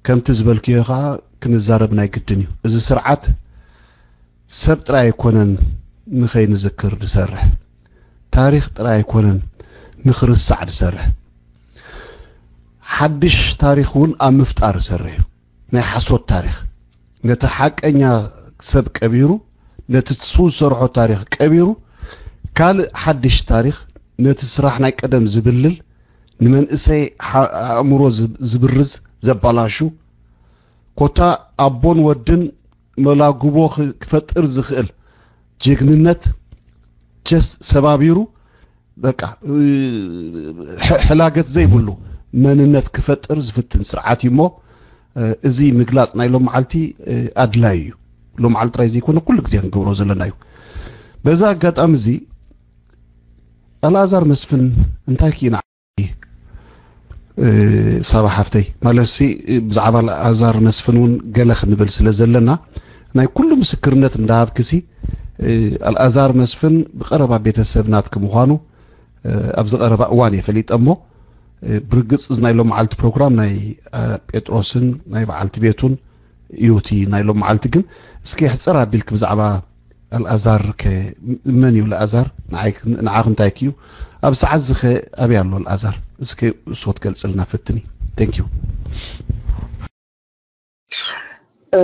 ከምቲ ዝበልክዮ ከዓ ክንዛረብ ናይ ግድን እዩ። እዚ ስርዓት ሰብ ጥራይ ኣይኮነን ንኸይንዝክር ዝሰርሕ፣ ታሪኽ ጥራይ ኣይኮነን ንኽርሳዕ ዝሰርሕ፣ ሓድሽ ታሪኽ እውን ኣብ ምፍጣር ዝሰርሕ እዩ። ናይ ሓሶት ታሪኽ፣ ነቲ ሓቀኛ ሰብ ቀቢሩ፣ ነቲ ንሱ ዝሰርሖ ታሪኽ ቀቢሩ፣ ካልእ ሓድሽ ታሪኽ፣ ነቲ ስራሕ ናይ ቀደም ዝብልል፣ ንመንእሰይ ሓ- ኣእምሮ ዝብ- ዝብርዝ፣ ዘባላሹ፣ ኮታ ኣቦን ወድን መላጉቦ ክ- ክፈጥር ዝኽእል ጅግንነት ጀስት ሰባቢሩ፣ በቃ እ፣ ሕ- ሕላገት ዘይብሉ መንነት ክፈጥር ዝፍትን ስርዓት እዩ እሞ፣ እ፣ እዚ ምግላፅ ናይ ሎም መዓልቲ እ፣ ኣድላይ እዩ። ሎም መዓልቲ ጥራይ ዘይኮነ ኩሉ ግዜ ክንገብሮ ዘለና እዩ። በዛ ኣጋጣሚ እዚ ኣልኣዛር መስፍን እንታይ ክኢና እ፣ ሳባ ሓፍተይ፣ ማለትሲ ብዛዕባ ኣልኣዛር መስፍን እውን ገለ ክንብል ስለ ዘለና፣ ናይ ኩሉ ምስክርነት እንዳሃብክሲ፣ እ፣ ኣልኣዛር መስፍን ብቐረባ ቤተሰብ ናትኪ ምዃኑ፣ እ፣ ኣብዚ ቀረባ እዋን እየ ፈሊጠ እሞ፣ እ፣ ብርግጽ እዚ ናይ ሎም መዓልቲ ፕሮግራም ናይ፣ እ፣ ጴጥሮስን ናይ በዓልቲ ቤቱን እዩ። እቲ ናይ ሎም መዓልቲ ግን እስኪ ሕጽር ኣቢልክ ብዛዕባ ኣልኣዛር ከ መን እዩ? ኣልኣዛር ንዓይ- ንዓኽ እንታይ ክዩ? ኣብ ሰዓት ዝኸ ኣበይ ኣሎ ኣልኣዛር? እስኪ እሱ ክትገልጽልና ፈትኒ። Thank you። እ፣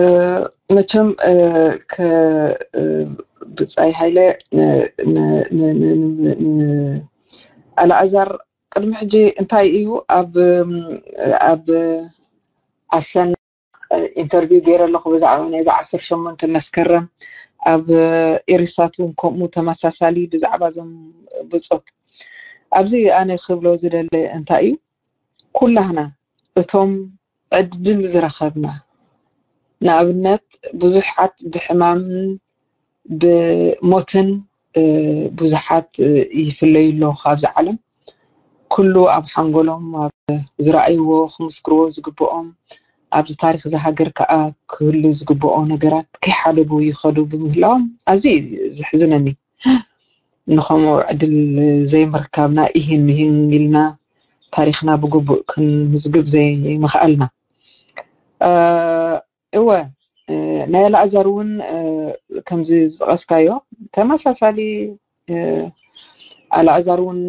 መቸም እ፣ ከ እ፣ ብጻይ ሃይለ ን- ን- ን- ን- ን- ን- ኣልኣዛር ቅድሚ ሕጂ እንታይ እዩ ኣብ ኣብ ኣሰና ኢንተርቪው ገይረ ኣለኹ ብዛዕባ ናይዚ ዓሰርተ ሸሞንተ መስከረም ኣብ ኤሪሳት እውን ከምኡ ተመሳሳሊ ብዛዕባ እዞም ብጾት ኣብዚ ኣነ ክብሎ ዝደለ እንታይ እዩ ኩላህና እቶም ዕድል ዝረኸብና ንኣብነት ብዙሓት ብሕማምን ብሞትን ብዙሓት ይፍለዩ ኣለዉ ካብዚ ዓለም ኩሉ ኣብ ሓንጎሎም ኣብ ዝረኣይዎ ክምስክርዎ ዝግብኦም ኣብዚ ታሪክ እዚ ሃገር ከዓ ክህሉ ዝግብኦ ነገራት ከይሓለቡ ይኸዱ ብምህላዎም ኣዝዩ እዩ ዘሕዝነኒ ንኸምኡ ዕድል ዘይምርካብና ኢሂን ምሂን ኢልና ታሪክና ብግቡእ ክንምዝግብ ዘይምኽኣልና እወ ናይ ኣልኣዛር እውን ከምዚ ዝጠቐስካዮ ተመሳሳሊ ኣልኣዛር እውን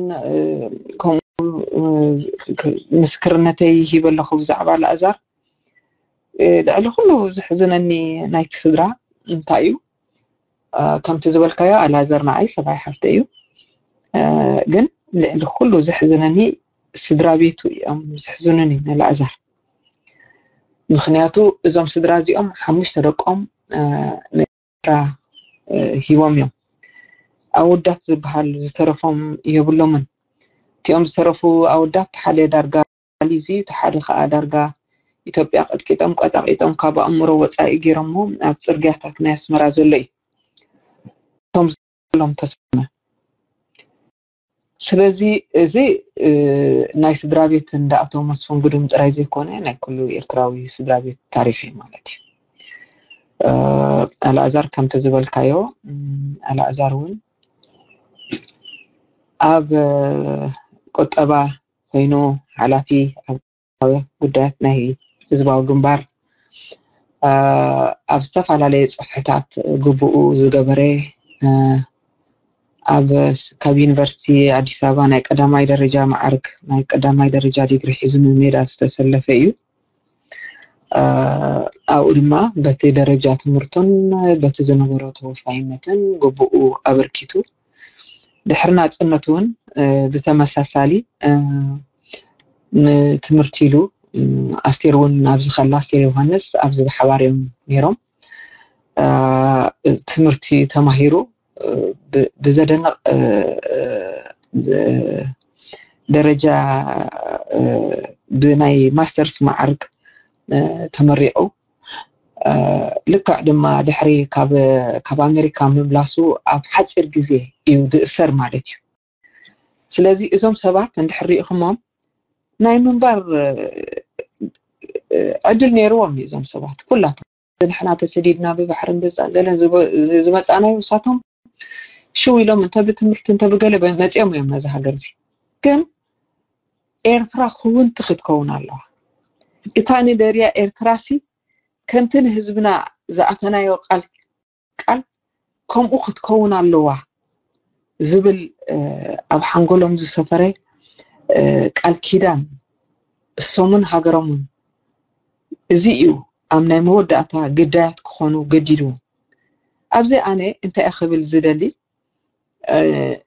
ከምኡ ምስክርነተይ ሂበ ኣለኹ ብዛዕባ ኣልኣዛር ልዕሊ ኩሉ ዝሕዝነኒ ናይቲ ስድራ እንታይ እዩ ከምቲ ዝበልካዮ ኣልኣዛር ንዓይ ሰብኣይ ሓፍተ እዩ ግን ልዕሊ ኩሉ ዝሕዝነኒ ስድራ ቤቱ እዮም ዝሕዝኑኒ ንኣልኣዛር ምኽንያቱ እዞም ስድራ እዚኦም ሓሙሽተ ደቆም ንኤርትራ ሂቦም እዮም ኣወዳት ዝበሃል ዝተረፎም የብሎምን እቲኦም ዝተረፉ ኣወዳት ሓደ ዳርጋ ሊዝዩ እቲ ሓደ ከዓ ዳርጋ ኢትዮጵያ ቀጥቂጦም ቀጣቂጦም ካብ ኣእምሮ ወፃኢ ገይሮሞ ኣብ ፅርግያታት ናይ ኣስመራ ዘሎ እዩ እቶም ሎም ተስነ ስለዚ እዚ ናይ ስድራ ቤት እንዳ ኣቶ መስፍን ግዱም ጥራይ ዘይኮነ ናይ ኩሉ ኤርትራዊ ስድራ ቤት ታሪክ እዩ ማለት እዩ ኣልኣዛር ከምቲ ዝበልካዮ ኣልኣዛር እውን ኣብ ቁጠባ ኮይኑ ሓላፊ ኣብ ጉዳያት ናይ ህዝባዊ ግንባር ኣብ ዝተፈላለየ ፅፍሕታት ግቡኡ ዝገበረ ኣብ ካብ ዩኒቨርሲቲ ኣዲስ ኣበባ ናይ ቀዳማይ ደረጃ መዓርግ ናይ ቀዳማይ ደረጃ ዲግሪ ሒዙ ንሜዳ ዝተሰለፈ እዩ ኣብኡ ድማ በቲ ደረጃ ትምህርቱን በቲ ዝነበሮ ተወፋይነትን ግቡኡ ኣበርኪቱ ድሕሪ ናፅነት እውን ብተመሳሳሊ ንትምህርቲ ኢሉ ኣስቴር እውን ኣብዚ ከላ ኣስቴር ዮሃንስ ኣብዚ ብሓባር እዮም ነይሮም ትምህርቲ ተማሂሩ ብዘደንቕ ደረጃ ብናይ ማስተርስ መዓርግ ተመሪቑ ልክዕ ድማ ድሕሪ ካብ ኣሜሪካ ምምላሱ ኣብ ሓፂር ግዜ እዩ ዝእሰር ማለት እዩ ስለዚ እዞም ሰባት እንድሕር ሪኢኹሞም ናይ ምንባር ዕድል ነይርዎም እዩ እዞም ሰባት ኩላቶም ንሕና ተሰዲድና ብባሕርን ብፃገለን ዝመፃናዮ ንሳቶም ሽው ኢሎም እንተ ብትምህርቲ እንተ ብገለ መፂኦም እዮም ነዚ ሃገር እዚ ግን ኤርትራ ክውንቲ ክትከውን ኣለዋ እታ ንደልያ ኤርትራሲ ከምቲ ንህዝብና ዝኣተናዮ ቃል ቃል ከምኡ ክትከውን ኣለዋ ዝብል ኣብ ሓንጎሎም ዝሰፈረ ቃል ኪዳን እሶምን ሃገሮምን እዚ እዩ ኣብ ናይ መወዳእታ ግዳያት ክኾኑ ገዲድዎም። ኣብዚ ኣነ እንታይ ክብል ዝደሊ፣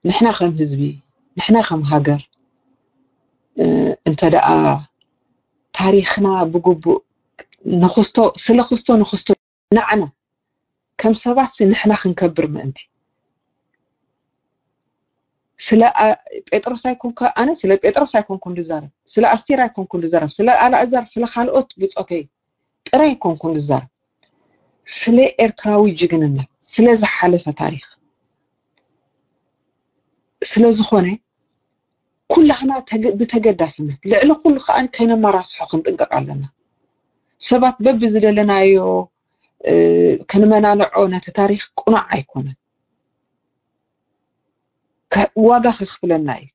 ንሕና ከም ህዝቢ፣ ንሕና ከም ሃገር እንተ ደኣ ታሪኽና ብግቡእ ንኽስቶ ስለ ክስቶ ንኽስቶ ንዓና ከም ሰባት ንሕና ክንከብር ምእንቲ ስለ ጴጥሮስ ኣይኮንኩ ኣነ ስለ ጴጥሮስ ኣይኮንኩን ዝዛረብ፣ ስለ ኣስቴር ኣይኮንኩን ዝዛረብ፣ ስለ ኣላእዛር፣ ስለ ካልኦት ብጾተይ ጥራይ ኣይኮንኩን ዝዛረብ፣ ስለ ኤርትራዊ ጅግንነት፣ ስለ ዝሓለፈ ታሪኽ ስለ ዝኾነ ኩላህና ብተገዳስነት ልዕሊ ኩሉ ከዓ ከይነመራስሖ ክንጥንቀቕ ኣለና። ሰባት በብዝደለናዮ ክንመናንዖ ነቲ ታሪኽ ቅኑዕ ኣይኮነን። ዋጋ ከኽፍለና እዩ።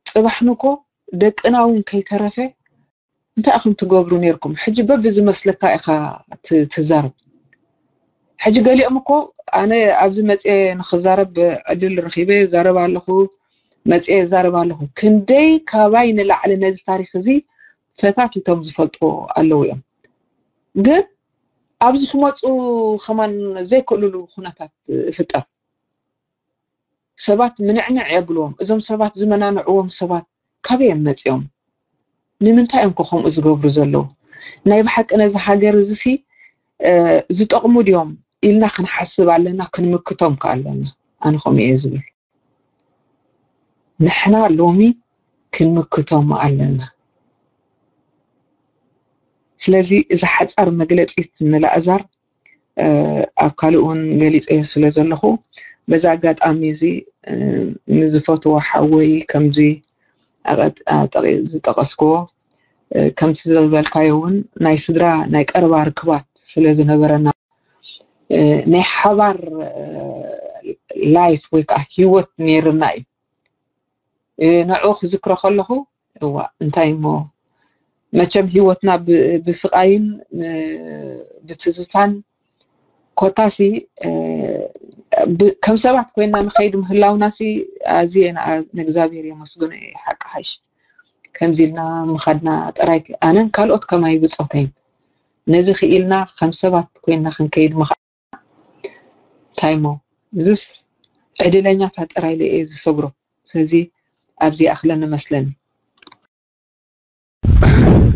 ፅባሕ ንኮ ደቅና እውን ከይተረፈ እንታይ ኢኹም ትገብሩ ነርኩም? ሕጂ በብዝመስለካ ኢኻ ትዛረብ። ሕጂ ገሊኦም እኮ ኣነ ኣብዚ መፅየ ንክዛረብ ዕድል ረኺበ ዛረብ ኣለኹ፣ መፅየ ዛረብ ኣለኹ። ክንደይ ካባይ ንላዕሊ ነዚ ታሪኽ እዚ ፈታቲቶም ዝፈልጥዎ ኣለዉ እዮም። ግን ኣብዚ ክመፁ ከማን ዘይክእልሉ ኩነታት ይፍጠር። ሰባት ምንዕንዕ የብልዎም። እዞም ሰባት ዝመናንዕዎም ሰባት ካበይ እዮም መፂኦም? ንምንታይ እዮም ከ ከምኡ ዝገብሩ ዘለዉ? ናይ ብሓቂ ነዚ ሃገር እዚ ሲ ዝጠቕሙ ድዮም ኢልና ክንሓስብ ኣለና፣ ክንምክቶም ከ ኣለና። ኣነ ከምኡ እየ ዝብል። ንሕና ሎሚ ክንምክቶም ኣለና። ስለዚ እዚ ሓፃር መግለፂት ንላእዛር ኣብ ካልእ እውን ገሊፀዮ ስለ ዘለኹ በዚ ኣጋጣሚ እዚ ንዝፈትዎ ሓወይ ከምዚ ዝጠቀስክዎ ከምቲ ዝበልካዮ እውን ናይ ስድራ ናይ ቀረባ ርክባት ስለ ዝነበረና ናይ ሓባር ላይፍ ወይ ከዓ ሂወት ነይርና እዩ። ንዕኡ ክዝክሮ ከለኹ እዋ እንታይ እሞ መቸም ሂወትና ብስቃይን ብትዝታን ኮታሲ ከም ሰባት ኮይና ንኸይድ ምህላውናሲ ኣዝየ ንእግዚኣብሔር የመስግኖ እየ። ሓቂ ሓይሽ ከምዚ ኢልና ምኻድና ጥራይ ኣነን ካልኦት ከማይ ብፆተይን ነዚ ክኢልና ከም ሰባት ኮይና ክንከይድ ምኻ እንታይ እሞ እዚስ ዕድለኛታት ጥራይ ኢለ እየ ዝሰግሮ። ስለዚ ኣብዚ ይኣኽለኒ መስለኒ።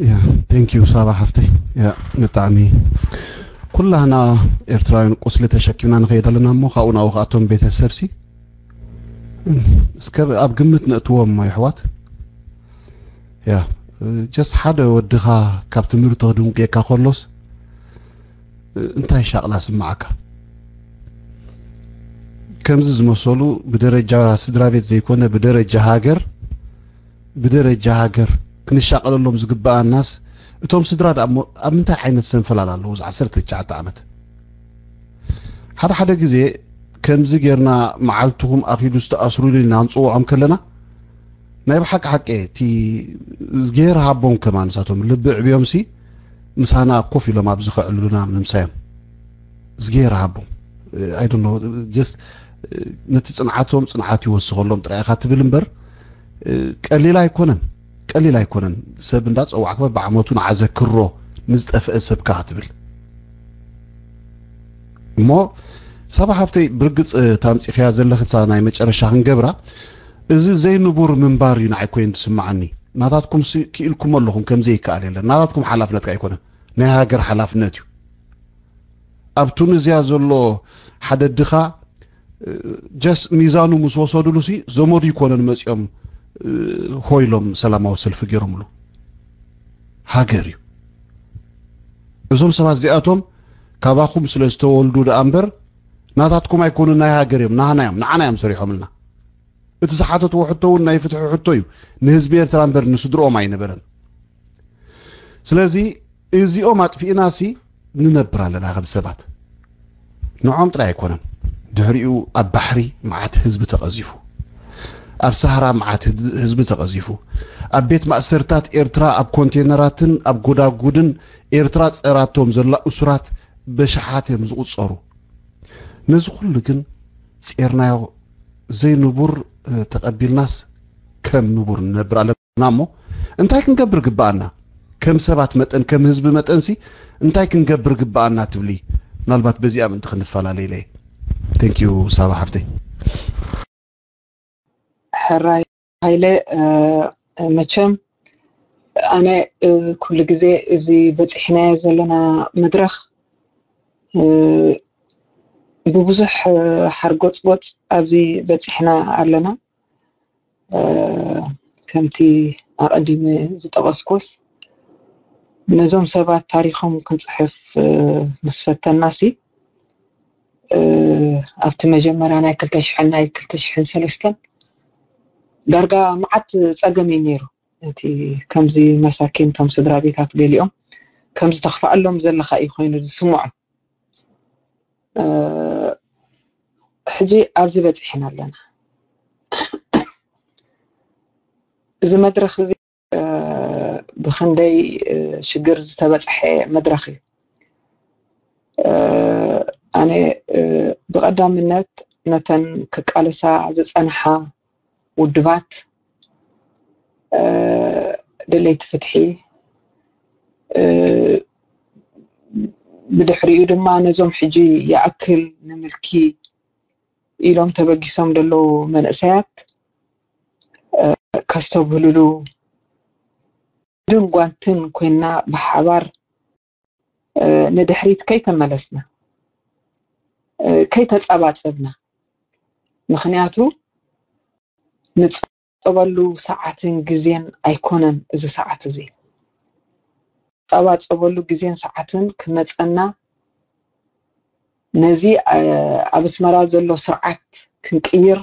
ያ thank you ሳባ ሓፍተይ። ያ ብጣዕሚ ኩላህና ኤርትራውያን ቁስሊ ተሸኪምና ንኸይድ ኣለና እሞ ካብኡ ናብኡ ከኣቶም ቤተሰብሲ እስከ ኣብ ግምት ነእትዎም እሞ የሕዋት። ያ just ሓደ ወድኻ ካብ ትምህርቲ ክድንቁየካ ከሎስ እንታይ ሻቕላ ስምዓካ? ከምዚ ዝመሰሉ ብደረጃ ስድራ ቤት ዘይኮነ ብደረጃ ሃገር ብደረጃ ሃገር ክንሻቐለሎም ዝግበኣናስ እቶም ስድራ ደኣ እሞ ኣብ ምንታይ ዓይነት ሰንፈላል ኣለዉ? እዚ ዓሰርተ ትሽዓተ ዓመት ሓደ ሓደ ግዜ ከምዚ ጌርና መዓልትኹም ኣኺዱ ዝተኣስሩሉ ኢልና ክንፅውዖም ከለና ናይ ብሓቂ ሓቂ እቲ እዝጌር ሃቦም ከማን ንሳቶም ልቢ ዕብዮም ሲ ምሳና ኮፍ ኢሎም ኣብዚ ከዕልሉና ምሳዮም እዝጌር ሃቦም I don't know just ነቲ ፅንዓቶም ፅንዓት ይወስኸሎም ጥራይ ኢኻ ትብል እምበር ቀሊል ኣይኮነን ቀሊል ኣይኮነን ሰብ እንዳፀዋዕካ በብዓመቱ ንዓዘክሮ ንዝጠፍአ ሰብካ ክትብል እሞ ሳባ ሃብተይ ብርግፅ ታምፂኽያ ዘለኽታ ናይ መጨረሻ ክንገብራ እዚ ዘይንቡር ምንባር እዩ ንዓይ ኮይኑ ዝስምዓኒ ናታትኩም ክኢልኩም ኣለኹም ከምዘይከኣል የለን ናታትኩም ሓላፍነት ኣይኮነን ናይ ሃገር ሓላፍነት እዩ ኣብ ቱኒዝያ ዘሎ ሓደ ድኻ just ሚዛኑ ምስ ወሰድሉ ሲ ዘመዱ ይኮነን መፂኦም ሆይሎም ሰላማዊ ሰልፊ ገይሮምሉ ሃገር እዩ እዞም ሰባት እዚኣቶም ካባኹም ስለ ዝተወልዱ ደኣ እምበር ናታትኩም ኣይኮኑን ናይ ሃገር እዮም ናህና እዮም ንዓና እዮም ሰሪሖምልና እቲ ዝሓተትዎ ሕቶ እውን ናይ ፍትሒ ሕቶ እዩ ንህዝቢ ኤርትራ እምበር ንስድርኦም ኣይነበረን ስለዚ እዚኦም ኣጥፊእናሲ ንነብር ኣለና ከም ሰባት ንዖም ጥራይ ኣይኮነን ድሕሪኡ ኣብ ባሕሪ መዓት ህዝቢ ተቐዚፉ ኣብ ሳህራ መዓት ህዝቢ ተቐዚፉ፣ ኣብ ቤት ማእሰርታት ኤርትራ ኣብ ኮንቴነራትን ኣብ ጎዳጉድን ኤርትራ ጸራቶም ዘላ እሱራት በሽሓት እዮም ዝቑጸሩ። ነዚ ኩሉ ግን ጼርናዮ ዘይንቡር ተቐቢልናስ ከም ንቡር ንነብር ኣለና እሞ እንታይ ክንገብር ግብኣና? ከም ሰባት መጠን ከም ህዝቢ መጠንሲ እንታይ ክንገብር ግብኣና ትብሊ? ምናልባት በዚኣ ምእንቲ ክንፈላለ ኢለ። Thank you ሳባ ሓፍተይ። ሕራይ ሃይለ፣ መቸም ኣነ ኩሉ ግዜ እዚ በፂሕናዮ ዘለና መድረኽ ብብዙሕ ሓርጎፅጎፅ ኣብዚ በፂሕና ኣለና። ከምቲ ኣቐዲመ ዝጠቐስኩስ ነዞም ሰባት ታሪኾም ክንፅሕፍ ምስ ፈተናሲ ኣብቲ መጀመርያ ናይ ክልተ ሽሕን ናይ ክልተ ሽሕን ሰለስተን ዳርጋ መዓት ፀገም እዩ ነይሩ። እቲ ከምዚ መሳኪን እቶም ስድራ ቤታት ገሊኦም ከምዚ ተኽፍኣሎም ዘለኻ እዩ ኮይኑ ዝስምዖም። ሕጂ ኣብዚ በፂሕና ኣለና። እዚ መድረኽ እዚ ብኽንደይ ሽግር ዝተበፅሐ መድረኽ እዩ። ኣነ ብቐዳምነት ነተን ክቃለሳ ዝፀንሓ ውድባት ደለይቲ ፍትሒ፣ ብድሕሪኡ ድማ ነዞም ሕጂ ይኣክል ንምልኪ ኢሎም ተበጊሶም ዘለዉ መንእሰያት ከስተብህልሉ ድን ጓንትን ኮይና ብሓባር ንድሕሪት ከይተመለስና ከይተጸባጸብና፣ ምኽንያቱ ንጸበሉ ሰዓትን ግዜን ኣይኮነን። እዚ ሰዓት እዚ ጸባጸበሉ ግዜን ሰዓትን ክመጸና፣ ነዚ ኣብ ኣስመራ ዘሎ ስርዓት ክንቅይር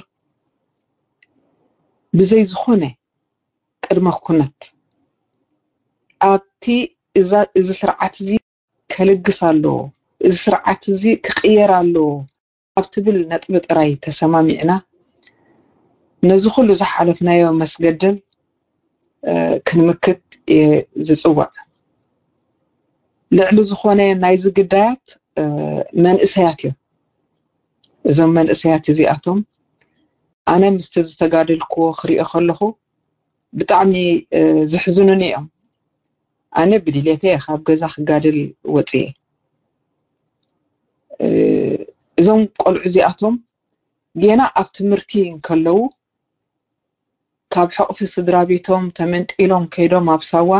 ብዘይ ዝኾነ ቅድመ ኩነት ኣብቲ እዚ ስርዓት እዚ ከልግስ ኣለዎ፣ እዚ ስርዓት እዚ ክቕየር ኣለዎ ኣብ ትብል ነጥቢ ጥራይ ተሰማሚዕና ነዚ ኩሉ ዝሓለፍናዮ መስገደል ክንምክት እየ ዝፅውዕ። ልዕሊ ዝኾነ ናይዚ ግዳያት መንእሰያት እዮም። እዞም መንእሰያት እዚኣቶም ኣነ ምስቲ ዝተጋደልክዎ ክሪኦ ከለኹ ብጣዕሚ ዘሕዝኑኒ እዮም። ኣነ ብድሌተይ እየ ካብ ገዛ ክጋደል ወፅየ። እዞም ቆልዑ እዚኣቶም ጌና ኣብ ትምህርቲ እንከለዉ ካብ ሕቕፊ ስድራ ቤቶም ተመንጢሎም ከይዶም ኣብ ሳዋ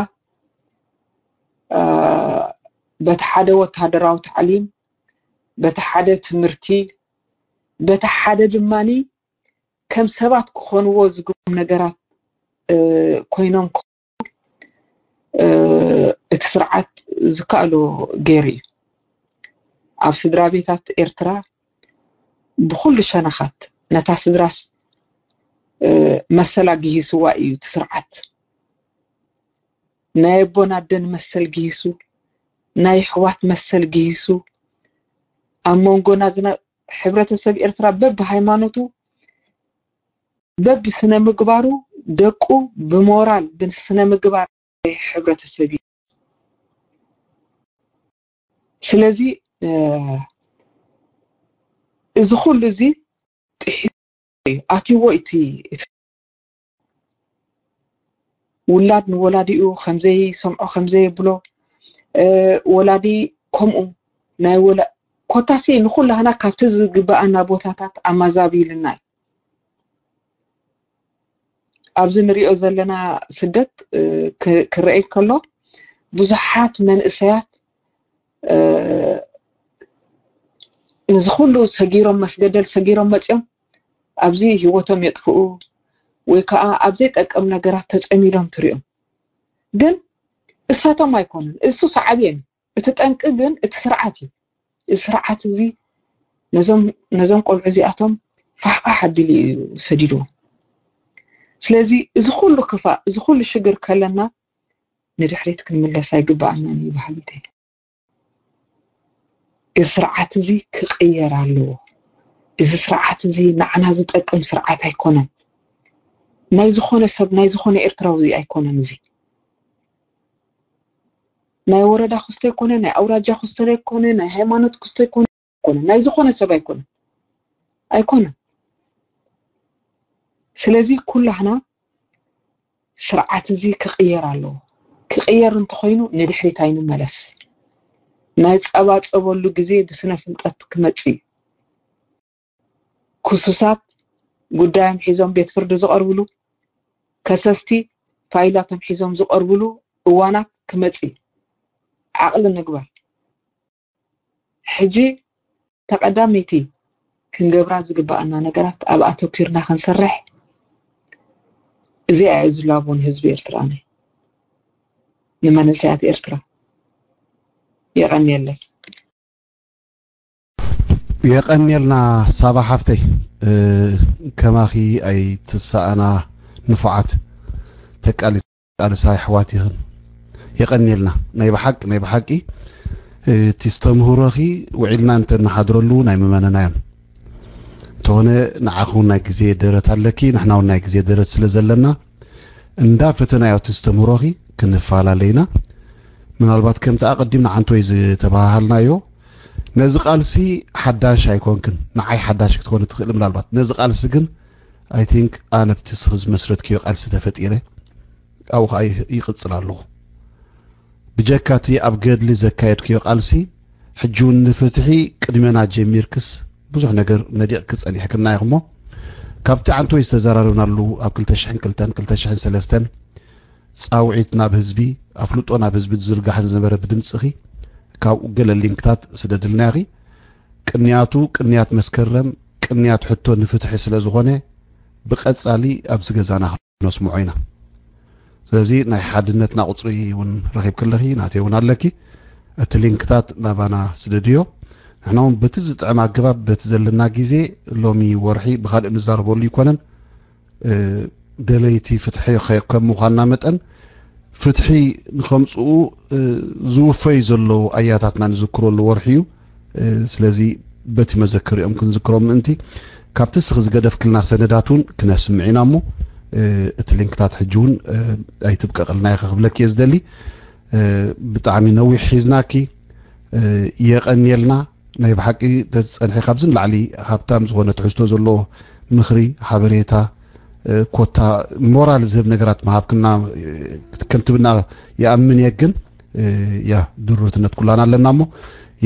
በቲ ሓደ ወታደራዊ ታዕሊም፣ በቲ ሓደ ትምህርቲ፣ በቲ ሓደ ድማኒ ከም ሰባት ክኾንዎ ዝግብኦም ነገራት ኮይኖም እቲ ስርዓት ዝከኣሎ ገይሩ እዩ። ኣብ ስድራ ቤታት ኤርትራ ብኩሉ ሸነኻት ነታ ስድራስ መሰላ ግሂስዋ እዩ እቲ ስርዓት። ናይ ኣቦን ኣደን መሰል ግሂሱ፣ ናይ ኣሕዋት መሰል ግሂሱ፣ ኣብ መንጎና ዝነ ሕብረተሰብ ኤርትራ በብሃይማኖቱ በብስነ ምግባሩ ደቁ ብሞራል ብስነ ምግባር ሕብረተሰብ እዩ። ስለዚ እዚ ኩሉ እዚ ጥሒሱ ኣትይዎ እቲ ውላድ ንወላዲኡ ከምዘይሰምዖ ከምዘየብሎ ወላዲ ከምኡ ናይ ወላ ኮታሲ ንኩላህና ካብቲ ዝግበኣና ቦታታት ኣማዛቢልና እዩ። ኣብዚ ንሪኦ ዘለና ስደት ክረአ ከሎ ብዙሓት መንእሰያት ንዚ ኩሉ ሰጊሮም መስገደል ሰጊሮም መፅኦም ኣብዚ ህይወቶም የጥፍኡ ወይ ከዓ ኣብ ዘይጠቅም ነገራት ተፀሚዶም ትሪኦም። ግን እሳቶም ኣይኮኑን፣ እሱ ሳዕቤን እዩ። እቲ ጠንቂ ግን እቲ ስርዓት እዩ። እዚ ስርዓት እዚ ነዞም ነዞም ቆልዑ እዚኣቶም ፋሕፋሕ ኣቢሉ እዩ ሰዲድዎም። ስለዚ እዚ ኩሉ ክፋእ እዚ ኩሉ ሽግር ከለና ንድሕሪት ክንምለስ ኣይግበኣናን እዩ በሃሊት እየ። እዚ ስርዓት እዚ ክቕየር ኣለዎ። እዚ ስርዓት እዚ ንዓና ዝጠቅም ስርዓት ኣይኮነን። ናይ ዝኾነ ሰብ፣ ናይ ዝኾነ ኤርትራዊ ኣይኮነን። እዚ ናይ ወረዳ ክስቶ ኣይኮነ፣ ናይ ኣውራጃ ክስቶ ኣይኮነ፣ ናይ ሃይማኖት ክስቶ ኣይኮነ፣ ኣይኮነ፣ ናይ ዝኾነ ሰብ ኣይኮነ፣ ኣይኮነ። ስለዚ ኩላህና ስርዓት እዚ ክቕየር ኣለዎ። ክቕየር እንተኾይኑ ንድሕሪት ኣይንመለስ። ናይ ጸባጸበሉ ግዜ ብስነ ፍልጠት ክመጽእ እዩ። ክሱሳት ጉዳዮም ሒዞም ቤት ፍርዲ ዝቐርብሉ፣ ከሰስቲ ፋይላቶም ሒዞም ዝቐርብሉ እዋናት ክመጽእ እዩ። ዓቕሊ ንግበር። ሕጂ ተቐዳመይቲ ክንገብራ ዝግባኣና ነገራት ኣብ ኣተኲርና ክንሰርሕ፣ እዚኣ እያ ዝላቦ ንህዝቢ ኤርትራ፣ ነ-፣ ንመንእሰያት ኤርትራ። የቐንየለይ። የቐንየልና ሳባ ሓፍተይ፣ እ፣ ከማኺ ኣይትሰኣና ንፉዓት ተቃሊ-፣ ቃልሳ ኣሕዋት ኢኽን። የቐንየልና ናይ ብሓቂ፣ ናይ ብሓቂ፣ እ፣ እቲ ዝተምህሮኺ ውዒልና እንተንሓድረሉ ናይ ምመነናዮን። እንተኾነ ንዓኺ እውን ናይ ግዜ ደረት ኣለኪ፣ ንሕና እውን ናይ ግዜ ደረት ስለ ዘለና እንዳ ፈተናዮ እቲ ዝተምህሮኺ ክንፈላለ ኢና። ምናልባት ከምቲ ኣቐዲምና ዓንቶይ ዝተባሃሃልናዮ ነዚ ቃልሲ ሓዳሽ ኣይኮንክን፣ ንዓይ ሓዳሽ ክትኮኒ ትኽእሊ ምናልባት። ነዚ ቃልሲ ግን I think ኣነ ኣብቲ ስኺ ዝመስረትክዮ ቃልሲ ተፈጢረ ኣብኡ ኸዓ ይቕጽል ኣለኹ። ብጀካ እቲ ኣብ ገድሊ ዘካየድክዮ ቃልሲ ሕጂ እውን ንፍትሒ ቅድመና ጀሚርክስ ብዙሕ ነገር ነዲቕኪ ጸኒሕክና ኢኽሞ ካብቲ ዓንቶይ ዝተዘራረብናሉ ኣብ ክልተ ሽሕን ክልተን ክልተ ሽሕን ሰለስተን ጻውዒት ናብ ህዝቢ ኣፍልጦ ናብ ህዝቢ ዝዝርጋሕ ዝነበረ ብድምጽኺ ካብኡ ገለ ሊንክታት ስደድልና ኢኺ። ቅንያቱ ቅንያት መስከረም ቅንያት ሕቶ ንፍትሒ ስለ ዝኾነ ብቐጻሊ ኣብዚ ገዛና ነስምዖ ኢና። ስለዚ ናይ ሓድነትና ቁጽሪ እውን ረኺብኪ ኣለኺ፣ ናተይ እውን ኣለኪ። እቲ ሊንክታት ናባና ስደድዮ። ንሕና እውን በቲ ዝጥዕም ኣገባብ በቲ ዘለና ግዜ ሎሚ ወርሒ ብኻልእ ንዛረበሉ ኣይኮነን። እ፣ ደለይቲ ፍትሒ ከ-፣ ከም ምዃንና መጠን ፍትሒ ንኸምጽኡ፣ እ፣ ዝውፈዩ ዘለዉ ኣያታትና ንዝክረሉ ወርሒ እዩ። እ፣ ስለዚ በቲ መዘከሪኦም ክንዝክሮም ምእንቲ ካብቲ እስኺ ዝገደፍክልና ሰነዳት እውን ክነስምዕ ኢና እሞ፣ እ፣ እቲ ሊንክታት ሕጂ እውን፣ እ፣ ኣይትብቀቕልና ኢኻ ክብለኪ እየ ዝደሊ። እ፣ ብጣዕሚ ነዊሕ ሒዝናኪ፣ እ፣ የቐንየልና። ናይ ብሓቂ ተዝጸንሒ ካብዚ ንላዕሊ ሃብታም ዝኾነ ትሕዝቶ ዘለዎ ምኽሪ፣ ሓበሬታ፣ እ፣ ኮታ ሞራል ዝህብ ነገራት ምሃብክና፣ እ፣ ከምትብና ይኣምን እየ። ግን፣ እ፣ ያ ድሩትነት ኩላና ኣለና እሞ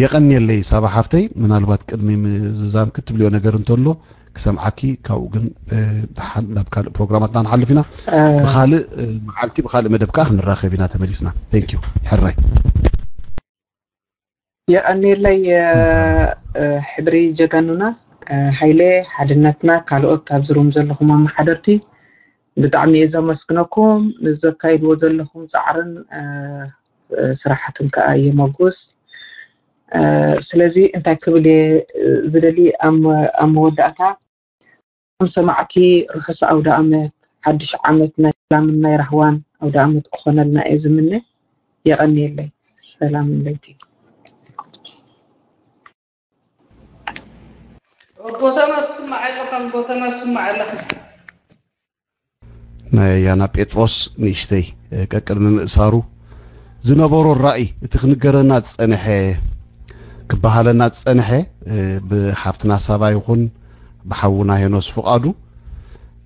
የቐንየለይ ሳባ ሓፍተይ። ምናልባት ቅድሚ ምዝዛም ክትብልዮ ነገር እንተሎ ክሰምዓኪ፣ ካብኡ ግን፣ እ፣ ደሓን ናብ ካልእ ፕሮግራማትና ንሓልፍ ኢና። እ፣ ብኻልእ፣ እ፣ መዓልቲ ብኻልእ መደብ ከኣ ክንራኸብ ኢና ተመሊስና። Thank you። ሕራይ። የቐንየለይ፣ እ፣ እ፣ ሕድሪ ጀጋኑና፣ እ፣ ሃይለ ሓድነትና፣ ካልኦት ኣብዚ ሩም ዘለኹም ኣመሓደርቲ ብጣዕሚ እየ ዘመስግነኩም ንዘካይድዎ ዘለኹም ጻዕርን፣ እ፣ እ፣ ስራሕትን ከኣ የመጉስ። እ፣ ስለዚ እንታይ ክብል እየ፣ እ፣ ዝደሊ ኣብ መ-፣ ኣብ መወዳእታ ከም ሰማዕቲ ርሑስ ኣውደ ኣመት፣ ሓድሽ ዓመት ናይ ሰላምን ናይ ራህዋን ኣውደ ኣመት ክኾነልና እየ ዝምነ። የቐንየለይ። ሰላም ለይቲ። ጎተማ ትስማዕ ኣለኻ፣ ጎተማ ትስማዕ ኣለኻ። ናይ ኣያና ጴጥሮስ ንእሽተይ፣ እ፣ ቀቅድሚ ምእሳሩ ዝነበሮ ራእይ፣ እቲ ክንገረና ዝጸንሐ፣ ክበሃለና ዝጸንሐ፣ እ፣ ብሓፍትና ሳባ ይኹን ብሓውና ሄኖስ ፍቓዱ፣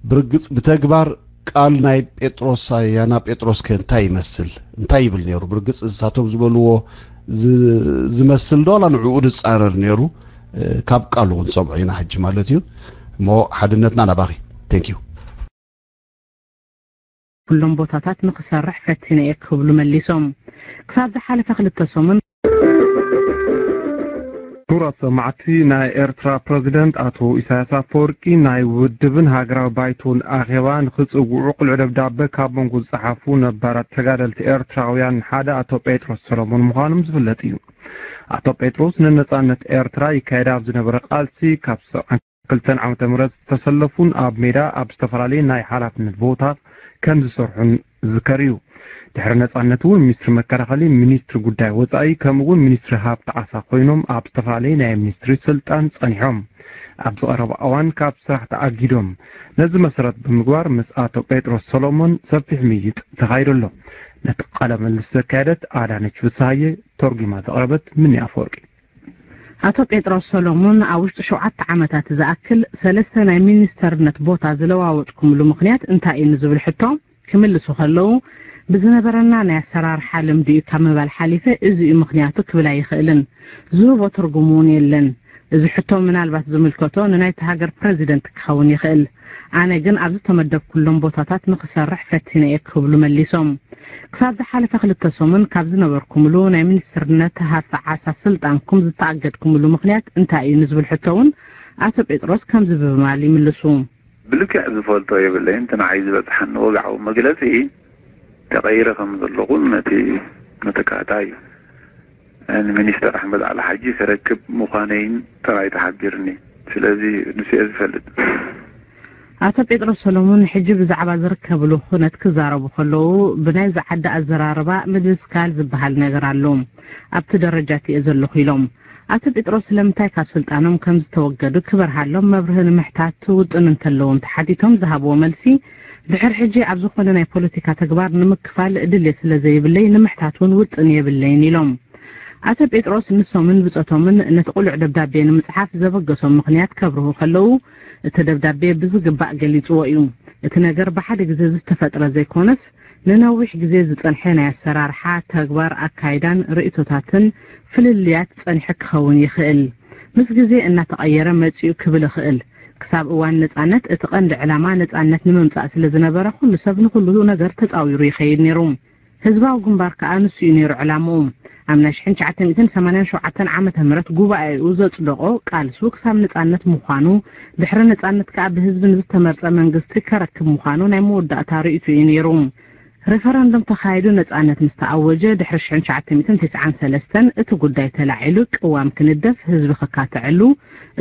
ብርግጽ ብተግባር ቃል ናይ ጴጥሮስ፣ ኣያና ጴጥሮስ ከ እንታይ ይመስል? እንታይ ይብል ነይሩ? ብርግጽ እሳቶም ዝበልዎ ዝ-፣ ዝመስል ዶ ዋላ ንዕኡ ዝጻረር ነይሩ? እ፣ ካብ ቃሉ ክንሰምዖ ኢና ሕጂ ማለት እዩ። እሞ ሓድነትና ናባኺ። Thank you። ኩሎም ቦታታት ንኽሰርሕ ፈቲነ እየ ክብሉ መሊሶም። ክሳብ ዝሓለፈ ክልተ ሰሙን። ክቡራት ሰማዕቲ፣ ናይ ኤርትራ ፕረዚደንት ኣቶ ኢሳያስ ኣፈወርቂ ናይ ውድብን ሃገራዊ ባይቶን ኣኼባ ንኽጽውዑ ቅሉዕ ደብዳበ ካብ መንጎ ዝጸሓፉ ነባራት ተጋደልቲ ኤርትራውያን ሓደ ኣቶ ጴጥሮስ ሰሎሞን ምዃኖም ዝፍለጥ እዩ። ኣቶ ጴጥሮስ ንነጻነት ኤርትራ ይካየድ ኣብ ዝነበረ ቃልሲ ካብ ሰብዓን ክልተን ዓመተ ምህረት ዝተሰለፉን ኣብ ሜዳ ኣብ ዝተፈላለየ ናይ ሓላፍነት ቦታት ከም ዝሰርሑን ዝዝከር እዩ። ድሕሪ ነጻነት እውን ሚኒስትሪ መከላኸሊ፣ ሚኒስትሪ ጉዳይ ወጻኢ ከምኡ እውን ሚኒስትሪ ሃብቲ ዓሳ ኮይኖም ኣብ ዝተፈላለየ ናይ ሚኒስትሪ ስልጣን ጸኒሖም። ኣብ ዝቐረበ እዋን ካብ ስራሕ ተኣጊዶም። ነዚ መሰረት ብምግባር ምስ ኣቶ ጴጥሮስ ሰሎሞን ሰፊሕ ምይይጥ ተኻይዱ ኣሎ። ነቲ ቃለ ምልልስ ዘካየደት ኣዳነች ፍስሃየ፣ ተርጒማ ዘቕረበት ምኒ ኣፈወርቂ። ኣቶ ጴጥሮስ ሰሎሞን ኣብ ውሽጢ ሸውዓተ ዓመታት ዝኣክል ሰለስተ ናይ ሚኒስተርነት ቦታ ዝለዋወጥኩምሉ ምኽንያት እንታይ እዩ ንዝብል ሕቶ ክምልሱ ከለዉ፣ ብዝነበረና ናይ ኣሰራርሓ ልምዲ እዩ ካብ ምባል ሓሊፈ እዚ እዩ ምኽንያቱ ክብል ኣይኽእልን። ዝህቦ ትርጉም እውን የለን። እዚ ሕቶ ምናልባት ዝምልከቶ ንናይቲ ሃገር ፕረዚደንት ክኸውን ይኽእል። ኣነ ግን ኣብ ዝተመደብኩሎም ቦታታት ንኽሰርሕ ፈቲነ እየ ክብሉ መሊሶም። ክሳብ ዝሓለፈ ክልተ ሰሙን ካብ ዝነበርኩምሉ ናይ ሚኒስትርነት ሃፍቲ ዓሳ ስልጣንኩም ዝተኣገድኩምሉ ምኽንያት እንታይ እዩ ንዝብል ሕቶ እውን ኣቶ ጴጥሮስ ከምዚ ብምባል ይምልሱ። ብልክዕ ዝፈልጦ የብለይን። እቲ ንዓይ ዝበጽሓኒ ወግዓዊ መግለጺ ተቐይረ ከም ዘለኹን ነቲ መተካእታ እዩ። ንሚኒስተር ኣሕመድ ዓሊ ሓጂ ክረክብ ምዃነይን ጥራይ ተሓቢርኒ። ስለዚ ንሱ እየ ዝፈልጥ። ኣቶ ጴጥሮስ ሰሎሞን ሕጂ ብዛዕባ ዝርከብሉ ኩነት ክዛረቡ ከለዉ፣ ብናይዚ ዓዲ ኣዘራርባ ምድስካል ዝበሃል ነገር ኣሎ። ኣብቲ ደረጃ እቲ እየ ዘለኹ ኢሎም። ኣቶ ጴጥሮስ ስለምንታይ ካብ ስልጣኖም ከም ዝተወገዱ ክበርሃሎም መብርሂ ንምሕታት ውጥን እንተለዎም ተሓቲቶም ዝሃብዎ መልሲ፣ ድሕሪ ሕጂ ኣብ ዝኾነ ናይ ፖለቲካ ተግባር ንምክፋል ድሌት ስለ ዘይብለይ ንምሕታት እውን ውጥን የብለይን ኢሎም። ኣቶ ጴጥሮስ ንሶምን ብጾቶምን ነቲ ቅሉዕ ደብዳቤ ንምጽሓፍ ዘበገሶም ምኽንያት ከብርሁ ከለዉ፣ እቲ ደብዳቤ ብዝግባእ ገሊጽዎ እዩ። እቲ ነገር ብሓደ ግዜ ዝተፈጥረ ዘይኮነስ፣ ንነዊሕ ግዜ ዝጸንሐ ናይ ኣሰራርሓ፣ ተግባር፣ ኣካይዳን ርእይቶታትን ፍልልያት ጸኒሑ ክኸውን ይኽእል። ምስ ግዜ እናተቐየረ መጺኡ ክብል እኽእል። ክሳብ እዋን ነጻነት እቲ ቀንዲ ዕላማ ነጻነት ንምምጻእ ስለ ዝነበረ፣ ኩሉ ሰብ ንኹሉ ነገር ተጻዊሩ ይኸይድ ነይሩ። ህዝባዊ ግንባር ከኣ ንሱ እዩ ነይሩ ዕላምኡ። ኣብ ናይ ሽሕን ትሽዓተ ሚእትን ሰማንያን ሸውዓተን ዓመተ ምህረት ጉባኤኡ ዘጽደቖ ቃልሱ ክሳብ ነጻነት ምዃኑ፣ ድሕሪ ነጻነት ከኣ ብህዝቢ ንዝተመርጸ መንግስቲ ከረክብ ምዃኑ ናይ መወዳእታ ርእይቱ እዩ ነይሩ። ሬፈረንደም ተኻይዱ ነጻነት ምስ ተኣወጀ ድሕሪ ሽሕን ትሽዓተ ሚእትን ተስዓን ሰለስተን እቲ ጉዳይ ተላዒሉ ቅዋም ክንደፍ ህዝቢ ክካተዐሉ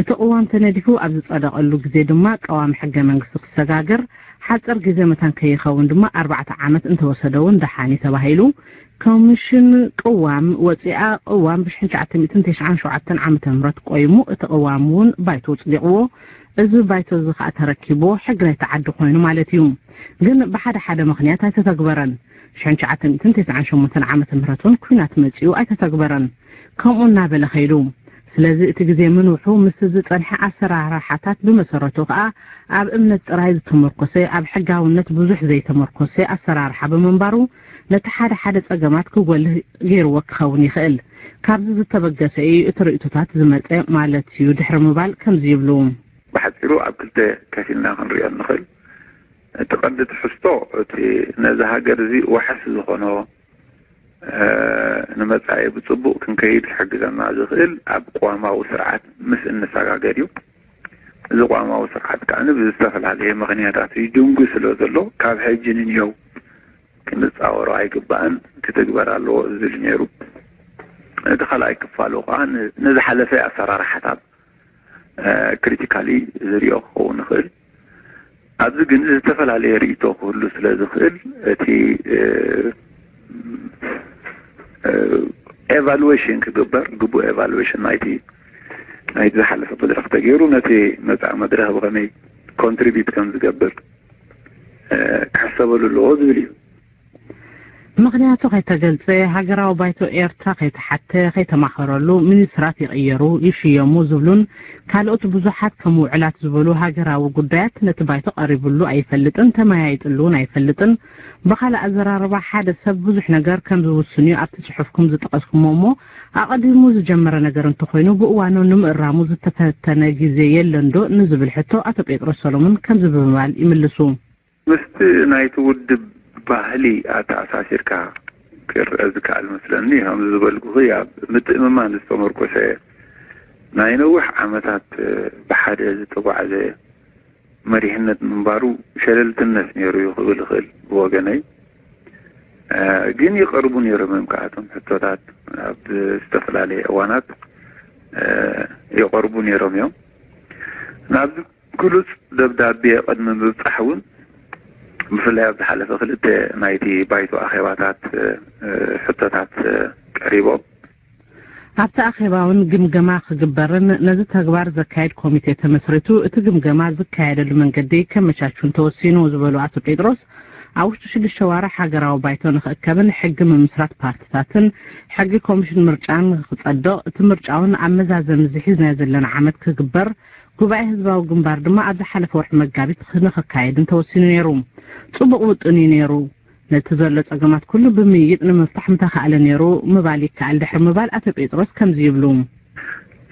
እቲ ቅዋም ተነዲፉ ኣብ ዝጸደቐሉ ግዜ ድማ ቀዋሚ ሕገ መንግስቲ ክሰጋገር ሓጺር ግዜ መታን ከይኸውን ድማ ኣርባዕተ ዓመት እንተወሰደ እውን ደሓን እዩ ተባሂሉ። ኮሚሽን ቅዋም ወጺኣ ቅዋም ብሽሕን ትሽዓተ ሚእትን ተስዓን ሸውዓተን ዓመተ ምህረት ቆይሙ እቲ ቅዋም እውን ባይቶ ኣጽዲቕዎ። እዚ ባይቶ እዚ ከኣ ተረኪብዎ ሕጊ ናይቲ ዓዲ ኮይኑ ማለት እዩ። ግን ብሓደ ሓደ ምኽንያት ኣይተተግበረን። ሽሕን ትሽዓተ ሚእትን ተስዓን ሸሞንተን ዓመተ ምህረት እውን ኲናት መጺኡ ኣይተተግበረን። ከምኡ እናበለ ከይዱ። ስለዚ እቲ ግዜ ምንውሑ ምስቲ ዝጸንሐ ኣሰራርሓታት ብመሰረቱ ከኣ ኣብ እምነት ጥራይ ዝተመርኮሰ፣ ኣብ ሕጋውነት ብዙሕ ዘይተመርኮሰ ኣሰራርሓ ብምንባሩ ነቲ ሓደ ሓደ ጸገማት ክጎልህ ገይርዎ ክኸውን ይኽእል። ካብዚ ዝተበገሰ እዩ እቲ ርእይቶታት ዝመጸ ማለት እዩ ድሕሪ ምባል ከምዚ ይብሉ። ብሓጺሩ ኣብ ክልተ ከፊልና ክንሪኦ ንኽእል። እቲ ቀንዲ ትሕዝቶ እቲ ነዚ ሃገር እዚ ዋሕስ ዝኾኖ፣ እ፣ ንመጻኢ ብጽቡቕ ክንከይድ ክሕግዘና ዝኽእል ኣብ ቅዋማዊ ስርዓት ምስ እንሰጋገር እዩ። እዚ ቅዋማዊ ስርዓት ከኣ ብዝተፈላለየ ምኽንያታት እዩ ድንጉ ስለ ዘሎ ካብ ሕጂ ንንየው ክንጻወሮ ኣይግባእን፣ ክትግበር ኣለዎ ዝብል ነይሩ። እቲ ካልኣይ ክፋሉ ከኣ ን-፣ ንዝሓለፈ ኣሰራርሓታት፣ እ፣ ክሪቲካሊ ዝሪኦ ክኸውን ይኽእል። ኣብዚ ግን ዝተፈላለየ ርእይቶ ክህሉ ስለ ዝኽእል እቲ፣ እ፣ እ፣ ኤቫሉዌሽን ክግበር፣ ግቡእ ኤቫሉዌሽን ናይቲ፣ ናይቲ ዝሓለፈ መድረኽ ተገይሩ ነቲ መጻኢ መድረኽ ብኸመይ ኮንትሪቢዩት ከም ዝገብር፣ እ፣ ክሕሰበሉ ኣለዎ ዝብል እዩ። ምኽንያቱ ከይተገልጸ፣ ሃገራዊ ባይቶ ኤርትራ ከይተሓተ፣ ከይተማኸረሉ፣ ሚኒስትራት ይቕየሩ፣ ይሽየሙ ዝብሉን ካልኦት ብዙሓት ከም ውዕላት ዝበሉ ሃገራዊ ጉዳያት ነቲ ባይቶ ቀሪብሉ ኣይፈልጥን፣ ተመያይጥሉ እውን ኣይፈልጥን። ብኻልእ ኣዘራርባ፣ ሓደ ሰብ ብዙሕ ነገር ከም ዝውስን እዩ ኣብቲ ጽሑፍኩም ዝጠቐስኩሞ እሞ፣ ኣቐዲሙ ዝጀመረ ነገር እንተኾይኑ፣ ብእዋኑ ንምእራሙ ዝተፈተነ ግዜ የለንዶ ንዝብል ሕቶ ኣቶ ጴጥሮስ ሰሎሞን ከምዚ ብምባል ይምልሱ። ምስቲ ናይቲ ውድብ ባህሊ ኣተኣሳሲርካ ክረአ ዝከኣል መስለኒ። ከምዚ ዝበልኩኺ ኣብ ምትእምማን ዝተመርኮሰ ናይ ነዊሕ ዓመታት ብሓደ ዝተጓዕዘ መሪሕነት ምንባሩ ሸለልትነት ነይሩ እዩ ክብል ይኽእል ብወገነይ። እ፣ ግን ይቐርቡ ነይሮም እዮም ከኣቶም ሕቶታት ኣብ ዝተፈላለየ እዋናት፣ እ፣ ይቐርቡ ነይሮም እዮም። ናብዚ ግሉጽ ደብዳቤ ቅድሚ ምብጻሕ እውን ብፍላይ ኣብ ዝሓለፈ ክልተ ናይቲ ባይቶ ኣኼባታት ሕቶታት ቀሪቦም። ኣብቲ ኣኼባ እውን ግምገማ ክግበርን ነዚ ተግባር ዘካየድ ኮሚቴ ተመስሪቱ እቲ ግምገማ ዝካየደሉ መንገዲ ከመቻቹን ተወሲኑ ዝበሉ ኣቶ ጴጥሮስ፣ ኣብ ውሽጢ ሽዱሽተ ዋርሕ ሃገራዊ ባይቶ ንኽእከብን ሕጊ ምምስራት ፓርትታትን ሕጊ ኮሚሽን ምርጫን ክጸድቕ፣ እቲ ምርጫ እውን ኣብ መዛዘሚ እዚ ሒዝናዮ ዘለና ዓመት ክግበር፣ ጉባኤ ህዝባዊ ግንባር ድማ ኣብ ዝሓለፈ ወርሒ መጋቢት ንኽካየድን ተወሲኑ ነይሩ። ጽቡቕ ውጥን እዩ ነይሩ። ነቲ ዘሎ ጸገማት ኩሉ ብምይይጥ ንምፍታሕ ምተኻእለ ነይሩ ምባል ይከኣል ድሕሪ ምባል ኣቶ ጴጥሮስ ከምዚ ይብሉ።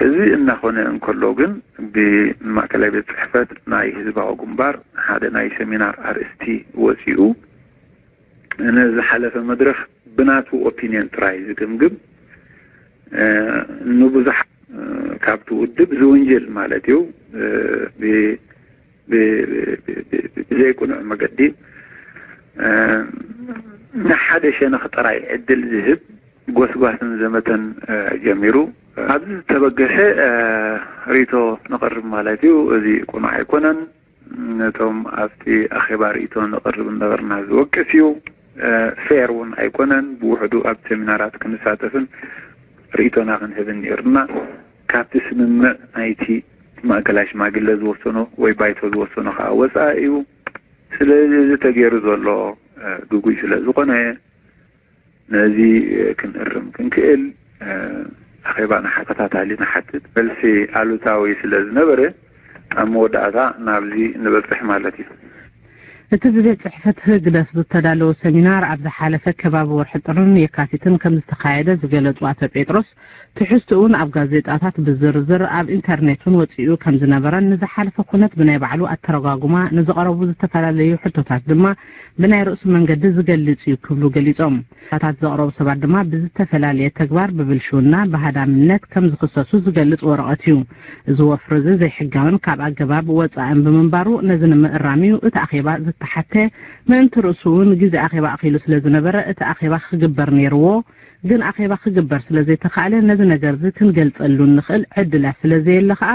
እዚ እናኾነ እንከሎ ግን ብማእከላይ ቤት ጽሕፈት ናይ ህዝባዊ ግንባር ሓደ ናይ ሰሚናር ኣርእስቲ ወጺኡ ነዚ ሓለፈ መድረኽ ብናቱ ኦፒንየን ጥራይ ዝግምግም ንብዙሕ ካብቲ ውድብ ዝውንጀል ማለት እዩ ብዘይቁኑዕ መገዲ ንሓደ ሸነኽ ጥራይ ዕድል ዝህብ ጎስጓስን ዘመተን ጀሚሩ። ኣብዚ ዝተበገሰ ርእቶ ነቕርብ ማለት እዩ። እዚ ቁኑዕ ኣይኮነን። ነቶም ኣብቲ ኣኼባ ርእቶ ነቕርብ ነበርና ዝወቅስ እዩ። ፌር እውን ኣይኮነን። ብውሕዱ ኣብ ሰሚናራት ክንሳተፍን ርእቶና ክንህብን ነይሩና። ካብቲ ስምምዕ ናይቲ ማእከላይ ሽማግለ ዝወሰኖ ወይ ባይቶ ዝወሰኖ ከዓ ወፃኢ እዩ። ስለዚ እዚ ተገይሩ ዘሎ ግጉይ ስለ ዝኾነ ነዚ ክንእርም ክንክእል ኣኼባ ንሓተታታሊ ንሓትት። መልሲ ኣሉታዊ ስለ ዝነበረ ኣብ መወዳእታ ናብዚ ንበፅሕ ማለት እዩ። እቲ ብቤት ጽሕፈት ህግደፍ ዝተዳለወ ሰሚናር ኣብ ዝሓለፈ ከባቢ ወርሒ ጥርን የካቲትን ከም ዝተኻየደ ዝገለጹ ኣቶ ጴጥሮስ፣ ትሕዝትኡን ኣብ ጋዜጣታት ብዝርዝር ኣብ ኢንተርኔት እውን ወጺኡ ከም ዝነበረን ንዝሓለፈ ኩነት ብናይ ባዕሉ ኣተረጓጉማ ንዝቐረቡ ዝተፈላለዩ ሕቶታት ድማ ብናይ ርእሱ መንገዲ ዝገልጽ እዩ ክብሉ ገሊጾም። ሕቶታት ዘቕረቡ ሰባት ድማ ብዝተፈላለየ ተግባር ብብልሽውና ብሃዳምነት ከም ዝኽሰሱ ዝገልጽ ወረቐት እዩ። እዚ ወፍሪ እዚ ዘይሕጋውን ካብ ኣገባብ ወጻእን ብምንባሩ ነዚ ንምእራም እዩ እቲ ኣኼባ ዝተሓተ። ምእንቲ ርእሱ እውን ግዜ ኣኼባ ኣኺሉ ስለ ዝነበረ እቲ ኣኼባ ክግበር ነይርዎ። ግን ኣኼባ ክግበር ስለ ዘይተኻእለ ነዚ ነገር እዚ ክንገልጸሉ እንኽእል ዕድላት ስለ ዘየለ ከኣ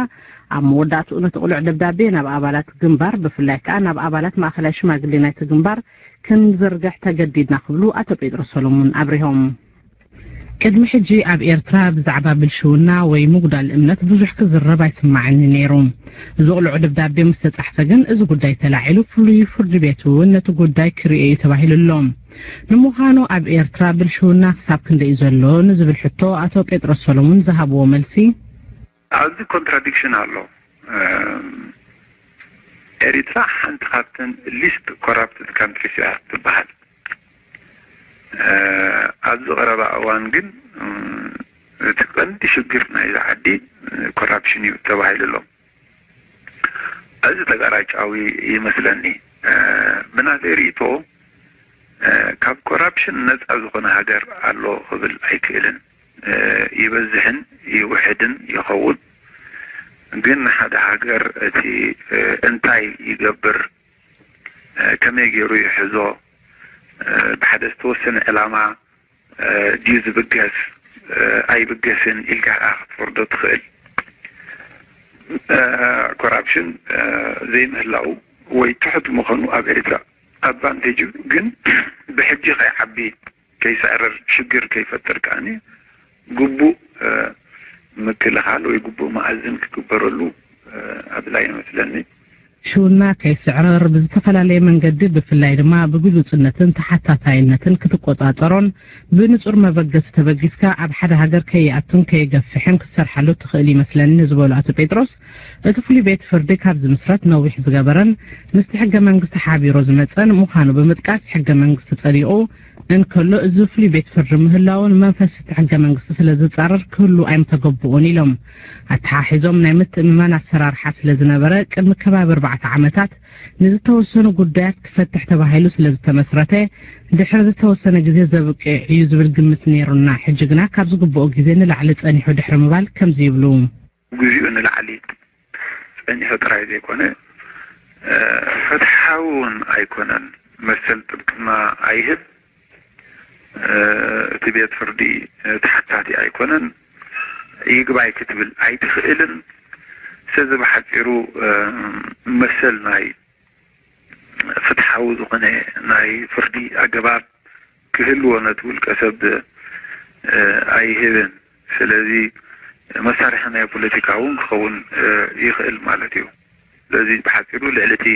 ኣብ መወዳእትኡ ነቲ ቅሉዕ ደብዳቤ ናብ ኣባላት ግንባር ብፍላይ ከኣ ናብ ኣባላት ማእኸላይ ሽማግሌ ናይቲ ግንባር ክንዝርግሕ ተገዲድና ክብሉ ኣቶ ጴጥሮስ ሰሎሞን ኣብሪሆም። ቅድሚ ሕጂ ኣብ ኤርትራ ብዛዕባ ብልሽውና ወይ ምጉዳል እምነት ብዙሕ ክዝረብ ኣይስማዕን እዩ ነይሩ። እዚ ቅሉዕ ደብዳቤ ምስ ተጻሕፈ ግን እዚ ጉዳይ ተላዒሉ ፍሉይ ፍርዲ ቤት እውን ነቲ ጉዳይ ክርእዮ እዩ ተባሂሉ ኣሎ። ንምዃኑ ኣብ ኤርትራ ብልሽውና ክሳብ ክንደይ እዩ ዘሎ ንዝብል ሕቶ ኣቶ ጴጥሮስ ሰሎሙን ዝሃብዎ መልሲ፣ ኣብዚ ኮንትራዲክሽን ኣሎ። ኤሪትራ ሓንቲ ካብተን ሊስት ኮራፕትድ ካንትሪስ እያ ትበሃል። ኣብዚ ቀረባ እዋን ግን እቲ ቀንዲ ሽግር ናይዛ ዓዲ ኮራፕሽን እዩ ተባሂሉ ኣሎ። እዚ ተጋራጫዊ ይመስለኒ። ብናተይ ርእይቶ ካብ ኮራፕሽን ነፃ ዝኾነ ሃገር ኣሎ ክብል ኣይክእልን። ይበዝሕን ይውሕድን ይኸውን። ግን ሓደ ሃገር እቲ እንታይ ይገብር፣ ከመይ ገይሩ ይሕዞ፣ ብሓደ ዝተወሰነ ዕላማ ድዩ ዝብገስ ኣይብገስን ኢልካ ክትፈርዶ ትኽእል። ኮራፕሽን ዘይምህላው ወይ ትሑት ምዃኑ ኣብ ኤርትራ ኣድቫንቴጅ እዩ። ግን ብሕጂ ከይዓቢ፣ ከይስዕርር፣ ሽግር ከይፈጥር ከኣ ግቡእ ምክልኻል ወይ ግቡእ መኣዝን ክግበረሉ ኣድላይ ይመስለኒ። ሽውና ከይስዕርር ብዝተፈላለየ መንገዲ ብፍላይ ድማ ብግሉጽነትን ተሓታታይነትን ክትቆጻጸሮን ብንጹር መበገሲ ተበጊስካ ኣብ ሓደ ሃገር ከይኣቱን ከይገፍሕን ክትሰርሓሉ ትኽእል ይመስለኒ ዝበሉ ኣቶ ጴጥሮስ፣ እቲ ፍሉይ ቤት ፍርዲ ካብ ዝምስረት ነዊሕ ዝገበረን ምስቲ ሕገ መንግስቲ ሓቢሩ ዝመጸን ምዃኑ ብምጥቃስ፣ ሕገ መንግስቲ ጸዲቑ እንከሎ እዚ ፍሉይ ቤት ፍርዲ ምህላውን መንፈስ እቲ ሕገ መንግስቲ ስለ ዝጻረር ክህሉ ኣይምተገብኡን ኢሎም። ኣተሓሒዞም ናይ ምትእምማን ኣሰራርሓ ስለ ዝነበረ ቅድሚ ከባቢ ኣርባዕተ ዓመታት ንዝተወሰኑ ጉዳያት ክፈትሕ ተባሂሉ ስለ ዝተመስረተ ድሕሪ ዝተወሰነ ግዜ ዘብቅዕ እዩ ዝብል ግምት ነይሩና። ሕጂ ግና ካብ ዝግብኦ ግዜ ንላዕሊ ጸኒሑ ድሕሪ ምባል ከምዚ ይብሉ። ግዜኡ ንላዕሊ ጸኒሑ ጥራይ ዘይኮነ ፍትሓዊ እውን ኣይኮነን። መሰል ጥብቅና ኣይህብ። እቲ ቤት ፍርዲ ተሓታቲ ኣይኮነን። ይግባይ ክትብል ኣይትኽእልን። ስለዚ ብሓፂሩ መሰል ናይ ፍትሓ ፍትሓዊ ዝኾነ ናይ ፍርዲ ኣገባብ ክህልዎ ነቲ ውልቀ ሰብ ኣይህብን። ስለዚ መሳርሒ ናይ ፖለቲካ እውን ክኸውን ይኽእል ማለት እዩ። ስለዚ ብሓፂሩ ልዕሊ እቲ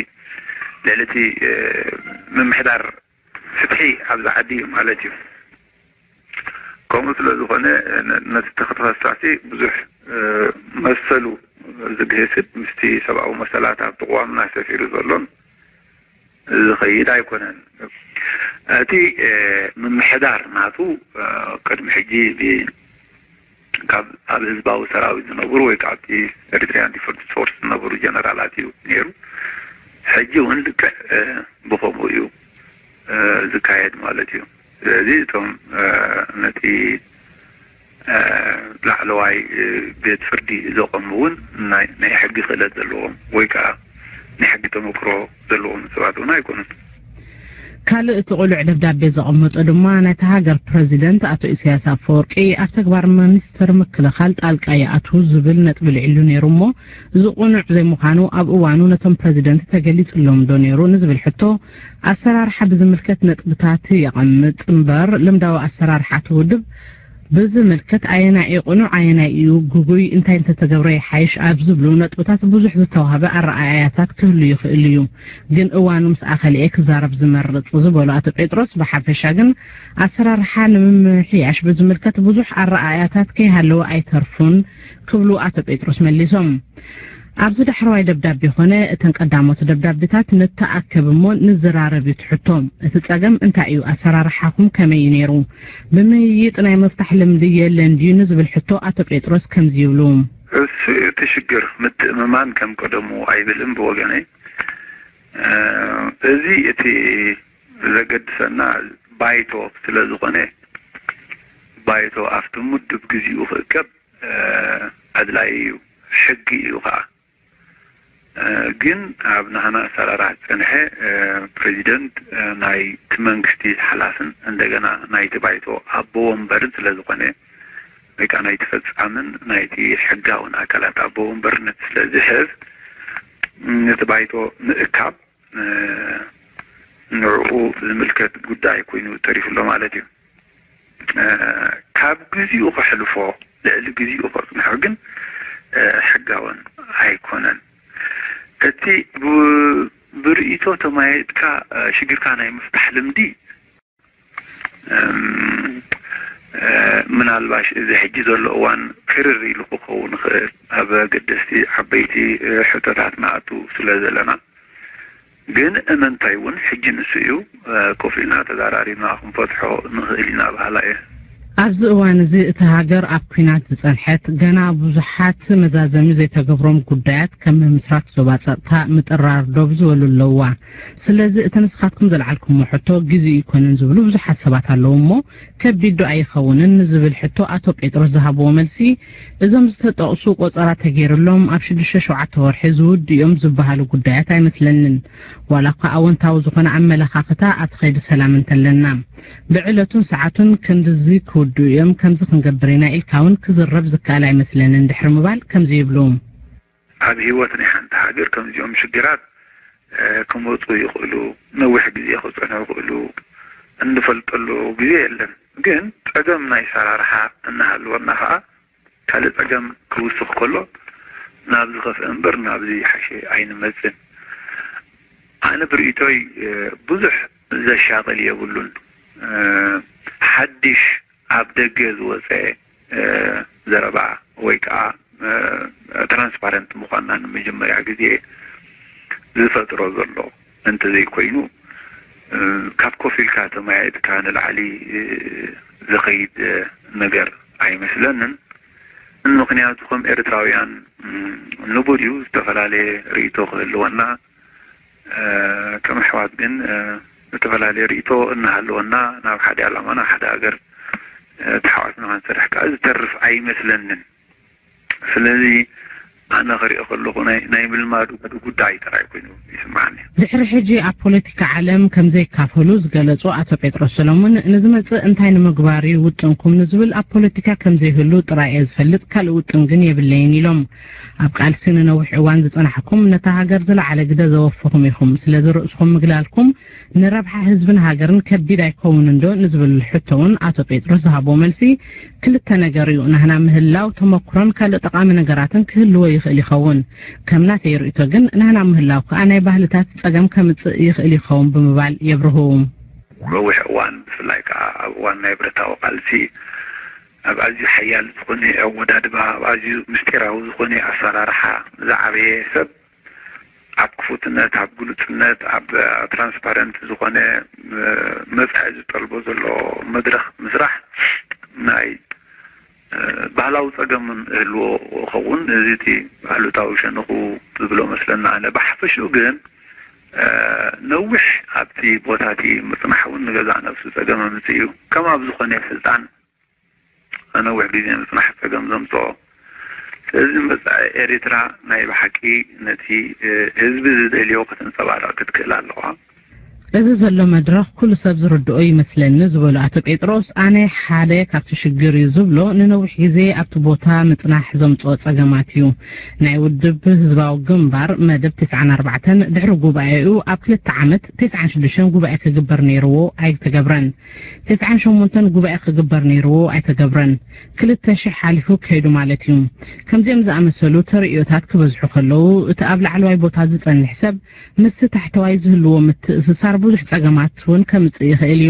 ልዕሊ እቲ ምምሕዳር ፍትሒ ኣብዚ ዓዲ እዩ ማለት እዩ። ከምኡ ስለ ዝኾነ ነቲ ተኸሳሲ ብዙሕ መሰሉ ዝግህስድ ምስቲ ሰብኣዊ መሰላት ኣብቲ ቅዋምና ሰፊሩ ዘሎን ዝኸይድ ኣይኮነን። እቲ ምምሕዳር ናቱ ቅድሚ ሕጂ ካብ ኣብ ህዝባዊ ሰራዊት ዝነብሩ ወይ ካብቲ ኤሪትሪያን ዲፈንስ ፎርስ ዝነብሩ ጀነራላት እዩ ነይሩ። ሕጂ እውን ልክዕ ብኸምኡ እዩ ዝካየድ ማለት እዩ። ስለዚ እቶም ነቲ ላዕለዋይ ቤት ፍርዲ ዘቐሙ እውን ናይ ሕጊ ክእለት ዘለዎም ወይ ከዓ ናይ ሕጊ ተመክሮ ዘለዎም ሰባት እውን ኣይኮኑን። ካልእ እቲ ቁሉዕ ደብዳቤ ዘቐመጦ ድማ ናይታ ሃገር ፕረዚደንት ኣቶ ኢሳያስ ኣፈወርቂ ኣብ ተግባር ሚኒስትር ምክልኻል ጣልቃ ይኣትዉ ዝብል ነጥቢ ልዒሉ ነይሩ እሞ፣ እዚ ቁኑዕ ዘይምዃኑ ኣብ እዋኑ ነቶም ፕረዚደንት ተገሊጽሎም ዶ ነይሩ ንዝብል ሕቶ፣ ኣሰራርሓ ብዝምልከት ነጥብታት የቐምጥ እምበር፣ ልምዳዊ ኣሰራርሓ እቲ ውድብ ብዝምልከት ኣየናይ እዩ ቅኑዕ፣ ኣየናይ እዩ ግጉይ፣ እንታይ እንተተገብረ ይሓይሽ ኣብ ዝብሉ ነጥብታት ብዙሕ ዝተዋህበ ኣረኣእያታት ክህሉ ይኽእል እዩ። ግን እዋኑ ምስ ኣኸልኤ ክዛረብ ዝመርጽ ዝበሉ ኣቶ ጴጥሮስ፣ ብሓፈሻ ግን ኣሰራርሓ ንምምሕያሽ ብዝምልከት ብዙሕ ኣረኣእያታት ከይሃለወ ኣይተርፉን ክብሉ ኣቶ ጴጥሮስ መሊሶም። ኣብዚ ዳሕረዋይ ደብዳቤ ኾነ እተን ቀዳሞት ደብዳቤታት ንተኣከብ እሞ ንዘራረብ እዩ ትሕቶ። እቲ ጸገም እንታይ እዩ? ኣሰራርሓኹም ከመይ እዩ ነይሩ? ብምይይጥ ናይ ምፍታሕ ልምዲ የለን ድዩ ንዝብል ሕቶ ኣቶ ጴጥሮስ ከምዚ ይብሉ። እሱ እቲ ሽግር ምትእምማን ከም ቀደሙ ኣይብልን ብወገነይ። እዚ እቲ ዘገድሰና ባይቶ ስለ ዝኾነ ባይቶ ኣብቲ ምዱብ ግዚኡ ክእከብ ኣድላይ እዩ፣ ሕጊ እዩ ከዓ። ግን ኣብ ናህና ኣሰራርሓ ዝፀንሐ ፕሬዚደንት ናይቲ መንግስቲ ሓላፍን እንደገና ናይቲ ባይቶ ኣቦ ወንበርን ስለ ዝኾነ ወይ ከዓ ናይቲ ፈፃምን ናይቲ ሕጋውን ኣካላት ኣቦ ወንበርነት ስለ ዝሕዝ ነቲ ባይቶ ምእካብ ንዕኡ ዝምልከት ጉዳይ ኮይኑ ተሪፉ ኣሎ ማለት እዩ። ካብ ግዚኡ ከሕልፎ ልዕሊ ግዚኡ ከፅንሖ ግን ሕጋውን ኣይኮነን። እቲ ብርእይቶ ተማየጥካ ሽግርካ ናይ ምፍታሕ ልምዲ ምናልባሽ እዚ ሕጂ ዘሎ እዋን ክርር ኢሉ ክኸውን ይኽእል ኣብ ኣገደስቲ ዓበይቲ ሕቶታት ንኣቱ ስለ ዘለና ግን እመንታይ እውን ሕጂ ንሱ እዩ ኮፍ ኢልና ተዛራሪብና ክንፈትሖ ንኽእል ኢና በሃላ እየ። ኣብዚ እዋን እዚ እታ ሃገር ኣብ ኲናት ዝጸንሐት፣ ገና ብዙሓት መዛዘሚ ዘይተገብሮም ጉዳያት ከም ምምስራት ዞባ ጸጥታ፣ ምጥርራር ዶብ ዝበሉ ኣለውዋ። ስለዚ እቲ ንስኻትኩም ዘልዓልኩሞ ሕቶ ግዜኡ ኣይኮነን ዝብሉ ብዙሓት ሰባት ኣለዉ እሞ ከቢድ ዶ ኣይኸውንን ንዝብል ሕቶ ኣቶ ጴጥሮስ ዝሃብዎ መልሲ እዞም ዝተጠቕሱ ቆጸራ ተገይርሎም ኣብ ሽዱሽተ ሸውዓተ ወርሒ ዝውድኡ እዮም ዝበሃሉ ጉዳያት ኣይመስለንን። ዋላ እኳ ኣወንታዊ ዝኾነ ኣመለኻኽታ ኣብቲ ከይዲ ሰላም እንተለና፣ ብዕለቱን ሰዓቱን ክንድዚ ክውድኡ እዮም፣ ከምዚ ክንገብር ኢና ኢልካ እውን ክዝረብ ዝከኣል ኣይመስለንን ድሕሪ ምባል ከምዚ ይብሉ። ኣብ ህይወት ናይ ሓንቲ ሃገር ከምዚኦም ሽግራት ክመፁ ይኽእሉ፣ ነዊሕ ግዜ ክፀንሑ ይኽእሉ፣ እንፈልጠሉ ግዜ የለን። ግን ፀገም ናይ ኣሰራርሓ እናሃለወና ከዓ ካልእ ጸገም ክውስኽ ከሎ ናብ ዝኸፍአ እምበር ናብ ዝሓሸ ኣይንመጽን። ኣነ ብርእይቶይ ብዙሕ ዘሻቕል የብሉን። ሓድሽ ኣብ ደገ ዝወጸ ዘረባ ወይ ከዓ ትራንስፓረንት ምዃንና ንመጀመርያ ግዜ ዝፈጥሮ ዘሎ እንተዘይኮይኑ ካብ ኮፍ ኢልካ ተመያየጥካ ንላዕሊ ዝኸይድ ነገር ኣይመስለንን። ምኽንያቱ ከም ኤርትራውያን ንቡር እዩ ዝተፈላለየ ርእይቶ ክህልወና፣ ከም ኣሕዋት ግን ዝተፈላለየ ርእይቶ እናሃለወና ናብ ሓደ ዕላማ ናብ ሓደ ሃገር ተሓዋስና ክንሰርሕ ከዓ ዝተርፍ ኣይመስለንን። ስለዚ ኣነ ክሪኦ ከለኹ ናይ ናይ ምልማዱ ጉዳይ ጥራይ ኮይኑ ይስምዓኒ። ድሕሪ ሕጂ ኣብ ፖለቲካ ዓለም ከም ዘይካፈሉ ዝገለጹ ኣቶ ጴጥሮስ ሰሎሞን፣ ንዝመጽእ እንታይ ንምግባር እዩ ውጥንኩም ንዝብል ኣብ ፖለቲካ ከም ዘይህሉ ጥራይ እየ ዝፈልጥ፣ ካልእ ውጥን ግን የብለይን ኢሎም። ኣብ ቃልሲ ንነዊሕ እዋን ዝጸናሕኩም፣ ነታ ሃገር ዝለዓለ ግደ ዘወፈኹም ኢኹም። ስለዚ ርእስኹም ምግላልኩም ንረብሓ ህዝብን ሃገርን ከቢድ ኣይከውንን ዶ ንዝብል ሕቶ እውን ኣቶ ጴጥሮስ ዝሃቦ መልሲ፣ ክልተ ነገር እዩ። ናህና ምህላው ተመክሮን ካልእ ጠቓሚ ነገራትን ክህልዎ ይኽእል ይኸውን። ከም ናተይ ርእይቶ ግን፣ ናህና ምህላው ከኣ ናይ ባህልታት ጸገም ከምጽእ ይኽእል ይኸውን ብምባል የብርሁ። ነዊሕ እዋን፣ ብፍላይ ከኣ ኣብ እዋን ናይ ብረታዊ ቃልሲ፣ ኣብ ኣዝዩ ሓያል ዝኾነ ኣወዳድባ፣ ኣብ ኣዝዩ ምስጢራዊ ዝኾነ ኣሰራርሓ ዝዓበየ ሰብ፣ ኣብ ክፉትነት፣ ኣብ ግሉጽነት፣ ኣብ ትራንስፓረንት ዝኾነ፣ እ፣ መጻኢ ዝጠልቦ ዘሎ መድረኽ ምስራሕ ናይ፣ እ፣ ባህላዊ ጸገም እውን ይህልዎ ይኸውን። እዚ እቲ ኣሉታዊ ሸነኹ ዝብሎ መስለና ኣነ። ብሓፈሽኡ ግን፣ እ፣ ነዊሕ ኣብቲ ቦታ እቲ ምጽናሕ እውን ንገዛእ ነብሱ ጸገም ኣምጽእ እዩ። ከም ኣብ ዝኾነ ስልጣን ነዊሕ ግዜ ምጽናሕ ጸገም ዘምጽኦ። ስለዚ መጻኢ ኤርትራ ናይ ብሓቂ ነቲ፣ እ፣ ህዝቢ ዝደልዮ ከተንጸባርቕ ክትክእል ኣለዋ። እዚ ዘሎ መድረኽ ኩሉ ሰብ ዝርድኦ ይመስለኒ ዝበሉ ኣቶ ጴጥሮስ፣ ኣነ ሓደ ካብቲ ሽግር እዩ ዝብሎ ንነዊሕ ግዜ ኣብቲ ቦታ ምጽናሕ ዘምጽኦ ጸገማት እዩ። ናይ ውድብ ህዝባዊ ግንባር መደብ ተስዓን ኣርባዕተን ድሕሪ ጉባኤኡ ኣብ ክልተ ዓመት ተስዓን ሽዱሽተን ጉባኤ ክግበር ነይርዎ ኣይተገብረን። ተስዓን ሸሞንተን ጉባኤ ክግበር ነይርዎ ኣይተገብረን። ክልተ ሽሕ ሓሊፉ ከይዱ ማለት እዩ። ከምዚኦም ዝኣመሰሉ ተርእዮታት ክበዝሑ ከለዉ፣ እቲ ኣብ ላዕለዋይ ቦታ ዝጸንሕ ሰብ ምስቲ ታሕተዋይ ዝህልዎ ምትእስሳር ብዙሕ ጸገማት እውን ከምጽእ ይኽእል እዩ።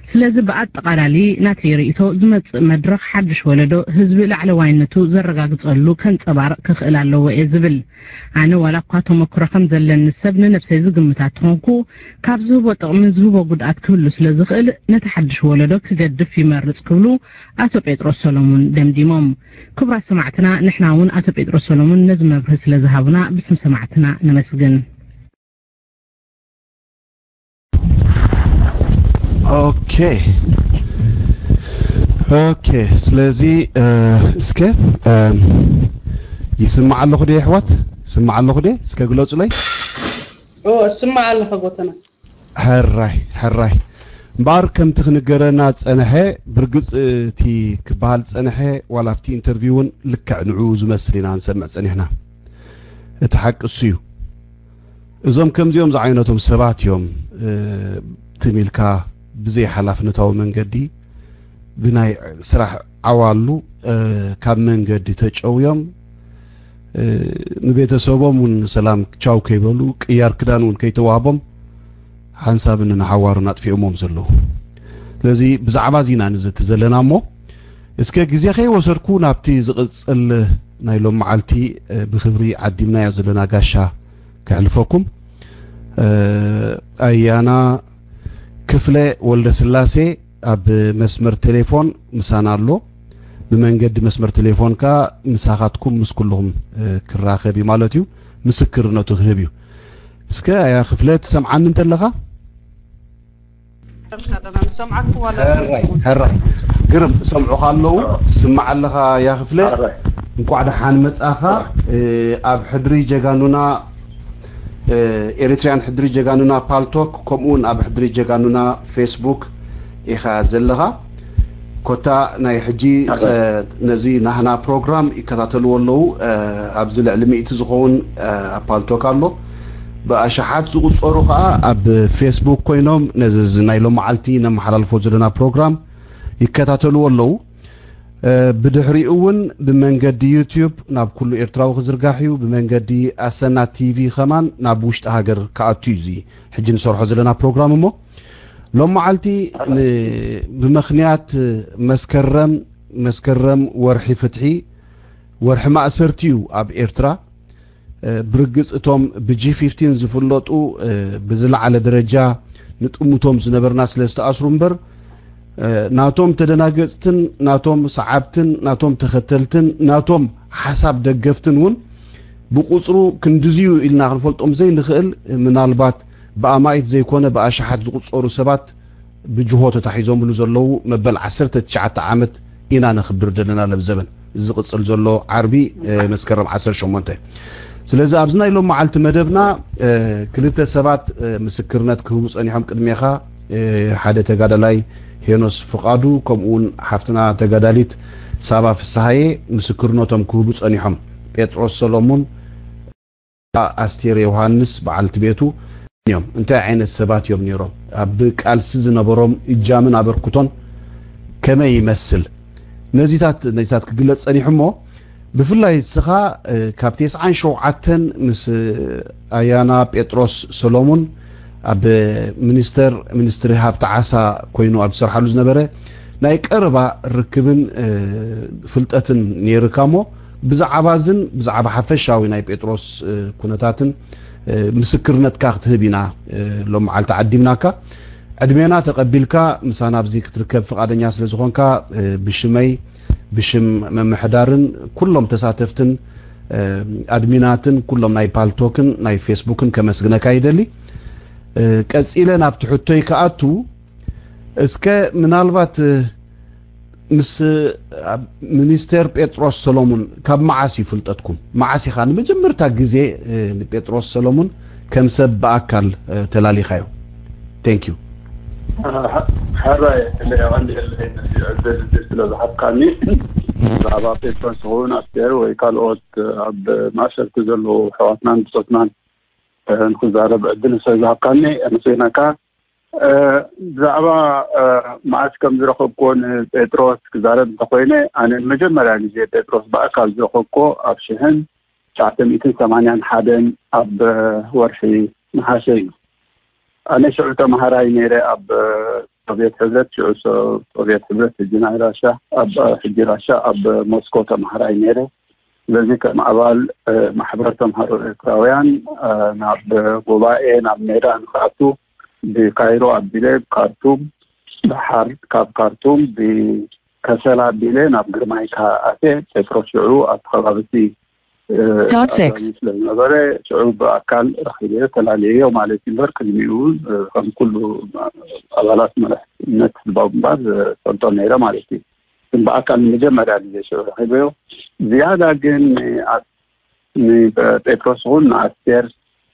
ስለዚ ብኣጠቓላሊ ናተይ ርእይቶ ዝመጽእ መድረኽ ሓድሽ ወለዶ ህዝቢ ላዕለዋይነቱ ዘረጋግጸሉ ከንጸባርቕ ክኽእል ኣለዎ እየ ዝብል። ኣነ ዋላ እኳ ተመክሮ ከም ዘለኒ ሰብ ንነብሰይ ዝግምታ ተኾንኩ፣ ካብ ዝህቦ ጥቕምን ዝህቦ ጉድኣት ክህሉ ስለ ዝኽእል ነቲ ሓድሽ ወለዶ ክገድፍ ይመርጽ ክብሉ ኣቶ ጴጥሮስ ሰሎሙን ደምዲሞም። ክቡራት ሰማዕትና፣ ንሕና እውን ኣቶ ጴጥሮስ ሰሎሙን ነዚ መብርሂ ስለ ዝሃቡና ብስም ሰማዕትና ነመስግን። ኦኬ ኦኬ። ስለዚ፣ እ፣ እስከ፣ እ፣ ይስማዕ ኣለኹ ዶ የሕዋት? ይስማዕ ኣለኹ ዶ? እስከ ግለጹለይ። ኦ፣ እስማዕ ኣለኹ ጎተና። ሕራይ ሕራይ። እምበኣር ከምቲ ክንገረና ዝጸንሐ፣ ብርግጽ እቲ ክበሃል ዝጸንሐ ዋላ ኣብቲ ኢንተርቪው እውን ልክዕ ንዕኡ ዝመስል ኢና ንሰምዕ ጸኒሕና። እቲ ሓቂ እሱ እዩ። እዞም ከምዚኦም ዝዓይነቶም ሰባት እዮም፣ እ፣ ትም ኢልካ ብዘይ ሓላፍነታዊ መንገዲ ብናይ ስራሕ ዓዋሉ፣ እ፣ ካብ መንገዲ ተጨውዮም፣ እ፣ ንቤተሰቦም እውን ሰላም ቻው ከይበሉ፣ ቅያር ክዳን እውን ከይተዋህቦም ሓንሳብን ንሓዋሩን ኣጥፊኦሞም ዘለዉ። ስለዚ ብዛዕባ እዚ ኢና ንዘቲ ዘለና እሞ፣ እስከ ግዜ ከይወሰድኩ ናብቲ ዝቕጽል ናይ ሎም መዓልቲ፣ እ፣ ብክብሪ ዓዲምናዮ ዘለና ጋሻ ከሕልፈኩም። እ፣ ኣያና ክፍለ ወልደስላሴ ኣብ መስመር ቴሌፎን ምሳና ኣሎ። ብመንገዲ መስመር ቴሌፎን ከኣ ምሳኻትኩም ምስ ኩልኹም፣ እ፣ ክራኸብ እዩ ማለት እዩ። ምስክርነቱ ክህብ እዩ። እስከ ኣያ ክፍለ ትሰምዓኒ እንተለኻ? ንሰምዓኩም ዋላ ሕራይ ሕራይ። ግርም ሰምዑኻ ኣለዉ። ትስማዕ ኣለኻ ያ ክፍለ። ሕራይ። እንኳዕ ደሓን መጻኻ። እ፣ ኣብ ሕድሪ ጀጋኑና፣ እ፣ ኤሪትሪያን ሕድሪ ጀጋኑና ፓልቶክ፣ ከምኡ እውን ኣብ ሕድሪ ጀጋኑና ፌስቡክ ኢኻ ዘለኻ። ኮታ ናይ ሕጂ፣ ጸ-፣ ነዚ ናህና ፕሮግራም ይከታተልዎ ኣለዉ። እ፣ ኣብዚ ልዕሊ ሚእቲ ዝኸውን፣ እ፣ ኣብ ፓልቶክ ኣሎ። ብኣሽሓት ዝቑጸሩ ከኣ ኣብ ፌስቡክ ኮይኖም ነዚ፣ እዚ ናይ ሎመዓልቲ ነመሓላልፎ ዘለና ፕሮግራም ይከታተልዎ ኣለዉ። እ፣ ብድሕሪኡ እውን ብመንገዲ ዩትዩብ ናብ ኩሉ ኤርትራዊ ክዝርጋሕ እዩ። ብመንገዲ ኣሰና ቲቪ ከማን ናብ ውሽጢ ሃገር ክኣቱ እዩ እዚ ሕጂ ንሰርሖ ዘለና ፕሮግራም እሞ። ሎም መዓልቲ ን-፣ ብምኽንያት መስከረም፣ መስከረም ወርሒ ፍትሒ፣ ወርሒ ማእሰርቲ እዩ ኣብ ኤርትራ። እ፣ ብርግጽ እቶም ብጂ ፊፍቲን ዝፍለጡ፣ እ፣ ብዝለዓለ ደረጃ ንጥምቶም ዝነበርና ስለ ዝተኣስሩ እምበር፣ እ፣ ናቶም ተደናገጽትን ናቶም ሰዓብትን ናቶም ተኸተልትን ናቶም ሓሳብ ደገፍትን እውን ብቁጽሩ ክንድዚዩ ኢልና ክንፈልጦም ዘይንኽእል፣ ምናልባት ብኣማኢት ዘይኮነ ብኣሽሓት ዝቑጸሩ ሰባት ብጅሆ ተታሒዞምሉ ዘለዉ መበል ዓሰርተ ትሽዓተ ዓመት ኢና ነኽብር ዘለና ነዚ ዘበን። እዚ ዝቕጽል ዘሎ ዓርቢ፣ እ፣ መስከረም ዓሰርተ ሸሞንተ። ስለዚ ኣብዚ ናይ ሎም መዓልቲ መደብና፣ እ፣ ክልተ ሰባት፣ እ፣ ምስክርነት ክህቡ ጸኒሖም ቅድሜኻ፣ እ፣ ሓደ ተጋዳላይ ሄኖስ ፍቓዱ፣ ከምኡ እውን ሓፍትና ተጋዳሊት ሳባ ፍስሃየ ምስክርነቶም ክህቡ ጸኒሖም። ጴጥሮስ ሰሎሙን፣ ኣስቴር ዮሃንስ በዓልቲ ቤቱ፣ እዮም? እንታይ ዓይነት ሰባት እዮም ነይሮም? ኣብ ቃልሲ ዝነበሮም እጃምን ኣበርክቶን ከመይ ይመስል? ነዚታት ነዚታት ክግለጽ ጸኒሑ እሞ፣ ብፍላይ ንስኻ ካብ ተስዓን ሸውዓተን ምስ ኣያና ጴጥሮስ ሰሎሙን ኣብ ሚኒስተር ሚኒስትሪ ሃብቲ ዓሳ ኮይኑ ኣብ ዝሰርሓሉ ዝነበረ ናይ ቀረባ ርክብን ፍልጠትን ነይርካ እሞ፣ ብዛዕባ ዝን ብዛዕባ ሓፈሻዊ ናይ ጴጥሮስ ኩነታትን ምስክርነትካ ክትህብ ኢና ሎም መዓልቲ ዓዲምናካ። ዕድሜና ተቐቢልካ ምሳና ኣብዚ ክትርከብ ፍቓደኛ ስለ ዝኾንካ፣ ብሽመይ፣ ብሽም ምምሕዳርን ኩሎም ተሳተፍትን ኣድሚናትን ኩሎም ናይ ፓልቶክን ናይ ፌስቡክን ከመስግነካ ይደሊ። ቀጺለ ናብቲ ሕቶይ ክኣቱ፣ እስከ ምናልባት ምስ ሚኒስቴር ጴጥሮስ ሰሎሙን ካብ መዓስ እዩ ፍልጠትኩም? መዓስ ኢኻ ንመጀመርታ ግዜ ንጴጥሮስ ሰሎሙን ከም ሰብ ብኣካል ተላሊኻዮ? Thank you። ሕራይ፣ ቀንዲ ዕድል ስለ ዝሃብካኒ፣ ብዛዕባ ጴጥሮስ ይኹን ኣስቴር ወይ ካልኦት ኣብ ማእሰርቲ ዘለዉ ኣሕዋትናን ብጾትናን ንክዛረብ ዕድል ስለ ዝሃብካኒ ኣመስግነካ። ብዛዕባ መዓስ ከም ዝረኸብኮ ንጴጥሮስ ክዛረብ እንተኮይነ፣ ኣነ ንመጀመርያ ግዜ ጴጥሮስ ብኣካል ዝረኸብኮ ኣብ ሽሕን ትሽዓተ ሚእትን ሰማንያን ሓደን ኣብ ወርሒ ነሓሰ እዩ። ኣነ ሽዑ ተምሃራይ ነይረ ኣብ ሶቭየት ሕብረት፣ ሽዑ ሶ- ሶቭየት ሕብረት፣ ሕጂ ናይ ራሻ፣ ኣብ ሕጂ ራሻ፣ ኣብ ሞስኮ ተምሃራይ ነይረ። ስለዚ ከም ኣባል ማሕበር ተምሃሮ ኤርትራውያን ናብ ጉባኤ ናብ ሜዳ ንክኣቱ ብካይሮ ኣቢለ፣ ካርቱም፣ ባሕር ካብ ካርቱም ብከሰላ ኣቢለ ናብ ግርማይካ ኣትየ። ጴጥሮስ ሽዑ ኣብቲ ከባቢ እቲ ኣጋሚ ስለ ዝነበረ ሽዑ ብኣካል ረኺበዮ ተላልየዮ ማለት እዩ። እምበር ቅድሚኡ እውን ከም ኩሉ ኣባላት መራሕነት ህዝባዊ ግንባር ዝፈልጦ ነይረ ማለት እዩ። ግን ብኣካል ንመጀመርያ ግዜ ሽዑ ረኺበዮ። ዝያዳ ግን ንኣ- ንጴጥሮስ እውን ንኣስቴር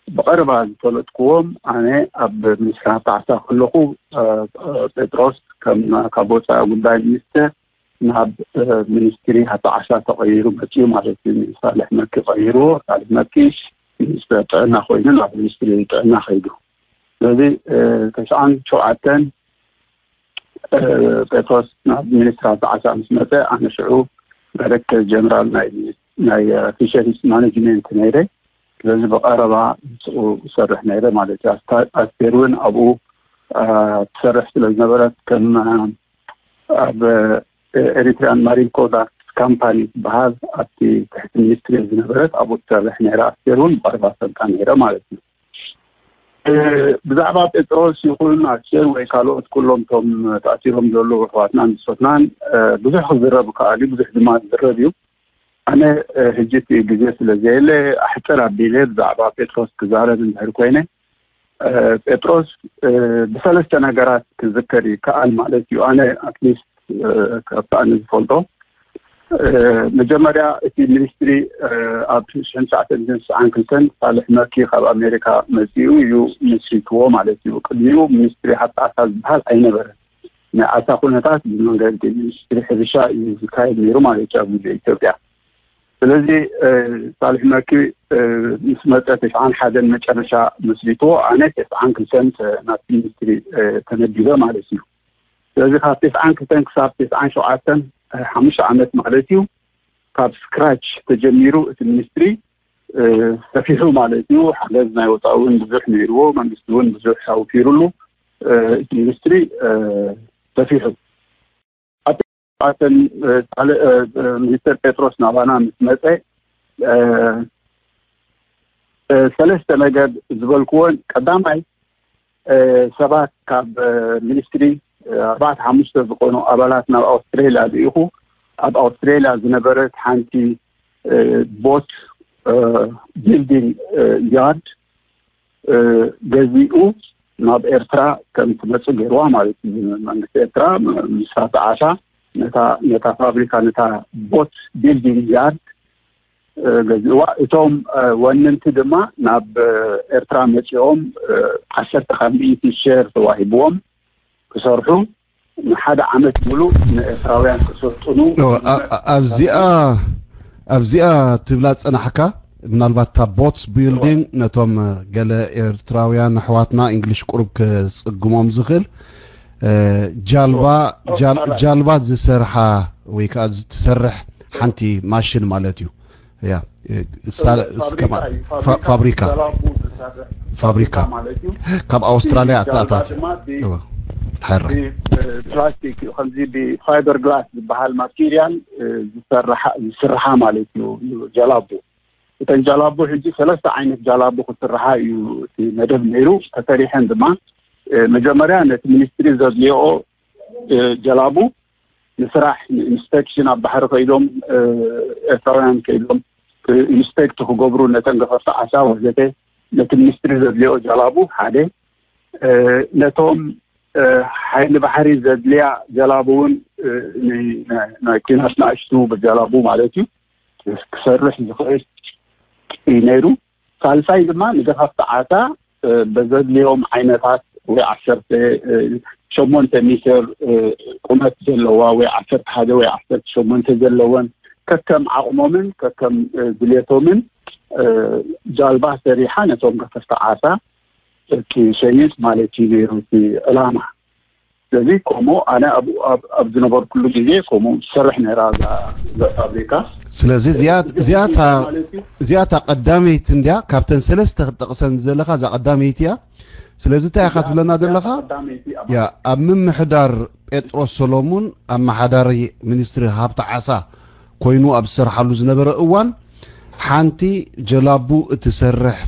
ብቐረባ ዝፈለጥክዎም ኣነ ኣብ ሚኒስትሪ ሃብቲ ዓሳ ከለኹ፣ ጴጥሮስ ከም ካብ ወፃኢ ጉዳይ ሚኒስትር ናብ ሚኒስትሪ ሃብቲ ዓሳ ተቐይሩ መፅኡ ማለት እዩ። ሳልሕ መኪ ቀይርዎ። ሳልሕ መኪ ሚኒስትር ጥዕና ኮይኑ ናብ ሚኒስትሪ ጥዕና ከይዱ። ስለዚ ተስዓን ሸውዓተን ጴጥሮስ ናብ ሚኒስትሪ ሃብቲ ዓሳ ምስ መፀ፣ ኣነ ሽዑ ዳይሬክተር ጀነራል ናይ ናይ ፊሸሪስ ማኔጅመንት ነይረ። ስለዚ ብቐረባ ምስኡ እሰርሕ ነይረ ማለት እዩ። ኣስታ- ኣስቴር እውን ኣብኡ ትሰርሕ ስለ ዝነበረት፣ ከም ኣብ ኤሪትሪያን ማሪን ፕሮዳክትስ ካምፓኒ ዝበሃል ኣብቲ ትሕቲ ሚኒስትሪ ዝነበረት ኣብኡ ትሰርሕ ነይራ። ኣስቴር እውን ብቐረባ ፈልጣ ነይረ ማለት እዩ። ብዛዕባ ጴጥሮስ ይኹን ኣስቴር ወይ ካልኦት ኩሎም እቶም ተኣሲሮም ዘለዉ ኣሕዋትናን ብጾትናን ብዙሕ ክዝረብ ይከኣል እዩ፣ ብዙሕ ድማ ዝዝረብ እዩ። ኣነ ሕጂ እቲ ግዜ ስለ ዘየለ ኣሕፅር ኣቢለ ብዛዕባ ጴጥሮስ ክዛረብ እንድሕር ኮይነ፣ ጴጥሮስ ብሰለስተ ነገራት ክዝከር ይከኣል ማለት እዩ። ኣነ ኣትሊስት ካብቲ ኣነ ዝፈልጦ መጀመርያ እቲ ሚኒስትሪ ኣብ ሽሕን ትሽዓተ ሚእትን ትስዓን ክልተን ሳልሕ መኪ ካብ ኣሜሪካ መፂኡ እዩ መስሪትዎ ማለት እዩ። ቅድሚኡ ሚኒስትሪ ሃብቲ ዓሳ ዝበሃል ኣይነበረን። ናይ ዓሳ ኩነታት ብመንገዲ ሚኒስትሪ ሕርሻ እዩ ዝካየድ ነይሩ ማለት እዩ ኣብ ግዜ ኢትዮጵያ። ስለዚ ሳልሕ መኪ ምስ መፀ ተስዓን ሓደን መጨረሻ መስሪትዎ፣ ኣነ ተስዓን ክልተን ናብቲ ሚኒስትሪ ተመዲበ ማለት እዩ። ስለዚ ካብ ተስዓን ክልተን ክሳብ ተስዓን ሸውዓተን ሓሙሽተ ዓመት ማለት እዩ። ካብ ስክራች ተጀሚሩ እቲ ሚኒስትሪ ሰፊሑ ማለት እዩ። ሓገዝ ናይ ወፃኢ እውን ብዙሕ ነይርዎ፣ መንግስቲ እውን ብዙሕ ኣውፊሩሉ። እቲ ሚኒስትሪ ሰፊሑ። ኣብተን ካልእ ሚኒስተር ጴጥሮስ ናባና ምስ መፀ ሰለስተ ነገር ዝበልክዎን፣ ቀዳማይ ሰባት ካብ ሚኒስትሪ ኣርባዕተ ሓሙሽተ ዝኾኑ ኣባላት ናብ ኣውስትሬልያ ልኢኹ። ኣብ ኣውስትሬልያ ዝነበረት ሓንቲ ቦት ቢልዲንግ ያርድ ገዚኡ ናብ ኤርትራ ከም ትመፅእ ገይርዋ ማለት እዩ። መንግስቲ ኤርትራ ምስ ራብቲ ዓሳ ነታ ነታ ፋብሪካ ነታ ቦት ቢልዲንግ ያርድ ገዚእዋ። እቶም ወነንቲ ድማ ናብ ኤርትራ መፂኦም ዓሰርተ ካብ ሚእቲ ሼር ተዋሂብዎም ክሰርሑ ንሓደ ዓመት ሙሉእ ንኤርትራውያን ክሰልጥኑ ኣብዚኣ ኣብዚኣ ትብላ ዝፀናሕካ ምናልባት እታ ቦትስ ቢልዲንግ ነቶም ገለ ኤርትራውያን ኣሕዋትና እንግሊሽ ቁሩብ ክጽግሞም ዝኽእል ጃልባ ስራሕ ወይ ከዓ ትሰርሕ ሓንቲ ማሽን ማለት እዩ። ያ ፋብሪካ ፋብሪካ ፋብሪካ ማለት እዩ። ካብ ኣውስትራሊያ ኣተኣታት። ፕላስቲክ እዩ፣ ከምዚ ብፋይበር ግላስ ዝበሃል ማቴሪያል ዝስርሓ ማለት እዩ። ጀላቡ እተን ጃላቡ ሕጂ ሰለስተ ዓይነት ጃላቡ ክስርሓ እዩ እቲ መደብ ነይሩ። ተሰሪሐን ድማ መጀመርያ ነቲ ሚኒስትሪ ዘድልዮ ጀላቡ ንስራሕ ንኢንስፔክሽን ኣብ ባሕሪ ከይዶም ኤርትራውያን ከይዶም ኢንስፔክት ክገብሩ ነተን ገፈፍቲ ዓሳ ወዘተ ነቲ ሚኒስትሪ ዘድልዮ ጀላቡ ሓደ ነቶም ሓይሊ ባሕሪ ዘድልያ ጀላቡ እውን ናይ ኩናት ንኣሽቱ ጀላቡ ማለት እዩ ክሰርሕ ዝኽእል እዩ ነይሩ። ሳልሳይ ድማ ንገፋፍቲ ዓሳ በዘድልዮም ዓይነታት ወይ ዓሰርተ ሸሞንተ ሜትር ቁመት ዘለዋ ወይ ዓሰርተ ሓደ ወይ ዓሰርተ ሸሞንተ ዘለወን ከከም ዓቕሞምን ከከም ድሌቶምን ጃልባ ሰሪሓ ነቶም ገፈፍቲ ዓሳ ትሸይጥ ማለት እዩ ነይሩ እቲ ዕላማ። ስለዚ ከምኡ ኣነ ኣብ ዝነበርኩሉ ግዜ ከምኡ ትሰርሕ ነይራ እዛ ፋብሪካ። ስለዚ እዚኣታ ቀዳመይቲ እንድያ ካብተን ሰለስተ ክትጠቕሰን ዘለኻ እዛ ቀዳመይቲ እያ። ስለዚ እንታይ ኢኻ ትብለና ዘለኻ? ኣብ ምምሕዳር ጴጥሮስ ሰሎሙን ኣመሓዳሪ ሚኒስትሪ ሃብቲ ዓሳ ኮይኑ ኣብ ዝሰርሓሉ ዝነበረ እዋን ሓንቲ ጀላቡ እትሰርሕ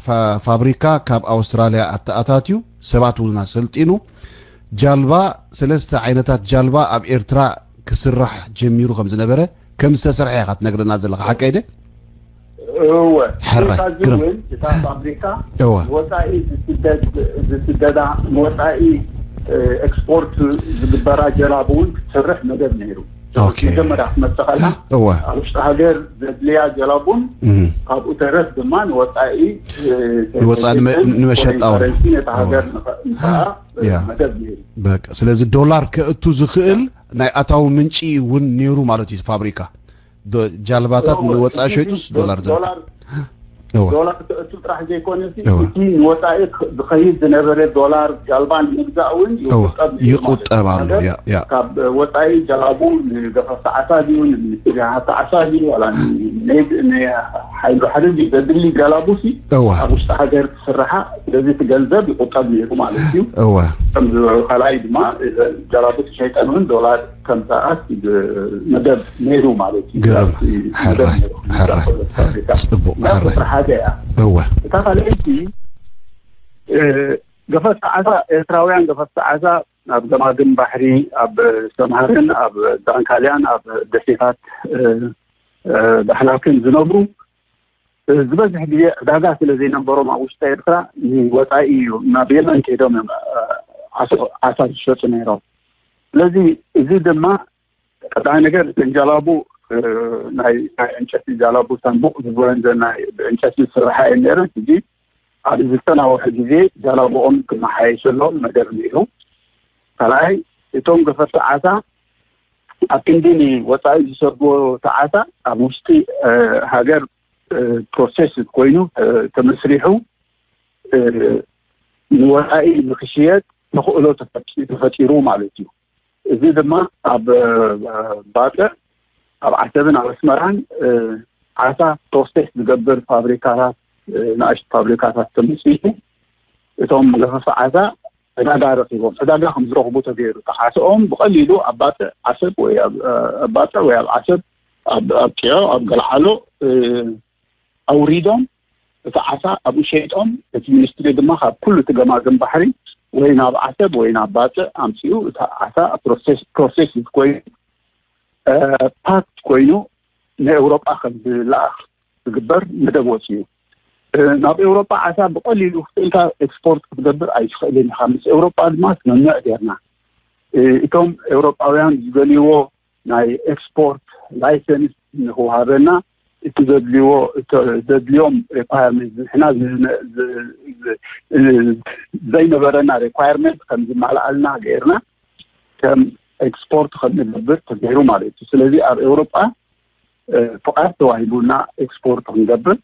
ፋብሪካ ካብ ኣውስትራልያ ኣተኣታትዩ ሰባት እውን ኣሰልጢኑ ጃልባ ሰለስተ ዓይነታት ጃልባ ኣብ ኤርትራ ክስራሕ ጀሚሩ ከም ዝነበረ ከም ዝተሰርሐ ኢኻ ትነግረና ዘለኻ ሓቀይ ደ? እወ ሕራይ እታ ግርም እውን እታ ፋብሪካ እወ ወፃኢ ዝስደድ ዝስደዳ ንወፃኢ ኤክስፖርት ዝግበራ ጀላቡ እውን ክትሰርሕ መደብ ነይሩ። ኦኬ። መጀመርያ ክትመፅእ ከላ እወ ኣብ ውሽጢ ሃገር ዘድልያ ጀላቡን እም። ካብኡ ተረፍ ድማ ንወፃኢ ንወፃኢ ንመ- ንመሸጣ እውን። ከረንሲ ነታ ሃገር እወ። ንኸ- ንኸኣ ያ። መደብ ነይሩ። በቃ ስለዚ ዶላር ከእቱ ዝኽእል ናይ ኣታዊ ምንጪ እውን ነይሩ ማለት እዩ ፋብሪካ ዶ- ጃልባታት እወ፣ ንወፃኢ እቲ ሸይጡስ ዶ- ዶላር ዘርካ ዶላር እወ ዶላር ተእቱ ጥራሕ ዘይኮነ ሲ እወ። እቲ ንወፃኢ ክ- ዝኸይድ ዝነበረ ዶላር ጃልባ ንምግዛእ እውን እወ ይቁጠብ ነይሩ ማለት ይቁጠብ እዩ። ኣሎ ነገር ያ ያ ካብ ወፃኢ ጀላቡ ንገፈፍቲ ዓሳ ድዩ ንሚኒስትሪ ሃብቲ ዓሳ ድዩ ዋላ ንሓይሉ ሓደ ድዩ ዘድሊ ጀላቡ ሲ እወ ኣብ ውሽጢ ሃገር ክስርሓ ስለዚ እቲ ገንዘብ ይቁጠብ ነይሩ ማለት እዩ። እወ ከም ካልኣይ ድማ ጀላቡ ተሸይጠን እውን ዶላር ከምሰኣት መደብ ነይሩ ማለት እዩ። ግርም። ሕራይ፣ ሕራይ። ጽቡቕ፣ ሕራይ። ቁፅሪ ሓደ እያ። እወ። እታ ካልኣይቲ ገፈፍቲ ዓሳ ኤርትራውያን ገፈፍቲ ዓሳ ኣብ ገማግም ባሕሪ ኣብ ሰምሃርን ኣብ ዳንካልያን ኣብ ደሴታት ዳሕላክን ዝነብሩ ዝበዝሕ ግዜ ዕዳጋ ስለ ዘይነበሮም ኣብ ውሽጢ ኤርትራ ንወፃኢ እዩ ናብ የመን ከይዶም እዮም ዓሳ ዝሸጡ ነይሮም። ስለዚ እዚ ድማ ቀዳማይ ነገር እተን ጃላቡ ናይ ናይ ዕንጨቲ ጃላቡ ሳንቡቕ ዝበለን ናይ ብዕንጨቲ ዝስርሓ እየን ነይረን። ሕጂ ኣብዚ ዝተናወሐ ግዜ ጃላቡኦም ክመሓየሸሎም መደብ ነይሩ። ካልኣይ እቶም ገፈፍቲ ዓሳ ኣብ ክንዲ ንወፃኢ ዝሰድዎ እቲ ዓሳ ኣብ ውሽጢ ሃገር ፕሮሴስ ኮይኑ ተመስሪሑ ንወፃኢ ንክሽየጥ ተኽእሎ ተፈጢሩ ማለት እዩ። እዚ ድማ ኣብ ባፅዕ ኣብ ዓሰብን ኣብ ኣስመራን ዓሳ ፕሮሴስ ዝገብር ፋብሪካታት ንኣሽቱ ፋብሪካታት ተመስሪቱ እቶም ገፈፍቲ ዓሳ ዕዳጋ ረኪቦም ዕዳጋ ከም ዝረኽቡ ተገይሩ ተዓስኦም ብቐሊሉ ኣብ ባፅዕ ዓሰብ ወይ ኣብ ባፅዕ ወይ ኣብ ዓሰብ ኣብ ቂዖ ኣብ ገልዓሎ ኣውሪዶም እቲ ዓሳ ኣብኡ ሸይጦም እቲ ሚኒስትሪ ድማ ካብ ኩሉ እቲ ገማግም ባሕሪ ወይ ናብ ዓሰብ ወይ ናብ ባፅዕ ኣምፅኡ እቲ ዓሳ ፕሮሴስ ኮይኑ ፓክት ኮይኑ ንኤውሮጳ ከም ዝለኣኽ ዝግበር መደብ ወፂኡ። ናብ ኤውሮጳ ዓሳ ብቐሊሉ ክፍእልካ ኤክስፖርት ክትገብር ኣይትኽእልን ኢኻ። ምስ ኤውሮጳ ድማ ስምምዕ ጌርና እቶም ኤውሮጳውያን ዝደልይዎ ናይ ኤክስፖርት ላይሰንስ ንክውሃበና እቲ ዘድልዎ ዘድልዮም ሪኳርመንት ንሕና ዘይነበረና ሪኳርመንት ከም ዝማልኣልና ገይርና ከም ኤክስፖርት ከም ንገብር ተገይሩ ማለት እዩ። ስለዚ ኣብ ኤውሮጳ ፍቃድ ተዋሂቡና ኤክስፖርት ክንገብር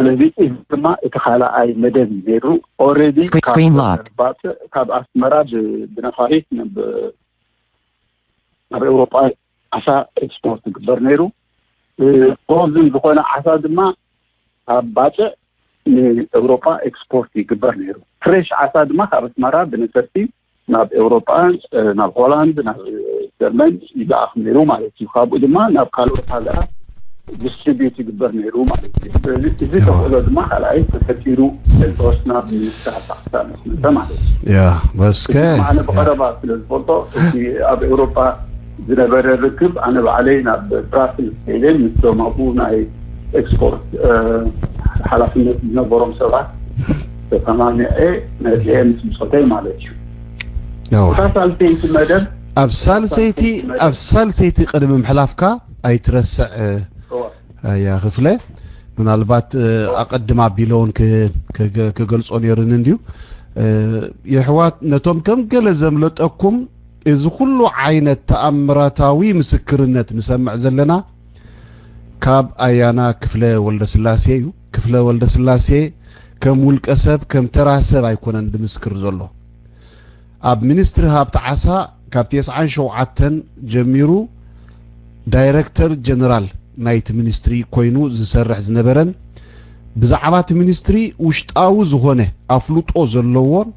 ስለዚ እዚ ድማ እቲ ካልኣይ መደብ እዩ ነይሩ። ኦልሬዲ ካብ ኣስመራ ብነፋሪት ናብ ኤውሮጳ ዓሳ ኤክስፖርት ይግበር ነይሩ። ፍሮዝን ዝኾነ ዓሳ ድማ ካብ ባጽዕ ንኤውሮጳ ኤክስፖርት ይግበር ነይሩ። ፍሬሽ ዓሳ ድማ ካብ ኣስመራ ብነፈርቲ ናብ ኤውሮጳ፣ ናብ ሆላንድ፣ ናብ ጀርመን ይለኣኽ ነይሩ ማለት እዩ። ካብኡ ድማ ናብ ካልኦት ሃገራት ዲስትሪቢዩት ይግበር ነይሩ ማለት እዩ። ስለዚ እዚ ተኽእሎ ድማ ካልኣይ ተፈጢሩ ኤልቶስና ብሚኒስትር ሃብቲ ዓሳ ምስ መጸ ማለት እዩ። ያ በስከ ኣነ ብቐረባ ስለ ዝፈልጦ እቲ ኣብ ኤውሮጳ ዝነበረ ርክብ ኣነ ባዕለይ ናብ ብራስልስ ከይደ ምስቶም ኣብኡ ናይ ኤክስፖርት ሓላፍነት ዝነበሮም ሰባት ተሰማሚዐ መፅአ ምስ ብፆተይ ማለት እዩ። እታ ሳልሰይቲ መደብ ኣብ ሳልሰይቲ ኣብ ሳልሰይቲ ቅድሚ ምሕላፍካ ኣይትረስዕ። ያ ክፍለ ምናልባት ኣቐድም ኣቢለውን ክገልጾ ነይሩኒ እንድዩ። የሕዋት ነቶም ከም ገለ ዘምለጠኩም እዚ ኩሉ ዓይነት ተኣምራታዊ ምስክርነት ንሰምዕ ዘለና ካብ ኣያና ክፍለ ወልደስላሴ እዩ። ክፍለ ወልደስላሴ ከም ውልቀ ሰብ ከም ተራ ሰብ ኣይኮነን ዝምስክር ዘሎ። ኣብ ሚኒስትሪ ሃብቲ ዓሳ ካብ ተስዓን ሸውዓተን ጀሚሩ ዳይረክተር ጀነራል ናይቲ ሚኒስትሪ ኮይኑ ዝሰርሕ ዝነበረን ብዛዕባ እቲ ሚኒስትሪ ውሽጣዊ ዝኾነ ኣፍልጦ ዘለዎን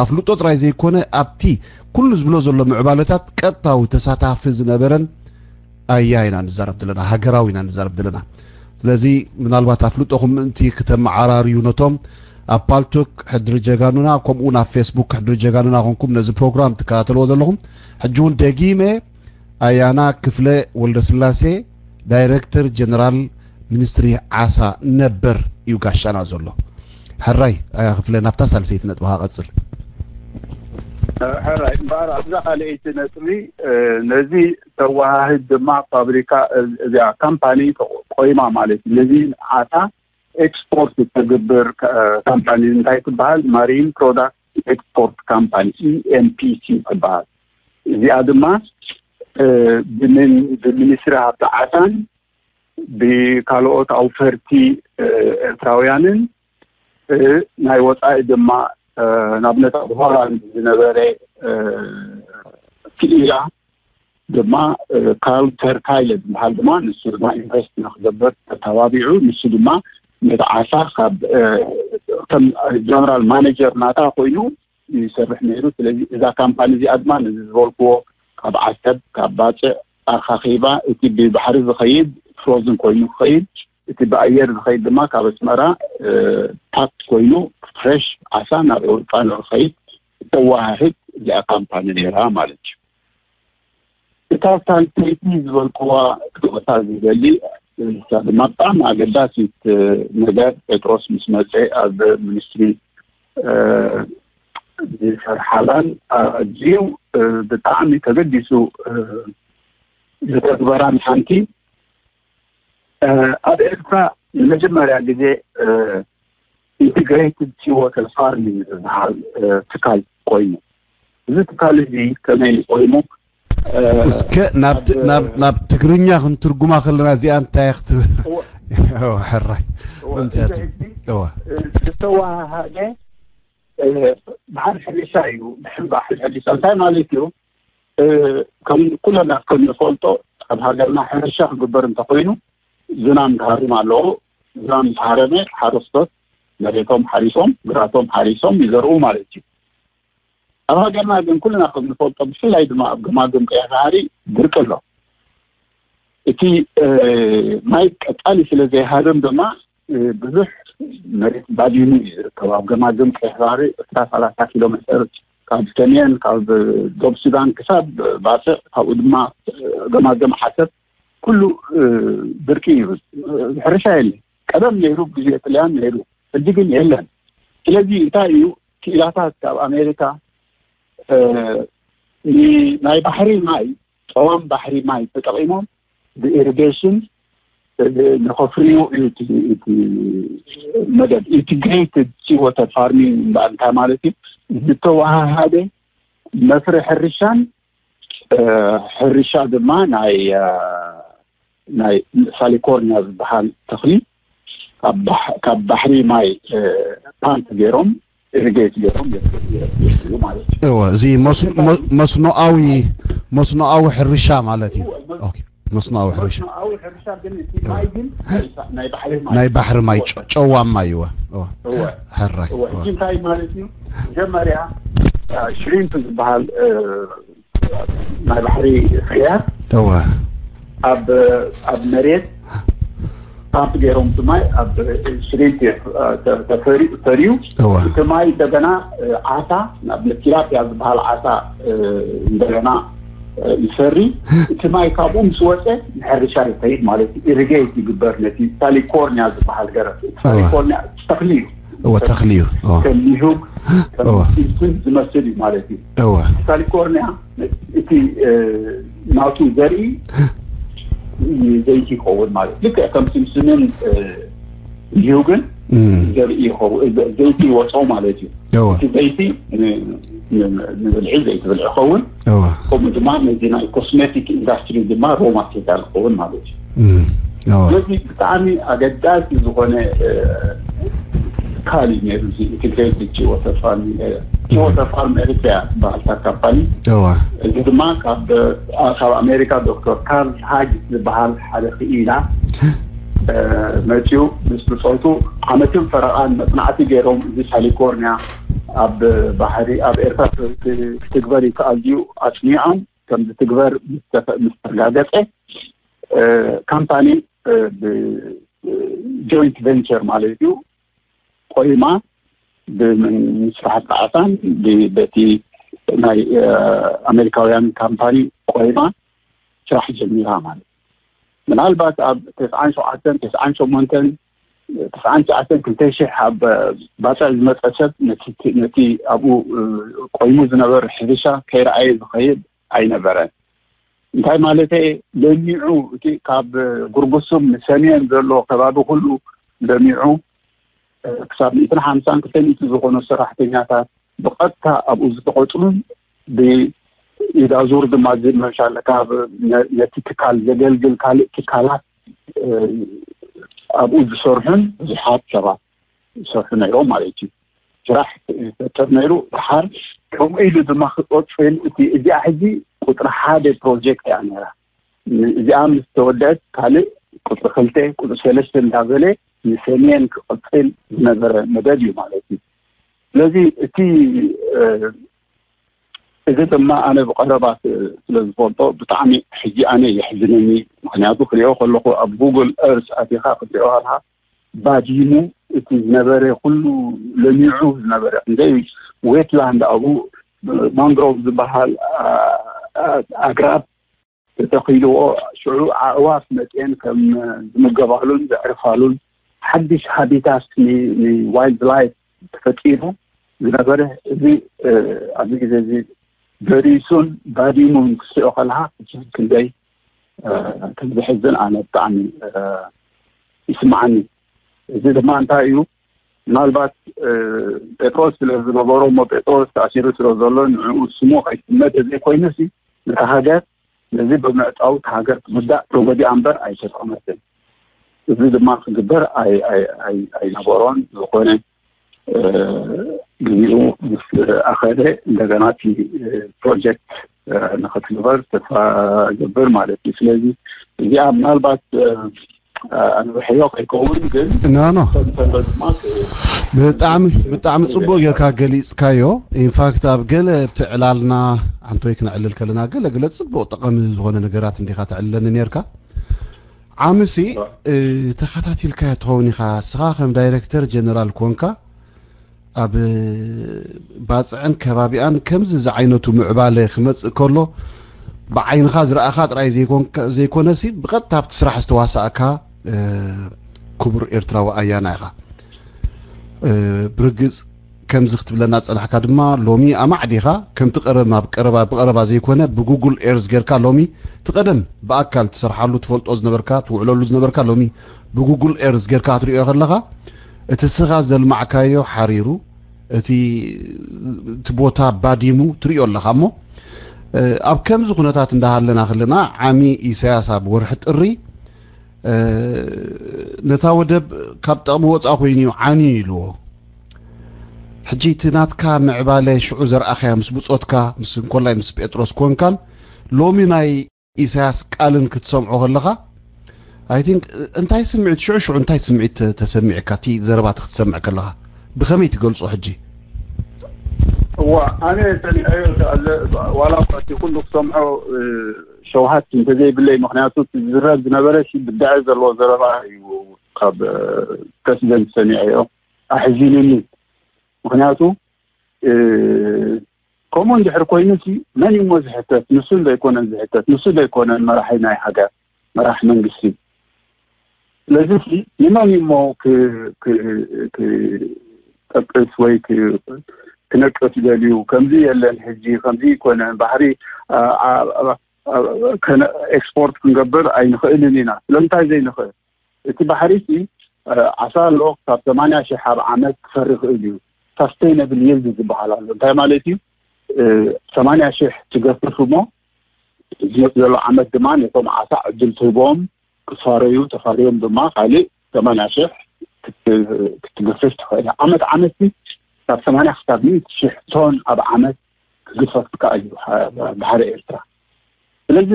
ኣፍልጦ ጥራይ ዘይኮነ ኣብቲ ኩሉ ዝብሎ ዘሎ ምዕባለታት ቀጥታዊ ተሳታፊ ዝነበረን ኣያ ኢና ንዛረብ ዘለና፣ ሃገራዊ ኢና ንዛረብ ዘለና። ስለዚ ምናልባት ኣፍልጦኹም ምእንቲ ክተመዓራርዩ ነቶም ኣብ ፓልቶክ ሕድሪ ጀጋኑና ከምኡ ናብ ፌስቡክ ሕድሪ ጀጋኑና ኮንኩም ነዚ ፕሮግራም ትከታተልዎ ዘለኹም ሕጂ እውን ደጊመ ኣያና ክፍለ ወልደስላሴ ዳይረክተር ጀነራል ሚኒስትሪ ዓሳ ነበር እዩ ጋሻና ዘሎ። ሕራይ ኣያ ክፍለ ናብታ ሳልሰይቲ ነጥብኻ ቀጽል። ሕራይ እምበኣር ኣብዛ ካልኣይቲ ነጥቢ ነዚ ተወሃህድ ድማ ፋብሪካ እዚኣ ካምፓኒ ቆይማ ማለት እዩ። ነዚ ዓሳ ኤክስፖርት ተግብር ካምፓኒ እንታይ ትበሃል? ማሪን ፕሮዳክት ኤክስፖርት ካምፓኒ ኢኤምፒሲ ትበሃል። እዚኣ ድማ ብሚኒስትሪ ሃብቲ ዓሳን ብካልኦት ኣውፈርቲ ኤርትራውያንን ናይ ወፃኢ ድማ ንኣብነት ኣብ ሆላንድ ዝነበረ ክኢላ ድማ ካርል ተርካይለ ዝበሃል ድማ ንሱ ድማ ኢንቨስት ንክገብር ተተባቢዑ። ንሱ ድማ ነቲ ዓሳ ካብ ከም ጀነራል ማኔጀር ናታ ኮይኑ ይሰርሕ ነይሩ። ስለዚ እዛ ካምፓኒ እዚኣ ድማ ነዚ ዝበልክዎ ካብ ዓሰብ ካብ ባፅዕ ኣኻኺባ እቲ ብባሕሪ ዝኸይድ ፍሮዝን ኮይኑ ክኸይድ እቲ ብኣየር ዝኸይድ ድማ ካብ ኣስመራ ፓክት ኮይኑ ፍሬሽ ዓሳ ናብ ኤውሮጳ ንክኸይድ እተወሃህድ እዚኣ ካምፓኒ ነይራ ማለት እዩ። እታ ሳልሰይቲ ዝበልክዋ ክወታ ዝደሊ ንሳ ድማ ብጣዕሚ ኣገዳሲት ነገር ጴጥሮስ ምስ መፀ ኣብ ሚኒስትሪ ዝሰርሓላን ኣዝዩ ብጣዕሚ ተገዲሱ ዝተግበራን ሓንቲ ኣብ ኤርትራ ንመጀመርያ ግዜ ኢንቴግሬትድ ሲ ዋተር ፋርሚንግ ዝበሃል ትካል ኮይኑ እዚ ትካል እዚ ከመይ ኮይኑ እስከ ናብ ትግርኛ ክንትርጉማ ከለና እዚኣ እንታይ ክትብል ሕራይ ዝተወሃሃደ ብሓር ሕርሻ እዩ። ብሕምባ ሕርሻ እንታይ ማለት እዩ? ከም ኩለና ከም ንፈልጦ ኣብ ሃገርና ሕርሻ ክግበር እንተኮይኑ ዝናም ክሃርም ኣለዎ። ዝናም ዝሃረመ ሓረስቶት መሬቶም ሓሪሶም ግራቶም ሓሪሶም ይዘርኡ ማለት እዩ። ኣብ ሃገርና ግን ኩልና ከም ንፈልጦ ብፍላይ ድማ ኣብ ገማግም ቀይሕ ባሕሪ ድርቂ ኣሎ። እቲ ማይ ቀጻሊ ስለ ዘይሃርም ድማ ብዙሕ መሬት ባዲኑ እዩ ዝርከብ። ኣብ ገማግም ቀይሕ ባሕሪ ዕስራ ሰላሳ ኪሎ ሜትር ካብ ሰሜን ካብ ደቡብ ሱዳን ክሳብ ባጽዕ ካብኡ ድማ ገማግም ዓሰብ ኩሉ ድርቂ እዩ። ሕርሻ የለ። ቀደም ነይሩ ግዜ ጥልያን ነይሩ፣ ሕጂ ግን የለን። ስለዚ እንታይ እዩ ክኢላታት ካብ ኣሜሪካ ናይ ባሕሪ ማይ ጸዋም ባሕሪ ማይ ተጠቒሞም ብኢሪጌሽን ንኸፍርዩ እዩ እቲ መደብ። ኢንቲግሬትድ ሲ ዋተር ፋርሚንግ እምበኣር እንታይ ማለት እዩ? ዝተወሃሃደ መፍረ ሕርሻን ሕርሻ ድማ ናይ ናይ ሳሊኮርኒያ ዝበሃል ተኽሊ ካብ ባሕ- ካብ ባሕሪ ማይ ፓምፕ ገይሮም ኢሪጌት ገይሮም የፍርዩ ማለት እዩ። እወ፣ እዚ መስኖ- መ- መስኖኣዊ መስኖኣዊ ሕርሻ ማለት እዩ። ኦኬ፣ መስኖኣዊ ሕርሻ። መስኖኣዊ ሕርሻ ግን እቲ ማይ ግን ናይ ባሕሪ ማይ ናይ ባሕሪ ማይ ጨ- ጨዋማ እዩ። እወ፣ እወ። እወ። ሕራይ። እወ፣ እወ። ሕጂ እንታይ ማለት እዩ? መጀመርያ ሽሪምፕ ዝበሃል እ፣ ናይ ባሕሪ ፍርያት እወ። ኣብ ኣብ መሬት ፓምፕ ገይሮም እቲ ማይ ኣብ ሽሪምፕ ተፈሪ- ፈርዩ እወ። እቲ ማይ እንደገና እ፣ ዓሳ ናብ ቲላፒያ ዝበሃል ዓሳ እ፣ እንደገና እ፣ ይፈሪ። እቲ ማይ ካብኡ ምስ ወፀ ንሕርሻ ይኸይድ ማለት እዩ። ኢሪጌት ይግበር ነቲ ሳሊኮርኒያ ዝበሃል ገረብ። ሳሊኮርኒያ ተኽሊ እዩ። እወ፣ ተኽሊ እዩ። እወ። ከም ኒሁግ ከም እወ። ሲምስን ዝመስል እዩ ማለት እዩ። እወ። ካሊፎርኒያ እቲ እ፣ ናቱ ዘርኢ ዘይቲ ይኸውን ማለት እዩ። ልክዕ ከም ሲምስንን እ፣ ኒሁግን እም። ዘርኢ ይኸውን፣ ዘ- ዘይቲ ይወፅኦ ማለት እዩ። እወ። እቲ ዘይቲ ን- ን- ንብልዒ ዘይቲ ብልዒ ይኸውን። እወ። ከምኡ ድማ ነዚ ናይ ኮስሜቲክ ኢንዳስትሪ ድማ ሮ ማቴሪያል ይኸውን ማለት እዩ። እም። እወ። ስለዚ ብጣዕሚ ኣገዳሲ ዝኾነ እ፣ ትካል እዩ ነይሩ እዚ ኢንቴግሬትድ ጂ ወተር ፋርም። ጂ ወተር ፋርም ኤሪትሪያ ዝበሃል ካምፓኒ እወ። እዚ ድማ ካብ እ፣ ካብ ኣሜሪካ ዶክተር ካርል ሃጅ ዝበሃል ሓደ ክኢላ እ፣ መፂኡ ምስ ብፆቱ ዓመትን ፈረቓን መፅናዕቲ ገይሮም እዚ ካሊፎርኒያ ኣብ ባሕሪ ኣብ ኤርትራ ክ- ክ- ክትግበር ይከኣል ድዩ ኣፅኒዖም ከም ዝትግበር ምስ ተፈ- ምስ ተረጋገፀ እ፣ ካምፓኒ እ፣ ብ- እ፣ ጆይንት ቬንቸር ማለት እዩ ቆይማ ብምስራሕቲ ዓሳን ብ- በቲ ናይ እ፣ ኣሜሪካውያን ካምፓኒ ቆይማ ስራሕ ጀሚራ ማለት እዩ። ምናልባት ኣብ ተስዓን ሸውዓተን ተስዓን ሸሞንተን ተስዓን ትሽዓተን ክልተ ሽሕ ኣብ ባፅዕ ዝመፀ ሰብ ነቲ ነቲ ኣብኡ እ፣ ቆይሙ ዝነበረ ሕርሻ ከይረኣየ ዝኸይድ ኣይነበረን። እንታይ ማለት ለሚዑ እቲ ካብ ጉርጉሱም ንሰሜን ዘሎ ከባቢ ኩሉ ለሚዑ እ፣ ክሳብ ሚእትን ሓምሳን ክልተ ሚእቲ ዝኾኑ ሰራሕተኛታት ብቐጥታ ኣብኡ ዝተቖፅሩን ብኢዳዙር ድማ ዝመሻለ ካብ ነ- ነቲ ትካል ዘገልግል ካልእ ትካላት እ፣ ኣብኡ ዝሰርሑን ብዙሓት ሰባት ዝሰርሑ ነይሮም ማለት እዩ። ስራሕ ይፈጥር ነይሩ። ድሓር ከምኡ ኢሉ ድማ ክቐፅል እቲ እዚኣ ሕጂ ቁፅሪ ሓደ ፕሮጀክት እያ ነይራ። ን- እዚኣ ምስ ተወደአት ካልእ ቁፅሪ ክልተ ቁፅሪ ሰለስተ እንዳበለ ንሰሜን ክቐፅል ዝነበረ መደብ እዩ ማለት እዩ። ስለዚ እቲ እ፣ እዚ ድማ ኣነ ብቐረባ ስ- ስለ ዝፈልጦ ብጣዕሚ ሕጂ ኣነ የሕዝነኒ። ምክንያቱ ክሪኦ ከለኹ ኣብ ጉግል ኤርስ ኣቲኻ ክትሪኦ ኣለካ ባዲሙ እቲ ዝነበረ ኩሉ ለሚዑ ዝነበረ ክንደይ ዌትላንድ ኣብኡ ማንግሮቭ ዝበሃል ኣ- ኣ- ኣግራብ ተተኺልዎ ሽዑ ኣዕዋፍ መፅኤን ከም ዝምገባሉን ዘዕርፋሉን ሓድሽ ሃቢታት ንዋይልድ ላይፍ ተፈጢሩ ዝነበረ እዚ እ፣ ኣብዚ ግዜ እዚ በሪሱን ባዲሙን ክትሪኦ ከለካ እጅግ ክንደይ እ፣ ከም ዘሕዝን ኣነ ብጣዕሚ እ፣ ይስምዓኒ። እዚ ድማ እንታይ እዩ ምናልባት እ፣ ጴጥሮስ ስለ ዝገበሮ እሞ ጴጥሮስ ተኣሲሩ ስለ ዘሎ ንዕኡ ስሙ ከይስመ ተዘይኮይኑሲ ነታ ሃገር ነዚ ብምዕጻው እታ ሃገር ትጉዳእ ተጎዲኣ እምበር ኣይተጠቐመትን። እዚ ድማ ክግበር ኣይ- ኣይ- ኣይ- ኣይነበሮን። ዝኾነ እ፣ ግዜኡ ምስ ኣኸለ እንደገና እቲ እ፣ ፕሮጀክት እ፣ ንኽትግበር ተስፋ ገብር ማለት እዩ። ስለዚ እዚኣ ምናልባት እ፣ ኣንብሕዮ ከይከውን ግን ኖ ኖ ተንተሎ ድማ ክ- ብጣዕሚ ብጣዕሚ ጽቡቅ ጌርካ ገሊጽካዮ። ኢንፋክት ኣብ ገለ ኣብቲ ዕላልና ሓንቲ ወይ ክነዕልል ከለና ገለ ገለ ጽቡቅ ጠቐሚ ዝኾነ ነገራት እንዲኻ ተዕልለኒ ኔርካ። ዓምሲ እ፣ ተኸታቲልካዮ ትኸውን ኢኻ። እስኻ ከም ዳይሬክተር ጀነራል ኮንካ ኣብ ባጽዕን ከባቢኣን ከምዚ ዝዓይነቱ ምዕባለ ክመጽእ ከሎ ብዓይንኻ ዝረኣኻ ጥራይ ዘይኮንካ- ዘይኮነሲ ብቐጥታ ኣብቲ ስራሕ ዝተዋሳእካ እ፣ ክቡር ኤርትራዊ ኣያና ኢኻ። እ፣ ብርግጽ ከምዚ ክትብለና ጸናሕካ ድማ ሎሚ ኣማዕዲኻ ከምቲ ቀደም ኣብ ቀረባ ብቐረባ ዘይኮነ ብጉግል ኤርዝ ጌርካ ሎሚ እቲ ቀደም ብኣካል ትሰርሓሉ ትፈልጦ ዝነበርካ ትውዕለሉ ዝነበርካ ሎሚ ብጉግል ኤርዝ ጌርካ ክትሪኦ ከለኻ እቲ ስኻ ዘልማዕካዮ ሓሪሩ እቲ እቲ ቦታ ባዲሙ ትሪኦ ኣለኻ እሞ እ፣ ኣብ ከምዚ ኩነታት እንዳሃለና ከለና ዓሚ ኢሳያስ ኣብ ወርሒ ጥሪ ነታ ወደብ ካብ ጥቕሚ ወፃእ ኮይኑ እዩ ዓንዩ ኢልዎ። ሕጂ እቲ ናትካ ምዕባለ ሽዑ ዘርኣኻያ ምስ ብፆትካ ምስ እንኮላይ ምስ ጴጥሮስ ኮንካን ሎሚ ናይ ኢሳያስ ቃልን ክትሰምዖ ከለኻ፣ I think እንታይ ስምዒት ሽዑ ሽዑ እንታይ ስምዒት ተሰሚዕካ እቲ ዘረባ ክትሰምዕ ከለኻ ብኸመይ ትገልጾ? ሕጂ እዋ ኣነ ሰሚዐዮ። ዋላ እኳ እቲ ኩሉ ክሰምዖ ሸውሃት እንተዘይብለይ፣ ምክንያቱ ዝዝረብ ዝነበረ ብድዐ ዘለዎ ዘረባ እዩ። ካብ ፕረሲደንት ሰሚዐዮ ኣሕዚኑኒ። ምክንያቱ ከምኡ እንድሕር ኮይኑ ሲ መን እሞ ዝሕተት? ንሱ ዘይኮነን ዝሕተት፣ ንሱ ዘይኮነን መራሒ ናይ ሃገር፣ መራሕ መንግስቲ። ስለዚ ሲ ንመን እሞ ክጠቅስ ወይ ክነቅፍ ደልዩ? ከምዚ የለን ሕጂ፣ ከምዚ ይኮነን፣ ባሕሪ ኤክስፖርት ክንገብር ኣይንኽእልን ኢና። ስለምንታይ ዘይንኽእል? እቲ ባሕሪ ሲ ዓሳ ኣሎ፣ ካብ ሰማንያ ሽሕ ኣብ ዓመት ክፈሪ ይኽእል እዩ። ሳስቴይነብል ይልድ ዝበሃል ኣሎ። እንታይ ማለት እዩ? ሰማንያ ሽሕ ትገፍፍ እሞ ዝመፅ ዘሎ ዓመት ድማ ነቶም ዓሳ ዕድል ትህቦም ክፋረዩ፣ ተፋርዮም ድማ ካልእ ሰማንያ ሽሕ ክትገፍፍ ትኽእል። ዓመት ዓመት ካብ ሰማንያ ክሳብ ሚእቲ ሽሕ ቶን ኣብ ዓመት ክግፈፍ ከኣ እዩ ባሕሪ ኤርትራ። ስለዚ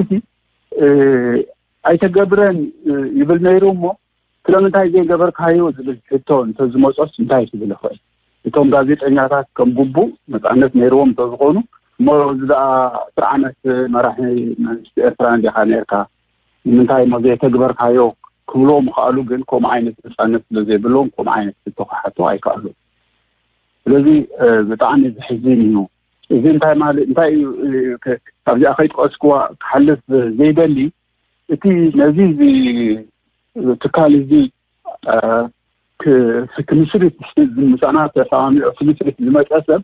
ኣይተገብረን ይብል ነይሩ እሞ ስለምንታይ ዘይገበርካዮ ዝብል ሕቶ እንተዝመፆስ እንታይ ክብል ይኽእል? እቶም ጋዜጠኛታት ከም ግቡእ ነፃነት ነይርዎም እንተዝኾኑ እሞ እዚ ደኣ ኣስር ዓመት መራሒ መንግስቲ ኤርትራ እንዲኻ ነይርካ ንምንታይ እሞ ዘይተግበርካዮ ክብልዎ ምኽኣሉ፣ ግን ከምኡ ዓይነት ነፃነት ስለ ዘይብልዎም ከምኡ ዓይነት ሕቶ ክሓቱ ኣይከኣሉን። ስለዚ ብጣዕሚ ዘሕዝን እዩ። እዚ እንታይ ማለት እንታይ እዩ? ካብዚኣ ከይጠቀስክዋ ክሓልፍ ዘይደሊ እቲ ነዚ ትካል እዚ ክምስርት ምሳና ተሰማሚዑ ክምስርት ዝመፀ ሰብ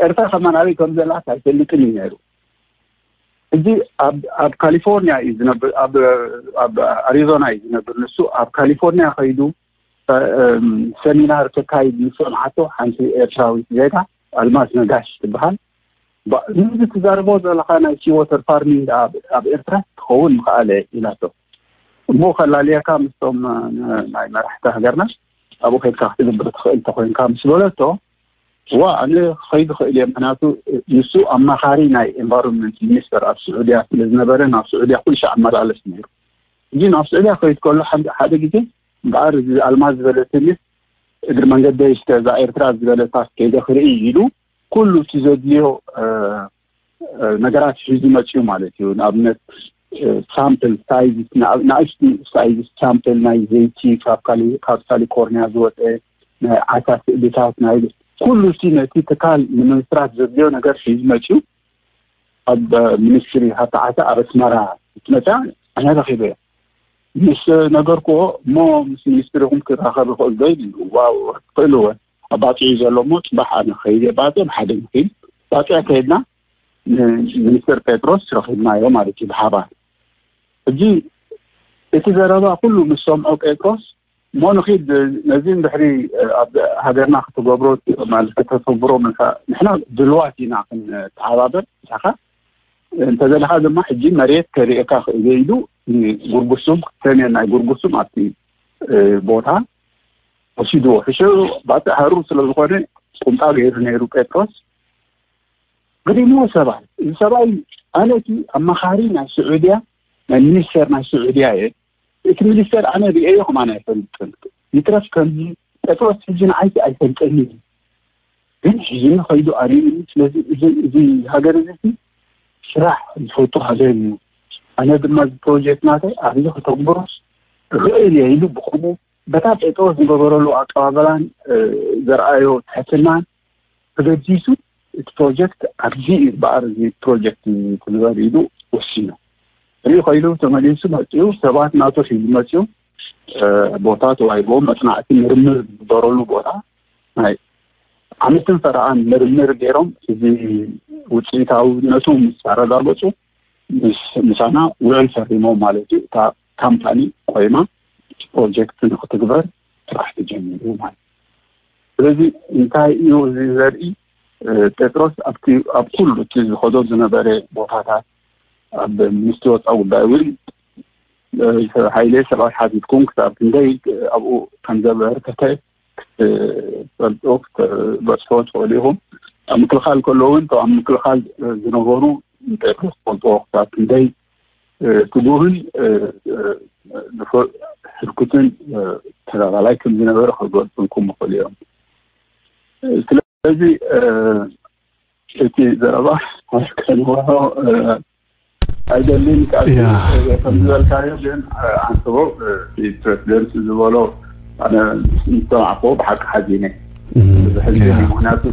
ኤርትራ ከማን ኣበይ ከም ዘላት ኣይፈልጥን እዩ ነይሩ። እዚ ኣብ ካሊፎርኒያ እዩ ዝነብር፣ ኣብ ኣሪዞና እዩ ዝነብር። ንሱ ኣብ ካሊፎርኒያ ከይዱ ሰሚናር ከካይድ ምስ ሰምዓቶ ሓንቲ ኤርትራዊት ዜጋ ኣልማዝ ነጋሽ ትበሃል። እዚ ትዛርቦ ዘለካ ናይ ሲ ወተር ፋርሚንግ ኣብ ኤርትራ ክኸውን ምኽኣለ ኢላቶ። እሞ ከላልየካ ምስቶም ናይ መራሕቲ ሃገርና ኣብኡ ከድካ ክትግብር ትኽእል ተኮይንካ ምስ በለቶ፣ ዋ ኣነ ክኸይድ ክእል እየ፣ ምክንያቱ ንሱ ኣማኻሪ ናይ ኤንቫይሮንመንት ሚኒስተር ኣብ ስዑድያ ስለ ዝነበረ ናብ ስዑድያ ኩሉ ሻዕ ኣመላለስ ነይሩ። እዚ ናብ ስዑድያ ከይድ ከሎ ሓደ ግዜ እምበኣር እዚ ኣልማዝ ዝበለትኒ እግሪ መንገደይ እስከ እዛ ኤርትራ ዝበለታ ከይደ ክርኢ ኢሉ ኩሉ እቲ ዘድልዮ ነገራት ሒዙ መፅኡ ማለት እዩ። ንኣብነት ሳምፕል ሳይዝ፣ ንኣሽቱ ሳይዝ ሳምፕል ናይ ዘይቲ፣ ካብ ካሊፎርኒያ ዝወፀ ናይ ዓሳ ስእልታት፣ ናይ ኩሉ እቲ ነቲ ትካል ንምምስራት ዘድልዮ ነገር ሒዙ መፅኡ። ኣብ ሚኒስትሪ ሃብቲ ዓሳ ኣብ ኣስመራ ትመፅኣ ኣነ ረኪበዮ ምስ ነገርክዎ እሞ ምስ ሚኒስትሪኹም ክራኸብ ይኽእል ዶ ኢሉ። ዋው ትኽእል እወ ኣባፂዑ ዘሎ እሞ ፅባሕ ኣነ ከይደ ባፅዕ ብሓደ ንኺድ ባፅዕ ከይድና ሚኒስትር ጴጥሮስ ረኺብናዮ ማለት እዩ ብሓባር። ሕጂ እቲ ዘረባ ኩሉ ምስ ሰምዖ ጴጥሮስ እሞ ንኺድ ነዚ እንድሕሪ ኣብ ሃገርና ክትገብሮ ማለት ከተተግብሮ ምልካ ንሕና ድልዋት ኢና ክንተሓባበር ምሳኻ እንተዘለኻ ድማ ሕጂ መሬት ከርእየካ ክእለ ኢሉ ጉርጉሱም ሰሜን ናይ ጉርጉሱም ኣብቲ ቦታ ወሲድዎ። ሕሸ ባፅዕ ሃሩር ስለዝኾነ ቁምጣ ገይሩ ነይሩ ጴጥሮስ። ገሪምዎ ሰብኣይ እዚ ሰብኣይ ኣነ እቲ ኣማኻሪ ናይ ስዑድያ ናይ ሚኒስተር ናይ ስዑድያ እየ። እቲ ሚኒስተር ኣነ ርእየዮ ከማን ኣይፈልጥን። ይትረፍ ከምዚ ጴጥሮስ ሕጂ ንዓይቲ ኣይፈልጠኒ እዩ። ግን ሒዙኒ ከይዱ ኣርእዩኒ። ስለዚ እዚ እዚ ሃገር እዚ ስራሕ ዝፈቱ ሃገር እዩ። ኣነ ድማ እዚ ፕሮጀክት ናተይ ኣብዚ ከተግብሮስ እኽእል እየ ኢሉ ብኸምኡ በታ ጴጥሮስ ዝገበረሉ ኣቀባበላን ዘርኣዮ ትሕትናን ተገዲሱ እቲ ፕሮጀክት ኣብዚ እዩ በኣር እዚ ፕሮጀክት ትግበር ኢሉ ወሲኑ። ርኢ ከይሉ ተመሊሱ መፅኡ ሰባት ናቱ ሒዙ መፅኡ ቦታ ተዋሂብዎም መፅናዕቲ ምርምር ዝግበረሉ ቦታ ናይ ዓመትን ፈረቓን ምርምር ገይሮም እዚ ውፅኢታውነቱ ምስ ኣረጋገፁ ምሳና ውዕል ፈሪሞም ማለት እዩ። እታ ካምፓኒ ቆይማ ፕሮጀክት ንክትግበር ስራሕ ተጀሚሩ ማለት እዩ። ስለዚ እንታይ እዩ እዚ ዘርኢ? ጴጥሮስ ኣብቲ ኣብ ኩሉ እቲ ዝኸዶ ዝነበረ ቦታታት ኣብ ሚኒስትሪ ወፃኢ ጉዳይ እውን ሃይለ ሰብኣይ ሓቲትኩም ክሳብ ክንደይ ኣብኡ ከም ዘበርከተ ክትፈልጡ ክትበፅሑ ትኽእሉ ኢኹም። ኣብ ምክልኻል ከለዉ እውን እቶም ኣብ ምክልኻል ዝነበሩ ጴጥሮስ ክፈልጥዎ ክሳብ ክንደይ ትጉህን ንፉዕ ህርኩትን ተጋዳላይ ከም ዝነበረ ክገልፅልኩም ይኽእሉ እዮም። ስለዚ እቲ ዘረባ ከንወሖ ኣይደልን። ካብ ከም ዝበልካዮ ግን ኣንስቦ እቲ ፕሬዚደንት ዝበሎ ኣነ ምስ ሰማዕክዎ ብሓቂ ሓዚነ። ብሕልፊ ምክንያቱ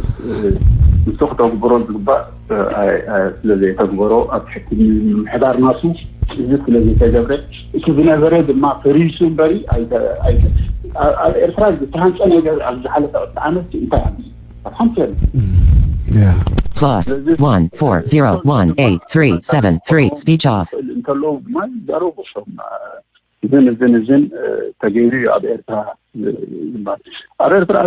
ንሱ ክተግብሮ ዝግባእ ስለዘይተግበሮ ኣብ ትሕቲ ምምሕዳር ናሱ እዚ ስለዘይተገብረ እቲ ዝነበረ ድማ ፈሪሱ እምበሪ ኣብ ኤርትራ ዝተሃንፀ ነገር ኣብ ዝሓለፈ ዕስራ ዓመት እንታይ ኣሎ? ኣብ ሓንቲ የለን። Plus one four zero one eight three seven three speech off. እንተለዉ ድማ ይዛረቡ እዞም እዝን እዝን እዝን ተገይሩ እዩ ኣብ ኤርትራ ዝበሃል። ኣብ ኤርትራ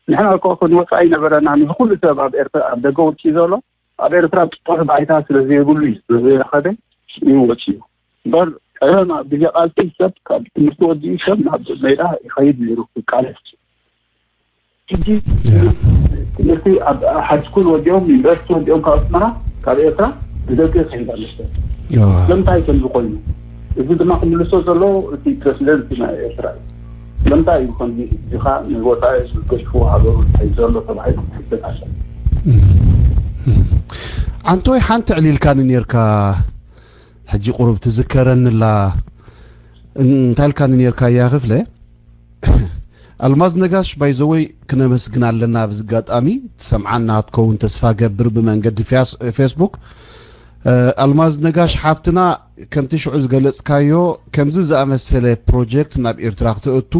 ንሕና እኮ ክንወፃ ኣይነበረና። ንዚ ኩሉ ሰብ ኣብ ኤርትራ ኣብ ደገ ውጭ ዘሎ ኣብ ኤርትራ ጥጡሕ ባይታ ስለዘይብሉ እዩ ስለዘይረኸበ እዩ ወፂኡ። እምበር ቀደም ኣብ ግዜ ቃልሲ ሰብ ካብ ትምህርቲ ወዲኡ ሰብ ናብ ሜዳ ይኸይድ ነይሩ ክቃለስ። ሕጂ ትምህርቲ ኣብ ሃይስኩል ወዲኦም ዩኒቨርሲቲ ወዲኦም ካብ ኣስመራ ካብ ኤርትራ ብደቂ ይኸይድ ኣሎ ሰብ። ስለምንታይ ከምዚ ኮይኑ? እዚ ድማ ክምልሶ ዘሎ እቲ ፕረሲደንት ናይ ኤርትራ እዩ። ስለምንታይ እዩ ከምዚ እዚኻ ንወፃኢ ገሽፉ ሃገሩ ዝኸይድ ዘሎ ተባሂሉ ክሕተት ኣሎ። ዓንቶይ ሓንቲ ዕሊልካኒ ኔርካ ሕጂ ቁሩብ ትዝከረኒ ኣላ እንታይ ኢልካኒ ኔርካ እያ ክፍለ ኣልማዝ ነጋሽ ባይዘወይ ክነመስግን ኣለና ብዝጋጣሚ ትሰምዓና ትከውን ተስፋ ገብር ብመንገዲ ፌስቡክ ኣልማዝ ነጋሽ ሓፍትና ከምቲ ሽዑ ዝገለጽካዮ ከምዚ ዝኣመሰለ ፕሮጀክት ናብ ኤርትራ ክተእቱ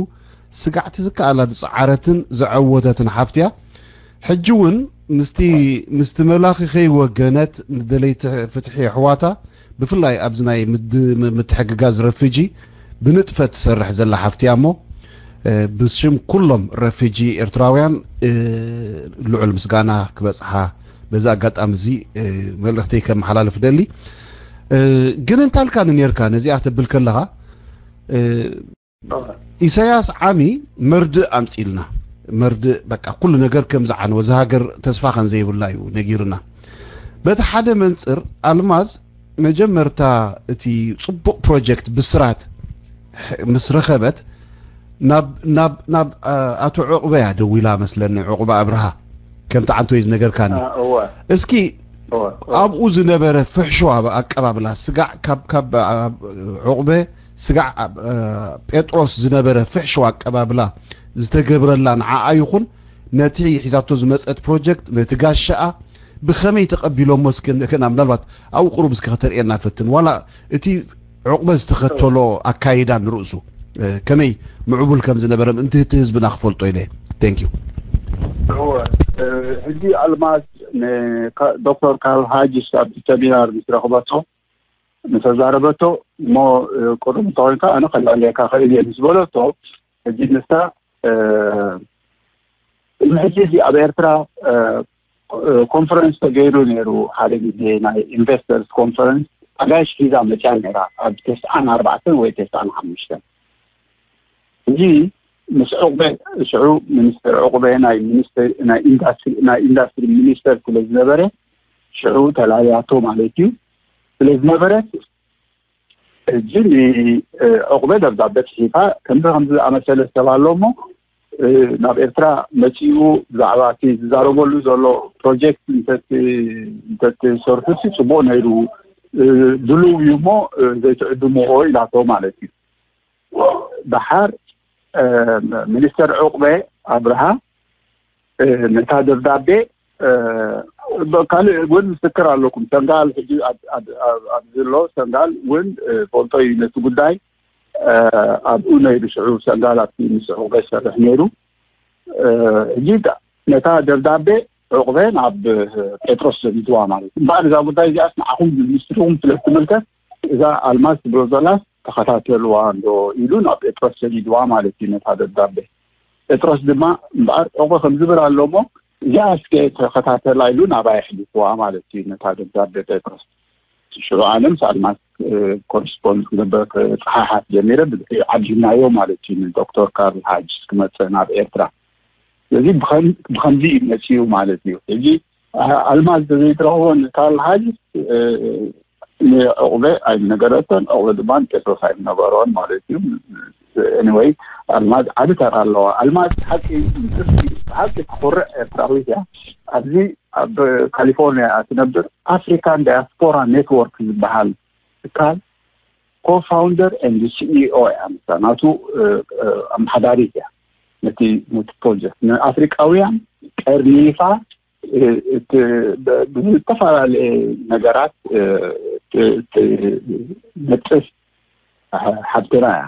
ስጋዕቲ ዝከኣላ ዝጸዓረትን ዘዐወተትን ሓፍትያ ሕጂ እውን ምስቲ ምስቲ መላኺ ከይወገነት ንደለይቲ ፍትሒ ኣሕዋታ ብፍላይ ኣብዚ ናይ ምትሕግጋዝ ረፊጂ ብንጥፈት ትሰርሕ ዘላ ሓፍቲ እያ እሞ ብሽም ኩሎም ረፊጂ ኤርትራውያን ልዑል ምስጋና ክበጽሓ በዚ ኣጋጣሚ እዚ መልእኽተይ ከመሓላልፍ ደሊ ግን እንታልካ ንኔርካ ነዚኣ ተብል ከለኻ ኢሳያስ ዓሚ መርድእ ኣምጺልና መርድእ በቃ ኩሉ ነገር ከም ዝዓነወ እዚ ሃገር ተስፋ ከም ዘይብላ እዩ ነጊርና በቲ ሓደ መንጽር ኣልማዝ መጀመርታ እቲ ጽቡቕ ፕሮጀክት ብስራት ምስ ረኸበት ናብ ናብ ናብ ኣቶ ዕቑበ እያ ደዊላ መስለኒ ዕቑበ ኣብርሃ ከምቲ ዓንቶ እዩ ዝነገርካኒ እስኪ ኣብኡ ዝነበረ ፍሕሽዋ ኣቀባብላ ስጋዕ ካብ ካብ ዕቑበ ስጋዕ ጴጥሮስ ዝነበረ ፍሕሽዋ ኣቀባብላ ዝተገብረላ ንዓኣ ይኹን ነቲ ሒዛቶ ዝመፀት ፕሮጀክት ነቲ ጋሻኣ ብኸመይ ተቐቢሎሞ እስኪ ንክና ምናልባት ኣብኡ ቁሩብ እስኪ ከተርእየና ፈትን ዋላ እቲ ዕቑበ ዝተኸተሎ ኣካይዳ ንርእሱ ከመይ ምዕቡል ከም ዝነበረ ምእንቲ እቲ ህዝብና ክፈልጦ ኢለ thank you ሕጂ ኣልማዝ ዶክተር ካርል ሃጅስ ኣብቲ ሰሚናር ምስ ረኽበቶ ንተዛረበቶ እሞ ቅሩብ እንተኮይንካ ኣነ ከላልየካ ክእል እየ ምስ በለቶ ሕጂ ንሳ ቅድሚ ሕጂ እዚ ኣብ ኤርትራ ኮንፈረንስ ተገይሩ ነይሩ ሓደ ግዜ ናይ ኢንቨስተርስ ኮንፈረንስ ኣጋይሽ ሒዛ መፅያ ነይራ ኣብ ተስዓን ኣርባዕተን ወይ ተስዓን ሓሙሽተን እዚ ምስ ዕቁበ ሽዑ ሚኒስተር ዕቁበ ናይ ኢንዱስትሪ ሚኒስተር ስለ ዝነበረ ሽዑ ተላልያቶ ማለት እዩ ስለ ዝነበረት ሕጂ ንዕቁበ ደብዳቤ ፅሒፋ ከምዚ ከምዚ ዝኣመሰለ ሰብ ኣሎ እሞ ናብ ኤርትራ መፂኡ ብዛዕባ እቲ ዝዛረበሉ ዘሎ ፕሮጀክት እንተትሰርሑ ሲ ፅቡቅ ነይሩ ድልው እዩ እሞ ዘይትዕድምዎ ኢላቶ ማለት እዩ። ደሓር ሚኒስተር ዕቁበ ኣብርሃ ነታ ደብዳቤ ካልእ እውን ምስክር ኣለኩም። ሰንጋል ሕጂ ኣብዚ ኣሎ ሰንጋል እውን ፈልጦ እዩ ነቲ ጉዳይ ኣብኡ ነይሩ ሽዑ ሰንጋል ኣብቲ ምስ ዕቁበ ይሰርሕ ነይሩ። ሕጂ ነታ ደብዳቤ ዕቁበ ናብ ጴጥሮስ ሰዲድዋ ማለት እዩ። እምበኣር እዛ ጉዳይ እዚኣስ ንዓኹም ሚኒስትሪኹም ስለ ትምልከት እዛ ኣልማዝ ትብሎ ዘላስ ተኸታተልዋ እንዶ ኢሉ ናብ ጴጥሮስ ሰዲድዋ ማለት እዩ ነታ ደብዳቤ። ጴጥሮስ ድማ እምበኣር ዕቁበ ከም ዝብል ኣሎ እሞ እዚኣ እስከ ተኸታተላ ኢሉ ናባይ ኣሕሊፍዋ ማለት እዩ ነታ ደብዳቤ ጴጥሮስ። ሽዑ ኣነ ምስ ኣልማዝ ኮረስፖንድ ክገብር ክፀሓሓት ጀሚረ። ዓዲምናዮ ማለት እዩ፣ ንዶክተር ካርል ሃጅስ ክመፅእ ናብ ኤርትራ። ስለዚ ብኸምዚ እዩ መፅኡ ማለት እዩ። ሕጂ ኣልማዝ ተዘይትረኽቦ ንካርል ሃጅስ ንዕቑበ ኣይምነገረቶን፣ ዕቑበ ድማ ንጴጥሮስ ኣይምነገሮን ማለት እዩ። ኤኒወይ፣ ኣልማዝ ዓቢ ተራ ኣለዋ። ኣልማዝ ብሓቂ ንጥፍቲ ብሓቂ ትኹርዕ ኤርትራዊት እያ። ኣብዚ ኣብ ካሊፎርኒያ እያ ትነብር። ኣፍሪካን ዳያስፖራ ኔትወርክ ዝበሃል ትካል ኮፋውንደር ኤንድ ሲኢኦ እያ። ንሳ ናቱ ኣመሓዳሪት እያ። ነቲ ነቲ ፕሮጀክት ንኣፍሪቃውያን ቀርኒፋ ብዝተፈላለየ ነገራት ትነጥፍ ሓብትና እያ።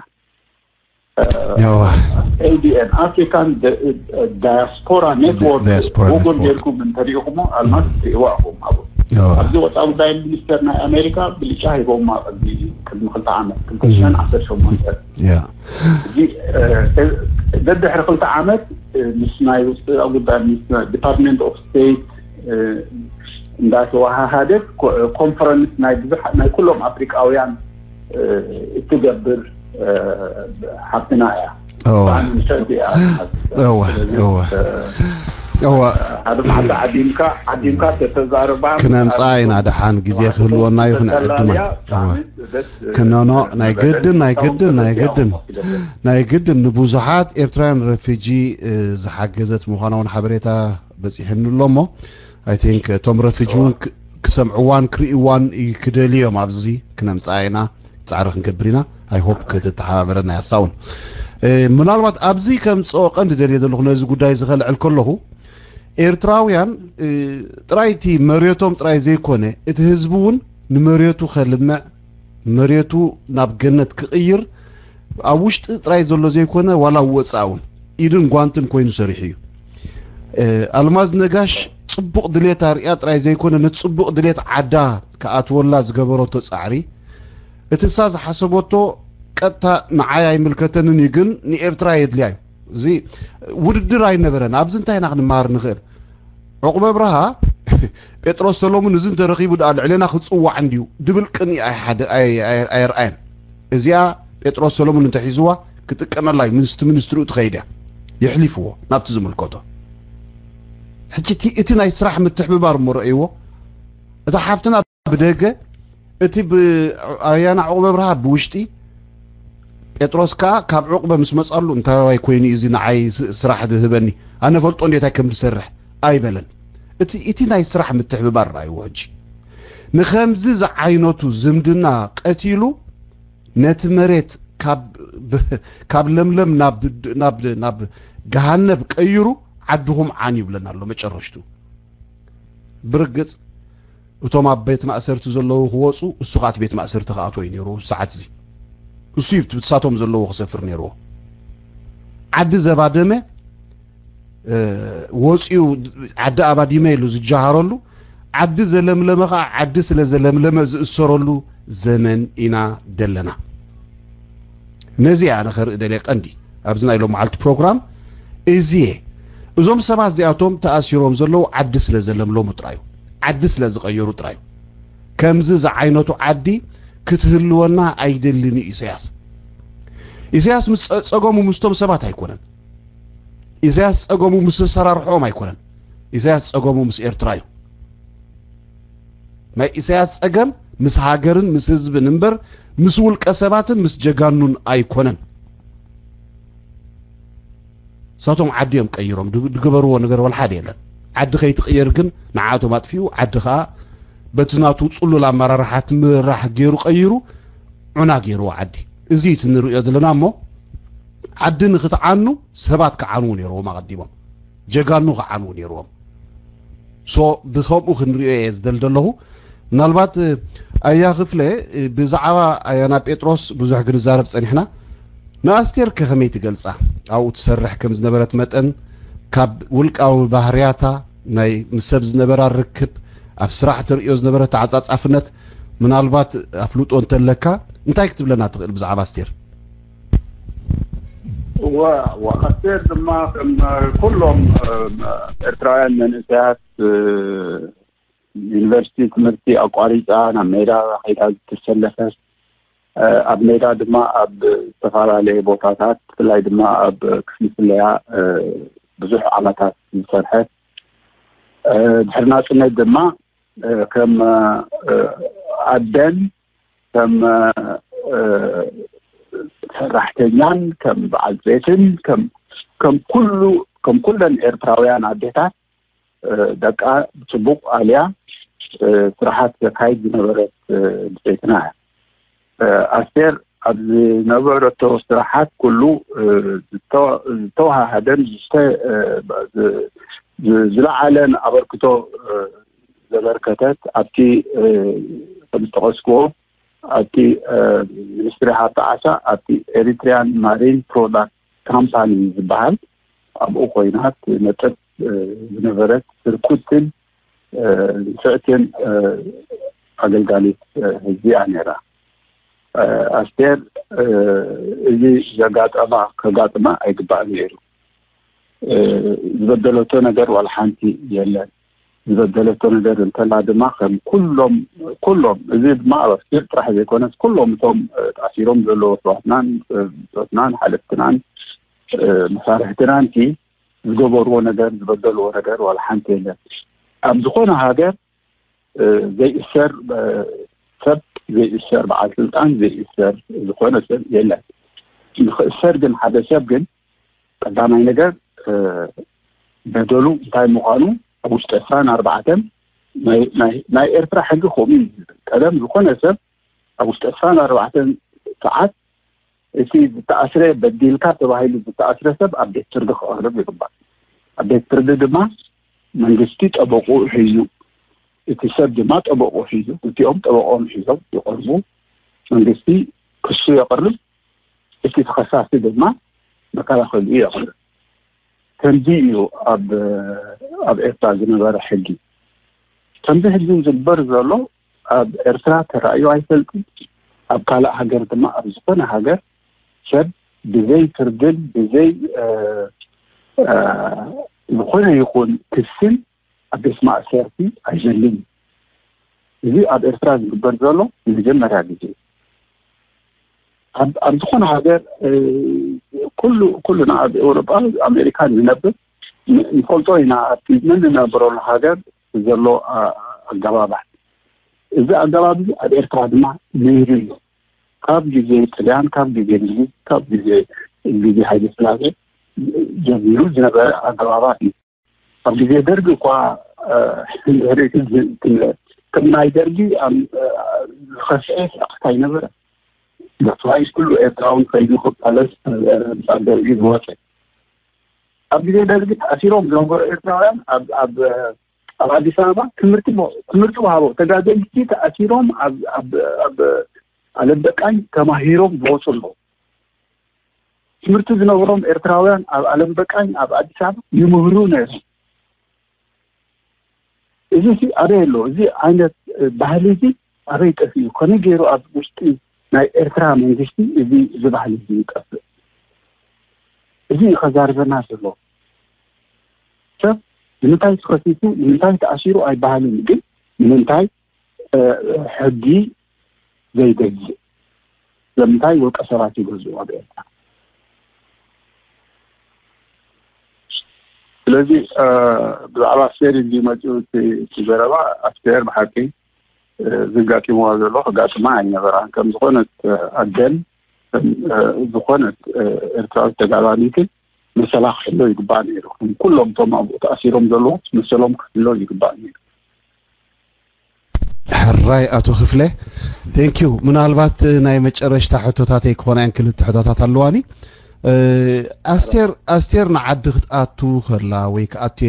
ያዋ ኤዲኤን ኣፍሪካን ዳያስፖራ ኔትወርክ ዳያስፖራ ጉግል ኔትወርክ። ጌርኩም እንተሪኢኹሞ ኣልማዝ ትሪእዋ ኢኹም። ኣብ ያዋ ኣብዚ ወፃኢ ጉዳይ ሚኒስተር ናይ ኣሜሪካ ብልጫ ሂቦማ ቅድሚ ቅድሚ ክልተ ዓመት ክልተ ሽሕን ዓሰርተ ሸሞንተ ያ እዚ ደድሕሪ ክልተ ዓመት ምስ ናይ ውስጢ ጉዳይ ሚኒስተር ዲፓርትመንት ኦፍ ስቴት እንዳተወሃሃደት ኮንፈረንስ ናይ ብዙሕ ናይ ኩሎም ኣፍሪቃውያን እትገብር ሓብትና እያ። እዋ ብጣዕሚ ምሸት እያ። እዋ ስለዚ እዋ እዋ ሓደ መዓልቲ ዓዲምካ ዓዲምካ ተተዛረባ ክነምፃ ኢና ደሓን ግዜ ክህልወና እዩ ክነዕድማ እዋ ክነኖ ናይ ግድን ናይ ግድን ናይ ግድን ናይ ግድን ንብዙሓት ኤርትራውያን ረፊጂ ዝሓገዘት ምዃና እውን ሓበሬታ በፂሕኒ ኣሎ እሞ ኣይ ቲንክ እቶም ረፊጂ እውን ክሰምዕዋን ክርእይዋን ክደልዮም ኣብዚ ክነምፃ ኢና ፃዕሪ ክንገብር ኢና። ኣይ ሆፕ ክትተሓባበረና ያሳውን ምናልባት ኣብዚ ከምፅኦ ቀንዲ ደልየ ዘለኹ ነዚ ጉዳይ ዝኸልዕል ከለኹ ኤርትራውያን ጥራይ እቲ መሬቶም ጥራይ ዘይኮነ እቲ ህዝቢ እውን ንመሬቱ ከልምዕ መሬቱ ናብ ገነት ክቕይር ኣብ ውሽጢ ጥራይ ዘሎ ዘይኮነ ዋላ ወፃእ እውን ኢድን ጓንትን ኮይኑ ሰሪሑ እዩ። ኣልማዝ ነጋሽ ፅቡቕ ድሌት ኣርእያ ጥራይ ዘይኮነ ነቲ ፅቡቕ ድሌት ዓዳ ክኣትወላ ዝገበረቶ ፃዕሪ እቲ እሳ ዝሓሰበቶ ቀጥታ ንዓይ ኣይምልከተንን እዩ ግን ንኤርትራ የድልያ እዩ። እዚ ውድድር ኣይነበረን። ኣብዚ እንታይ ኢና ክንመሃር ንኽእል? ዕቑበ ኣብርሃ ጴጥሮስ ሰሎሙን እዚ እንተረኺቡ ደኣ ልዕሌና ክፅዋዕ እንድዩ ድብል ቅንኢ ኣይሓደ ኣየርኣየን። እዚኣ ጴጥሮስ ሰሎሙን እንተሒዝዋ ክጥቀመላ እዩ። ምስቲ ሚኒስትርኡ ትኸይድ እያ። የሕሊፍዎ ናብቲ ዝምልከቶ። ሕጂ እቲ ናይ ስራሕ ምትሕብባር እሞ ረእይዎ። እታ ሓፍትና ብደገ እቲ ኣያና ዕቑበ ኣብርሃ ብውሽጢ ጴጥሮስ ከኣ ካብ ዕቑበ ምስ መጻሉ እንታይ ዋይ ኮይኑ እዩ እዚ ንዓይ ስራሕ ዝህበኒ ኣነ ፈልጦ እንዴታይ ከም ዝሰርሕ ኣይበለን። እቲ እቲ ናይ ስራሕ ምትሕብባር ራእይዎ ሕጂ ንኸምዚ ዝዓይነቱ ዝምድና ቀቲሉ ነቲ መሬት ካብ ለምለም ናብ ገሃነብ ቀይሩ ዓድኹም ዓን ይብለና ኣሎ መጨረሽቱ ብርግጽ እቶም ኣብ ቤት ማእሰርቲ ዘለዉ ክወፁ እሱ ከዓ ቤት ማእሰርቲ ክኣትዎ እዩ ነይሩ ሰዓት እዚ እሱ እዩ ብሳቶም ዘለዎ ክሰፍር ነይርዎ ዓዲ ዘባደመ ወፂኡ ዓዲ ኣባዲመ ኢሉ ዝጀሃረሉ ዓዲ ዘለምለመ ከዓ ዓዲ ስለ ዘለምለመ ዝእሰረሉ ዘመን ኢና ደለና ነዚ ኣነ ከርኢ ደልየ ቀንዲ ኣብዚ ናይ ሎም መዓልቲ ፕሮግራም እዚየ እዞም ሰባት እዚኣቶም ተኣሲሮም ዘለዉ ዓዲ ስለ ዘለምለሙ ጥራዩ ዓዲ ስለ ዝቐየሩ ጥራዩ ከምዚ ዝዓይነቱ ዓዲ ክትህልወና ኣይደልን እዩ ኢሳያስ ኢሳያስ ምስ ጸ- ጸገሙ ምስቶም ሰባት ኣይኮነን ኢሳያስ ጸገሙ ምስ ሰራርሖም ኣይኮነን ኢሳያስ ጸገሙ ምስ ኤርትራ እዩ ናይ ኢሳያስ ጸገም ምስ ሃገርን ምስ ህዝብን እምበር ምስ ውልቀ ሰባትን ምስ ጀጋኑን ኣይኮነን እሳቶም ዓዲ እዮም ቀይሮም ዝገበርዎ ነገር ወላ ሓደ የለን ዓዲ ከይትቕየር ግን ንዓቶም ኣጥፊኡ ዓዲ ከዓ በቲ ናቱ ፅሉል ኣመራርሓ ትምራሕ ገይሩ ቀይሩ ዑና ገይርዎ ዓዲ እዚ እቲ ንሪኦ ዘለና እሞ ዓዲ ንክትዓኑ ሰባት ክዓንዉ ነይርዎም ኣቐዲሞም ጀጋኑ ክዓንዉ ነይርዎም ሶ ብከምኡ ክንሪኦ እየ ዝደል ዘለኹ ምናልባት ኣያ ክፍለ ብዛዕባ ኣያና ጴጥሮስ ብዙሕ ክንዛረብ ፀኒሕና ንኣስቴር ከ ከመይ ትገልፃ ኣብኡ ትሰርሕ ከም ዝነበረት መጠን ካብ ውልቃዊ ባህርያታ ናይ ምስ ሰብ ዝነበራ ርክብ ኣብ ስራሕ ተርእዮ ዝነበረ ተዓፃፃፍነት ምናልባት ኣፍልጦ እንተለካ እንታይ ክትብለና ትኽእል ብዛዕባ ኣስቴር ወ ኣስቴር ድማ ከም ኩሎም ኤርትራውያን መንእሰያት ዩኒቨርሲቲ ትምህርቲ ኣቋሪፃ ናብ ሜዳ ከይዳ ዝተሰለፈት፣ ኣብ ሜዳ ድማ ኣብ ዝተፈላለየ ቦታታት፣ ብፍላይ ድማ ኣብ ክፍሊ ስለያ ብዙሕ ዓመታት ዝሰርሐት፣ ድሕሪ ናፅነት ድማ ከም ኣደን ከም ሰራሕተኛን ከም በዓል ቤትን ከም ከም ኩሉ ከም ኩለን ኤርትራውያን ኣዴታት ደቃ ብጽቡቕ ኣልያ ስራሓት ዘካይድ ዝነበረት ብጸይትና እያ። ኣስቴር ኣብ ዝነበረቶ ስራሓት ኩሉ ዝተዋሃደን ዝለዓለን ኣበርክቶ ዘበርከተት ኣብቲ ከም ዝጠቐስክዎ ኣብቲ ሚኒስትሪ ሃብቲ ዓሳ ኣብቲ ኤሪትሪያን ማሪን ፕሮዳክት ካምፓኒ ዝበሃል ኣብኡ ኮይና ትነጥፍ ዝነበረት ህርኩትን ንፍዕትን ኣገልጋሊት ህዝቢ እያ ነይራ። ኣስቴር እዚ ዘጋጠማ ከጋጥማ ኣይግባእን ነይሩ። ዝበደለቶ ነገር ዋላ ሓንቲ የለን። ዝበደለቶ ነገር እንተላ ድማ ከም ኩሎም ኩሎም እዚ ድማ ኣብ ኣስቴር ጥራሕ ዘይኮነስ ኩሎም እቶም ተኣሲሮም ዘለዎ ኣሕዋትናን ብጾትናን ሓለፍትናን መሳርሕትናን ዝገበርዎ ነገር ዝበደልዎ ነገር ዋላ ሓንቲ የለን። ኣብ ዝኾነ ሃገር ዘይእሰር ሰብ ዘይእሰር በዓል ስልጣን ዘይእሰር ዝኾነ ሰብ የለን። ንኽእሰር ግን ሓደ ሰብ ግን ቀዳማይ ነገር በደሉ እንታይ ምዃኑ ኣብ ውሽጢ ዕስራን ኣርባዕተን ናይ ኤርትራ ሕጊ ከምኡ እዩ ዝብል። ቀደም ዝኾነ ሰብ ኣብ ውሽጢ ዕስራን ኣርባዕተን ሰዓት እቲ ዝተኣስረ በዲልካ ተባሂሉ ዝተኣስረ ሰብ ኣብ ቤት ፍርዲ ክቐርብ ይግባእ። ኣብ ቤት ፍርዲ ድማ መንግስቲ ጠበቑ ሒዙ እቲ ሰብ ድማ ጠበቑ ሒዙ እቲኦም ጠበቆም ሒዞም ይቐርቡ። መንግስቲ ክሱ የቕርብ፣ እቲ ተኸሳሲ ድማ መከላኸሊኡ የቕርብ። ከምዚ እዩ ኣብ ኣብ ኤርትራ ዝነበረ ሕጊ። ከምዚ ሕጂ ዝግበር ዘሎ ኣብ ኤርትራ ተራእዩ ኣይፈልጥን። ኣብ ካልእ ሃገር ድማ ኣብ ዝኾነ ሃገር ሰብ ብዘይ ፍርድን ብዘይ ዝኾነ ይኹን ክስን ኣብ ቤት ማእሰርቲ ኣይዘልን እዩ። እዚ ኣብ ኤርትራ ዝግበር ዘሎ ንመጀመርያ ግዜ ኣብ ዝኾነ ሃገር ኩሉ ኩሉና ኣብ ኤውሮጳ ኣሜሪካ ንነብር ንፈልጦ ኢና። ኣብቲ ንንነብረሉ ሃገር ዘሎ ኣገባባት እዚ ኣገባብ እዚ ኣብ ኤርትራ ድማ ነይሩ እዩ። ካብ ግዜ ጥልያን ካብ ግዜ እንግሊዝ ካብ ግዜ ግዜ ሃይለ ስላሴ ጀሚሩ ዝነበረ ኣገባባት እዩ። ኣብ ግዜ ደርጊ እኳ ከም ናይ ደርጊ ዝኸፍአ ስርዓት ኣይነበረ። ብፍላይ ኩሉ ኤርትራዊ ከይዱ ክቃለስ ደርጊ ዝወፀ ኣብ ግዜ ደርጊ ተኣሲሮም ዝነበሩ ኤርትራውያን ኣብ ኣብ ኣዲስ ኣበባ ትምህርቲ ትምህርቲ ወሃቦ ተጋደልቲ ተኣሲሮም ኣብ ኣብ ኣብ ኣለበቃኝ ተማሂሮም ዝወፁ ኣለዉ። ትምህርቲ ዝነበሮም ኤርትራውያን ኣብ ኣለበቃኝ ኣብ ኣዲስ ኣበባ ይምህሩ ነይሮም። እዚ ሲ ኣበይ ኣሎ? እዚ ዓይነት ባህሊ እዚ ኣበይ ጠፊኡ? ከመይ ገይሩ ኣብ ውሽጢ ናይ ኤርትራ መንግስቲ እዚ እዚ ባህሊ እዚ ይጠፍእ? እዚ እዩ ከዛርበና ዘሎ። ሰብ ንምንታይ ተኸሲሱ ንምንታይ ተኣሲሩ ኣይበሃልን፣ ግን ንምንታይ ሕጊ ዘይገዝእ ለምንታይ ውልቀ ሰባት ይገዝኡ ኣብ ኤርትራ? ስለዚ ብዛዕባ ኣስቴር እንዲ መፅኡ እቲ ዘረባ ኣስቴር ብሓቂ ዝጋጢምዋ ዘሎ ከጋጥማ ኣይነበራን። ከም ዝኾነት ኣደን ዝኾነት ኤርትራዊት ተጋዳሊትን መሰላ ክሕሎ ይግባእ ነይሩ። ኩሎም እቶም ኣብኡ ተኣሲሮም ዘለዉ መሰሎም ክሕሎ ይግባእ ነይሩ። ሕራይ ኣቶ ክፍለ፣ ቴንኪዩ። ምናልባት ናይ መጨረሽታ ሕቶታተይ ክኾና እየን፣ ክልተ ሕቶታት ኣለዋኒ። ኣስቴር ኣስቴር ንዓዲ ክትኣቱ ከላ ወይ ክኣቱ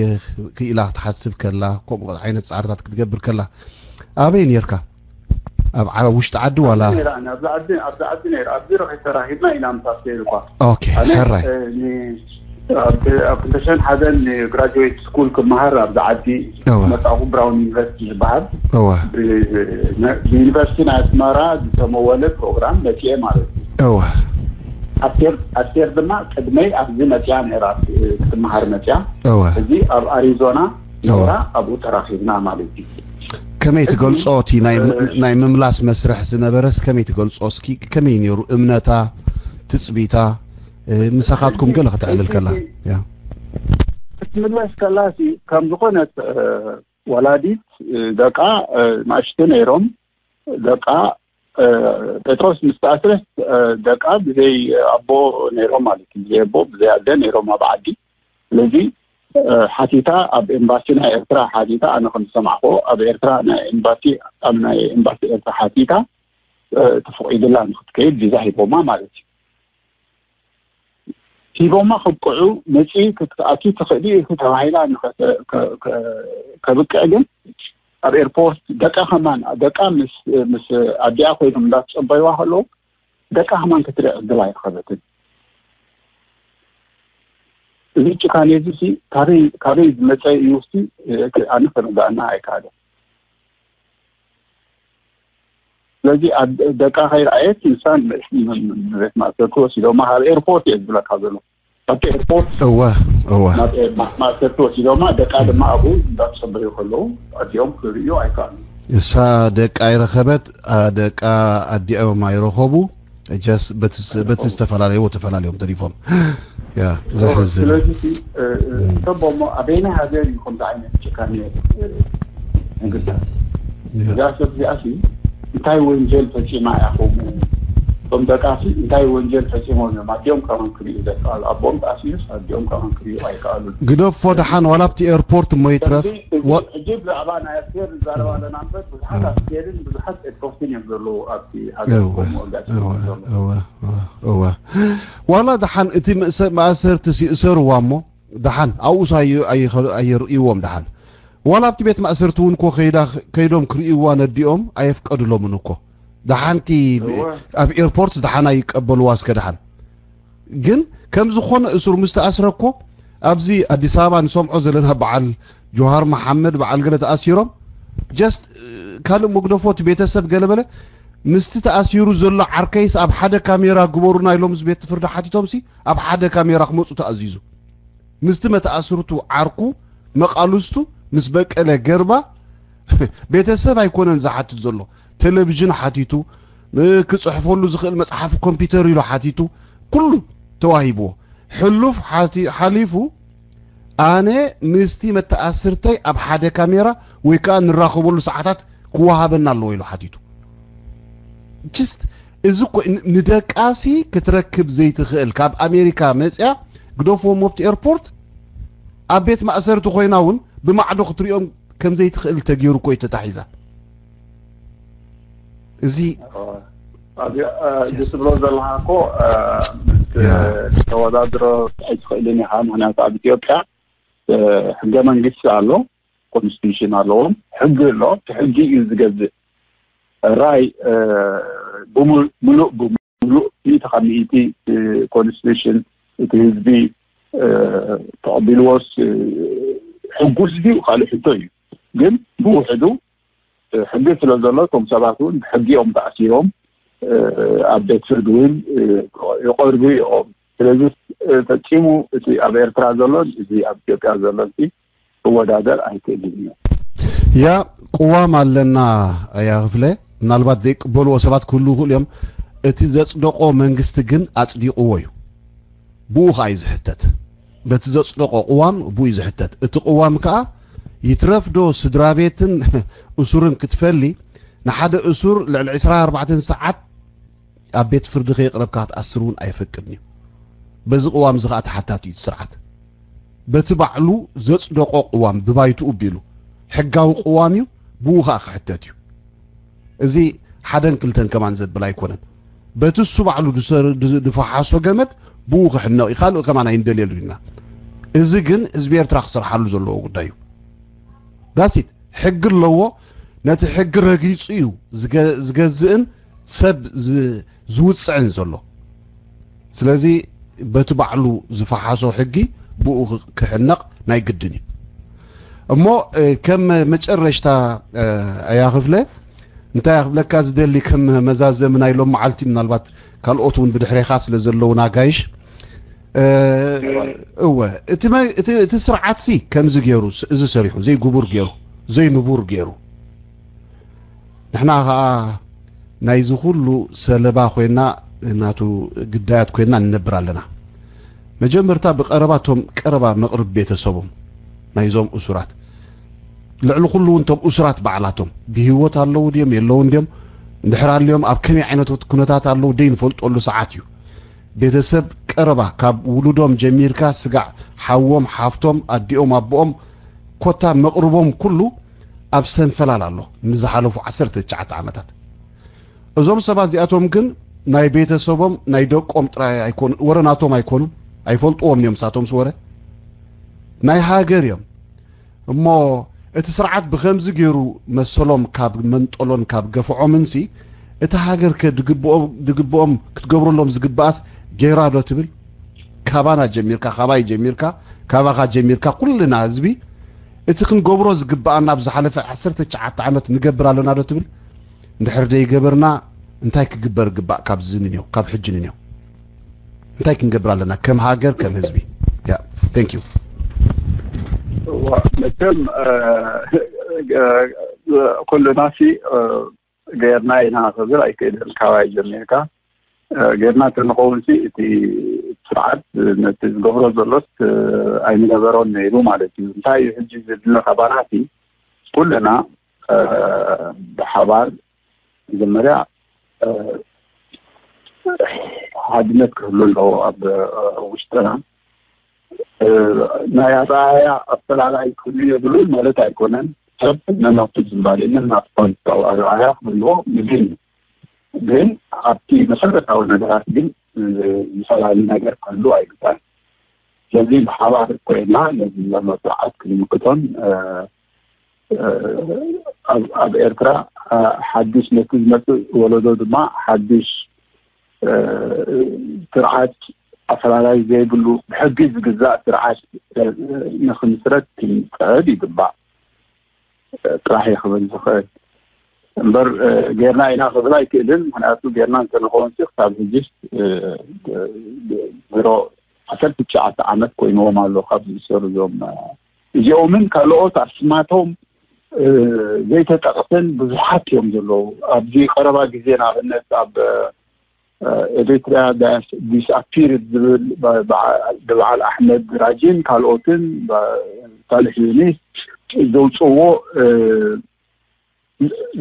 ክኢላ ክትሓስብ ከላ፣ ከምኡ ዓይነት ፃዕርታት ክትገብር ከላ ኣበይ ነርካ? ኣብ ውሽጢ ዓዲ ዋላ? ኣብዚ ዓዲ ኣብዚ ዓዲ ነይራ ኣብዚ ረኺ ተራኺብና ኢና ምስ ኣስቴር እኳ። ኦኬ፣ ሕራይ። ኣብ ክልተ ሽሕን ሓደን ግራጅዌት ስኩል ክመሃር ኣብዚ ዓዲ መጣኹ ብራውን ዩኒቨርሲቲ ዝበሃል ብዩኒቨርሲቲ ናይ ኣስመራ ዝተመወለ ፕሮግራም መፅኤ ማለት እዩ። ኣስቴር ኣስቴር ድማ ቅድመይ ኣብዚ መፅያ ነይራ ክትመሃር መፅያ። እዚ ኣብ ኣሪዞና ነይራ ኣብኡ ተራኺብና ማለት እዩ። ከመይ ትገልጾ? እቲ ናይ ም- ናይ ምምላስ መስርሕ ዝነበረስ ከመይ ትገልጾ? እስኪ ከመይ ነይሩ እምነታ፣ ትጽቢታ? ምሳኻትኩም ገለ ከተዕልል ከላ። ያ ክትምለስ ከላሲ ከም ዝኾነት ወላዲት ደቃ ናእሽቱ ነይሮም። ደቃ ጴጥሮስ ምስ ተኣስረስ ደቃ ብዘይ ኣቦ ነይሮም ማለት እዩ። ብዘይ ኣቦ ብዘይ ኣደ ነይሮም ኣብ ዓዲ። ስለዚ ሓቲታ ኣብ ኤምባሲ ናይ ኤርትራ ሓቲታ፣ ኣነ ከም ዝሰማዕኮ ኣብ ኤርትራ ናይ ኤምባሲ ኣብ ናይ ኤምባሲ ኤርትራ ሓቲታ ተፈቒድላ ንክትከይድ ቪዛ ሂቦማ ማለት እዩ። ሂቦማ ከብቅዑ መፂ ክትኣቱ ትኽእሊ ኢኺ ተባሂላ ከብቅዕ ግን ኣብ ኤርፖርት ደቃ ከማን ደቃ ምስ ኣዲኣ ኮይኖም እንዳተፀበይዋ ከለዉ ደቃ ከማን ክትርኢ ዕድል ኣይረኸበትን። እዚ ጭካኔ እዚ ሲ ካበይ ዝመፀ እዩ ሲ ኣነ ክርዳእና ኣይከኣለን። ስለዚ ደቃ ከይረኣየት ንሳ ንቤት ማእሰርቲ ወሲዶማ ካብ ኤርፖርት እየ ዝብለካ ዘሎ። ኣብቲ ኤርፖርት እወ እወ ማእሰርቲ ወሲዶማ ደቃ ድማ ኣብኡ እንዳተፀበዩ ከለዉ ኣዲኦም ክርእዩ ኣይከኣሉ። እሳ ደቃ ኣይረኸበት፣ ደቃ ኣዲኦም ኣይረኸቡ። ጀስት በቲ በቲ ዝተፈላለዩ ተፈላለዮም ተሪፎም። ያ ዘሕዝን። ስለዚ እ፣ እ፣ እም። እቶም ቦሞ ኣበየናይ ሃገር እዩ ከምዚ ዓይነት ጭካኔ እ፣ ንግበር? ያ። እዛ ሰብ እዚኣ ሲ እንታይ ወንጀል ፈፂማ እያ ከምኡ? እቶም ደቃ ሲ እንታይ ወንጀል ፈፂሞም እዮም ኣዲኦም ከማን ክርእዩ ዘይከኣሉ? ኣቦኦም ተኣሲሩስ ኣዲኦም ከማን ክርእዩ ኣይከኣሉን። ግደፎ ደሓን ዋላ ኣብቲ ኤርፖርት እሞ ይትረፍ። ከምዚ እዚ ወ- ሕጂ ብዛዕባ ናይ ኣስቴር ንዛረብ ኣለና እምበር ብዙሓት ኣስቴርን ብዙሓት ኤርፖርትን እዮም ዘለዉ ኣብቲ ሃገር እወ ከምኡ ኣጋጢሙ እወ ዘሎ። እወ እወ እወ ዋላ ደሓን እቲ መእሰ- መኣሰርትስ ይእሰርዋ እሞ ደሓን ኣብኡስ ኣየ- ኣየ- ኣየርእይዎም ደሓን ዋላ ኣብቲ ቤት ማእሰርቲ እውን እኮ ከይዳ ከይዶም ክርእይዋ ነዲኦም ኣየፍቀድሎምን እኮ ደሓንቲ እወ ኣብ ኤርፖርት ደሓን ኣይቀበልዋ እስከ ደሓን ግን ከም ዝኾነ እሱር ምስ ተኣስረ እኮ ኣብዚ ኣዲስ ኣበባ ንሰምዖ ዘለና በዓል ጆሃር መሓመድ በዓል ገለ ተኣሲሮም just ካልእ መግደፎ እቲ ቤተሰብ ገለ በለ ምስቲ ተኣሲሩ ዘሎ ዓርከይስ ኣብ ሓደ ካሜራ ግበሩና ኢሎም ምስ ቤት ፍርዲ ሓቲቶም ሲ ኣብ ሓደ ካሜራ ክመፁ ተኣዚዙ ምስቲ መተኣስርቱ ዓርኩ መቓልስቱ ምስ በቀለ ገርባ ቤተሰብ ኣይኮነን ዝሓትት ዘሎ ቴሌቪዥን ሓቲቱ ክፅሕፈሉ ዝኽእል መፅሓፍ ኮምፒውተር ኢሉ ሓቲቱ ኩሉ ተዋሂብዎ ሕሉፍ ሓሊፉ ኣነ ምስቲ መተኣስርተይ ኣብ ሓደ ካሜራ ወይ ከዓ ንራኸበሉ ሰዓታት ክወሃበና ኣለዎ ኢሉ ሓቲቱ just እዚ እኮ ንደቃሲ ክትረክብ ዘይትኽእል ካብ ኣሜሪካ መፅያ ግደፍዎም ኣብቲ ኤርፖርት ኣብ ቤት ማእሰርቲ ኮይና እውን ብማዕዶ ክትሪኦም ከም ዘይትኽእል ተገይሩ እኮ እዩ ተታሒዛ እዚ እዚ ትብሎ ዘለካ እኮ ተወዳድሮ ኣይትኽእልን ኢኻ። ምክንያቱ ኣብ ኢትዮጵያ ሕገ መንግስቲ ኣሎ፣ ኮንስቲቱሽን ኣለዎም፣ ሕጊ ኣሎ። እቲ ሕጊ እዩ ዝገዝእ። ራይ ብምሉእ ብምሉእ ሚእቲ ካብ ሚእቲ ኮንስቲቱሽን እቲ ህዝቢ ተቐቢልዎስ ሕጉስ ድዩ ካልእ ሕቶ እዩ። ግን ብውሕዱ ሕጊ ስለ ዘሎ እቶም ሰባት እውን ብሕጊ እዮም ተኣሲሮም ኣብ ቤት ፍርዲ እውን ይቐርቡ እዮም። ስለዚ ፈፂሙ እቲ ኣብ ኤርትራ ዘሎን እዚ ኣብ ኢትዮጵያ ዘሎን ክወዳደር ኣይክእልን እዩ። ያ ቅዋም ኣለና ኣያ ክፍለ ምናልባት ዘይቅበልዎ ሰባት ክህሉ ይኽእሉ እዮም። እቲ ዘፅደቆ መንግስቲ ግን ኣፅዲቕዎ እዩ። ብኡ ከዓ እዩ ዝሕተት። በቲ ዘፅደቆ ቅዋም ብኡ እዩ ዝሕተት። እቲ ቅዋም ከዓ ይትረፍ ዶ ስድራ ቤትን እሱርን ክትፈሊ ንሓደ እሱር ልዕሊ ዕስራን ኣርባዕተን ሰዓት ኣብ ቤት ፍርዲ ከየቕረብካ ክትኣስር እውን ኣይፈቅድን እዩ። በዚ ቅዋም እዚ ከዓ ተሓታቲ እዩ እቲ ስርዓት። በቲ ባዕሉ ዘፅደቆ ቅዋም ብባይትኡ ቢሉ ሕጋዊ ቅዋም እዩ፣ ብኡ ከዓ ክሕተት እዩ። እዚ ሓደን ክልተን ከማን ዘብል ኣይኮነን። በቲ እሱ ባዕሉ ዝፈሓሶ ገመድ ብኡ ክሕነቕ እዩ። ካልእ ከማን ኣይንደልየሉ ኢና። እዚ ግን ህዝቢ ኤርትራ ክሰርሓሉ ዘለዎ ጉዳይ እዩ። ዳሲት ሕጊ ኣለዎ። ነቲ ሕጊ ረጊጹ እዩ ዝገዝእን ሰብ ዝውጽዕን ዘሎ። ስለዚ በቲ ባዕሉ ዝፈሓሶ ሕጊ ብኡ ክሕነቕ ናይ ግድን እዩ። እሞ ከም መጨረሽታ ኣያ ክፍለ እንታይ ክብለካ ዝደሊ ከም መዛዘሚ ናይ ሎም መዓልቲ ምናልባት ካልኦት እውን ብድሕሬኻ ስለ ዘለውና ጋይሽ እወ እቲ ስርዓት ሲ ከምዚ ገይሩ እዚ ሰሪሑ ዘይግቡር ገይሩ ዘይንቡር ገይሩ ንሕና ኸዓ ናይዚ ኩሉ ሰለባ ኮይና፣ ናቱ ግዳያት ኮይና ንነብር ኣለና። መጀመርታ ብቐረባ እቶም ቀረባ መቕርብ ቤተሰቦም ናይዞም እሱራት፣ ልዕሊ ኩሉ እውን እቶም እሱራት ባዕላቶም ብህይወት ኣለዉ ድዮም የለውን ድዮም፣ እንድሕር ኣልዮም ኣብ ከመይ ዓይነት ኩነታት ኣለዉ ደይንፈልጠሉ ሰዓት እዩ። ቤተሰብ ቀረባ ካብ ውሉዶም ጀሚርካ ስጋዕ ሓዎም ሓፍቶም ኣዲኦም ኣቦኦም ኮታ መቕርቦም ኩሉ ኣብ ሰንፈላል ኣሎ ንዝሓለፉ ዓሰርተ ትሽዓተ ዓመታት። እዞም ሰባት እዚኣቶም ግን ናይ ቤተሰቦም ናይ ደቆም ጥራይ ኣይኮኑ፣ ወረ ናቶም ኣይኮኑን፣ ኣይፈልጥዎም እዮም ሳቶም ስወረ ናይ ሃገር እዮም። እሞ እቲ ስርዓት ብኸምዚ ገይሩ መሰሎም ካብ መንጠሎን ካብ ገፍዖምንሲ እቲ ሃገር ከ ድግብኦም ክትገብረሎም ዝግብኣስ ገይራ ዶ ትብል? ካባና ጀሚርካ፣ ካባይ ጀሚርካ፣ ካባኻ ጀሚርካ ኩልና ህዝቢ እቲ ክንገብሮ ዝግብኣና ኣብ ዝሓለፈ ዓሰርተ ትሽዓተ ዓመት ንገብር ኣለና ዶ ትብል? እንድሕር ደይገበርና እንታይ ክግበር ግባእ? ካብዚ ንንዮ ካብ ሕጂ ንንዮ እንታይ ክንገብር ኣለና ከም ሃገር ከም ህዝቢ? ያ thank you። መቸም ኩልናሲ ጌርና ኢና ክብል ኣይክእልን። ካባይ ጀሚርካ ጌርና እንተንኸውን እቲ ስርዓት ነቲ ዝገብሮ ዘሎስ ኣይምነበሮን ነይሩ ማለት እዩ። እንታይ እዩ ሕጂ ዝድለ ካባናሲ ኩልና ብሓባር መጀመርያ ሓድነት ክህሉ ኣለዎ ኣብ ውሽጥና። ናይ ኣረኣእያ ኣፈላላይ ክህሉ የብሉን ማለት ኣይኮነን። ሰብ ነናቱ ዝንባሌ ነናቱ ፖለቲካዊ ኣረኣእያ ክህልዎ ምግን ግን ኣብቲ መሰረታዊ ነገራት ግን ዝፈላለ ነገር ክህሉ ኣይግባን። ስለዚ ብሓባር ኮይና ነዚ ዘሎ ስርዓት ክንምክቶን ኣብ ኤርትራ ሓዱሽ ነቲ ዝመፅእ ወለዶ ድማ ሓዱሽ ስርዓት ኣፈላላይ ዘይብሉ ብሕጊ ዝግዛእ ስርዓት ንክምስረት ክንፅዕር ይግባእ ጥራሕ እየ ክብል ዝኽእል። እምበር ጌርና ኢና ክብል ኣይክእልን። ምክንያቱ ጌርና እንተንኸውን ክሳብ ሕጂስ ድሮ ዓሰርተ ትሽዓተ ዓመት ኮይንዎም ኣሎ ካብ ዝእሰሩ እዞም እዚኦምን ካልኦት ኣስማቶም ዘይተጠቕስን ብዙሓት እዮም ዘለዉ። ኣብዚ ቀረባ ግዜ ንኣብነት ኣብ ኤሪትሪያ ዲስኣፒርድ ዝብል ብበዓል ኣሕመድ ራጂን ካልኦትን ሳልሕ ዩኒስ ዘውፅዎ